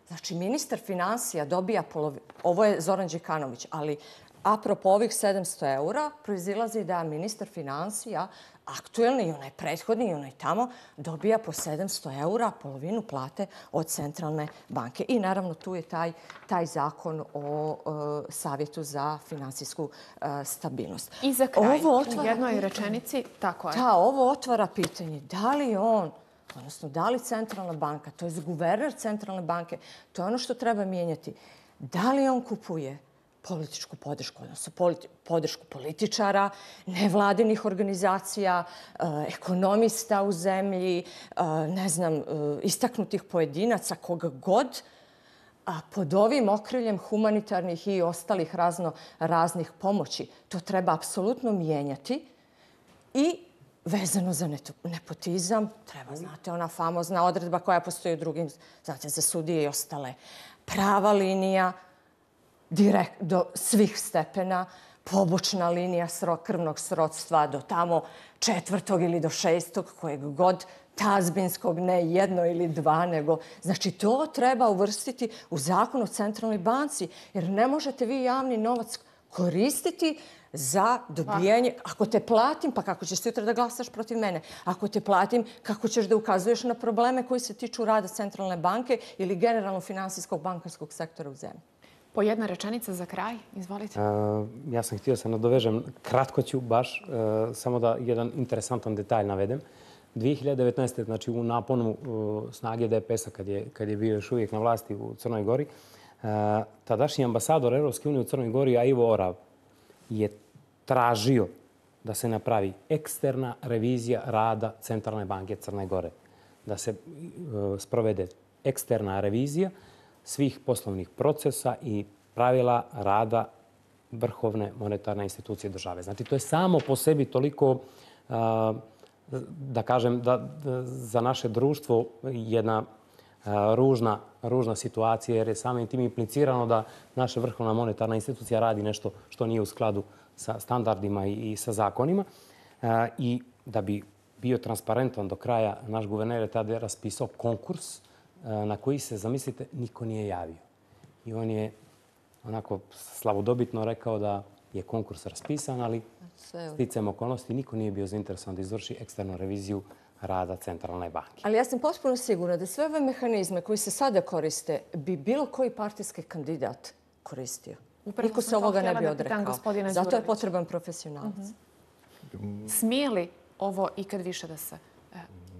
Speaker 4: Znači, ministar finansija dobija polovinu. Ovo je Zoran Đikanović, ali apropo ovih sedamsto eura proizilazi da ministar finansija, aktuelni i onaj prethodni i onaj tamo, dobija po sedamsto eura polovinu plate od Centralne banke. I naravno tu je taj, taj zakon o uh, savjetu za finansijsku uh, stabilnost.
Speaker 1: I za kraj,
Speaker 4: ovo otvara
Speaker 1: u jednoj
Speaker 4: pitanje,
Speaker 1: rečenici, tako je.
Speaker 4: Da, ovo otvara pitanje da li on, odnosno da li Centralna banka, to je guverner Centralne banke, to je ono što treba mijenjati, da li on kupuje političku podršku, odnosno politi podršku političara, nevladinih organizacija, eh, ekonomista u zemlji, eh, ne znam, eh, istaknutih pojedinaca, koga god, a pod ovim okriljem humanitarnih i ostalih razno raznih pomoći. To treba apsolutno mijenjati i vezano za nepotizam, treba, znate, ona famozna odredba koja postoji u drugim, znate, za sudije i ostale. Prava linija, direkt do svih stepena, pobočna linija sro, krvnog srodstva do tamo četvrtog ili do šestog, kojeg god, tazbinskog, ne jedno ili dva, nego... Znači, to treba uvrstiti u zakon o Centralnoj banci, jer ne možete vi javni novac koristiti za dobijanje. Ako te platim, pa kako ćeš sutra da glasaš protiv mene? Ako te platim, kako ćeš da ukazuješ na probleme koji se tiču rada Centralne banke ili generalno finansijskog bankarskog sektora u zemlji?
Speaker 1: Po jedna rečenica za kraj, izvolite.
Speaker 6: Uh, ja sam htio se nadovežem, kratko ću baš, uh, samo da jedan interesantan detalj navedem. dvije hiljade devetnaeste. znači u naponu uh, snage D P S-a, kad je, kad je bio još uvijek na vlasti u Crnoj Gori, uh, tadašnji ambasador Europske unije u Crnoj Gori, a Ivo Orav, je tražio da se napravi eksterna revizija rada Centralne banke Crne Gore. Da se uh, sprovede eksterna revizija svih poslovnih procesa i pravila rada vrhovne monetarne institucije države. Znači, to je samo po sebi toliko, da kažem, da za naše društvo jedna ružna, ružna situacija, jer je samim tim implicirano da naša vrhovna monetarna institucija radi nešto što nije u skladu sa standardima i sa zakonima. I da bi bio transparentan do kraja, naš guverner je tada raspisao konkurs na koji se, zamislite, niko nije javio. I on je onako slavodobitno rekao da je konkurs raspisan, ali sticajem okolnosti niko nije bio zainteresovan da izvrši eksternu reviziju rada Centralne banke.
Speaker 4: Ali ja sam potpuno sigurna da sve ove mehanizme koji se sada koriste bi bilo koji partijski kandidat koristio. Niko se ovoga ne bi odrekao. Zato je potreban profesionalac.
Speaker 1: Smije li ovo ikad više da se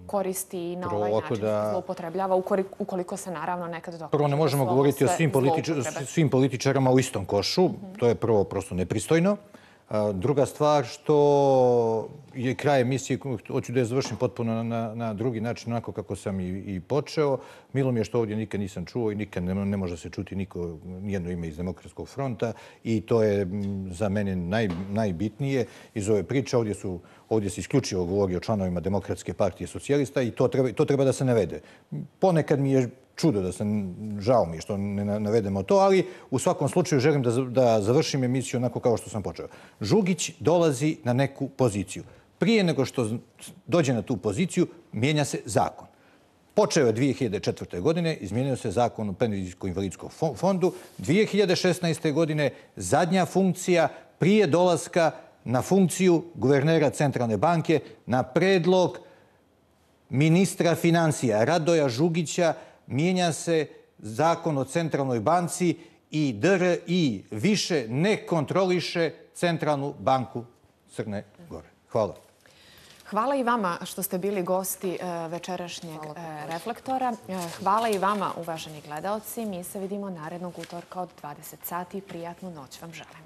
Speaker 1: koristi i na ovaj način da zloupotrebljava, ukoliko se naravno nekad dokaže?
Speaker 5: Prvo, ne možemo govoriti o svim, politič svim političarama u istom košu. To je prvo prosto nepristojno. Druga stvar, što je kraj emisije, hoću da je završim potpuno na, na drugi način, onako kako sam i, i počeo. Milo mi je što ovdje nikad nisam čuo i nikad ne, ne može se čuti niko, nijedno ime iz Demokratskog fronta i to je za mene naj, najbitnije iz ove priče. Ovdje, su, ovdje se isključivo govori o članovima Demokratske partije socijalista i to treba, to treba da se navede. Ponekad mi je čudo da sam, žao mi što ne navedemo to, ali u svakom slučaju želim da, da završim emisiju onako kao što sam počeo. Žugić dolazi na neku poziciju. Prije nego što dođe na tu poziciju, mijenja se zakon. Počeo je dvije hiljade četvrte. godine, izmijenio se zakon o penzijsko-invalidskom fondu. dvije hiljade šesnaeste. godine zadnja funkcija prije dolaska na funkciju guvernera Centralne banke na predlog ministra financija Radoja Žugića mijenja se zakon o Centralnoj banci i D R I više ne kontroliše Centralnu banku Crne Gore. Hvala.
Speaker 1: Hvala i vama što ste bili gosti večerašnjeg Reflektora. Hvala i vama, uvaženi gledaoci. Mi se vidimo narednog utorka od dvadeset sati. Prijatnu noć vam želim.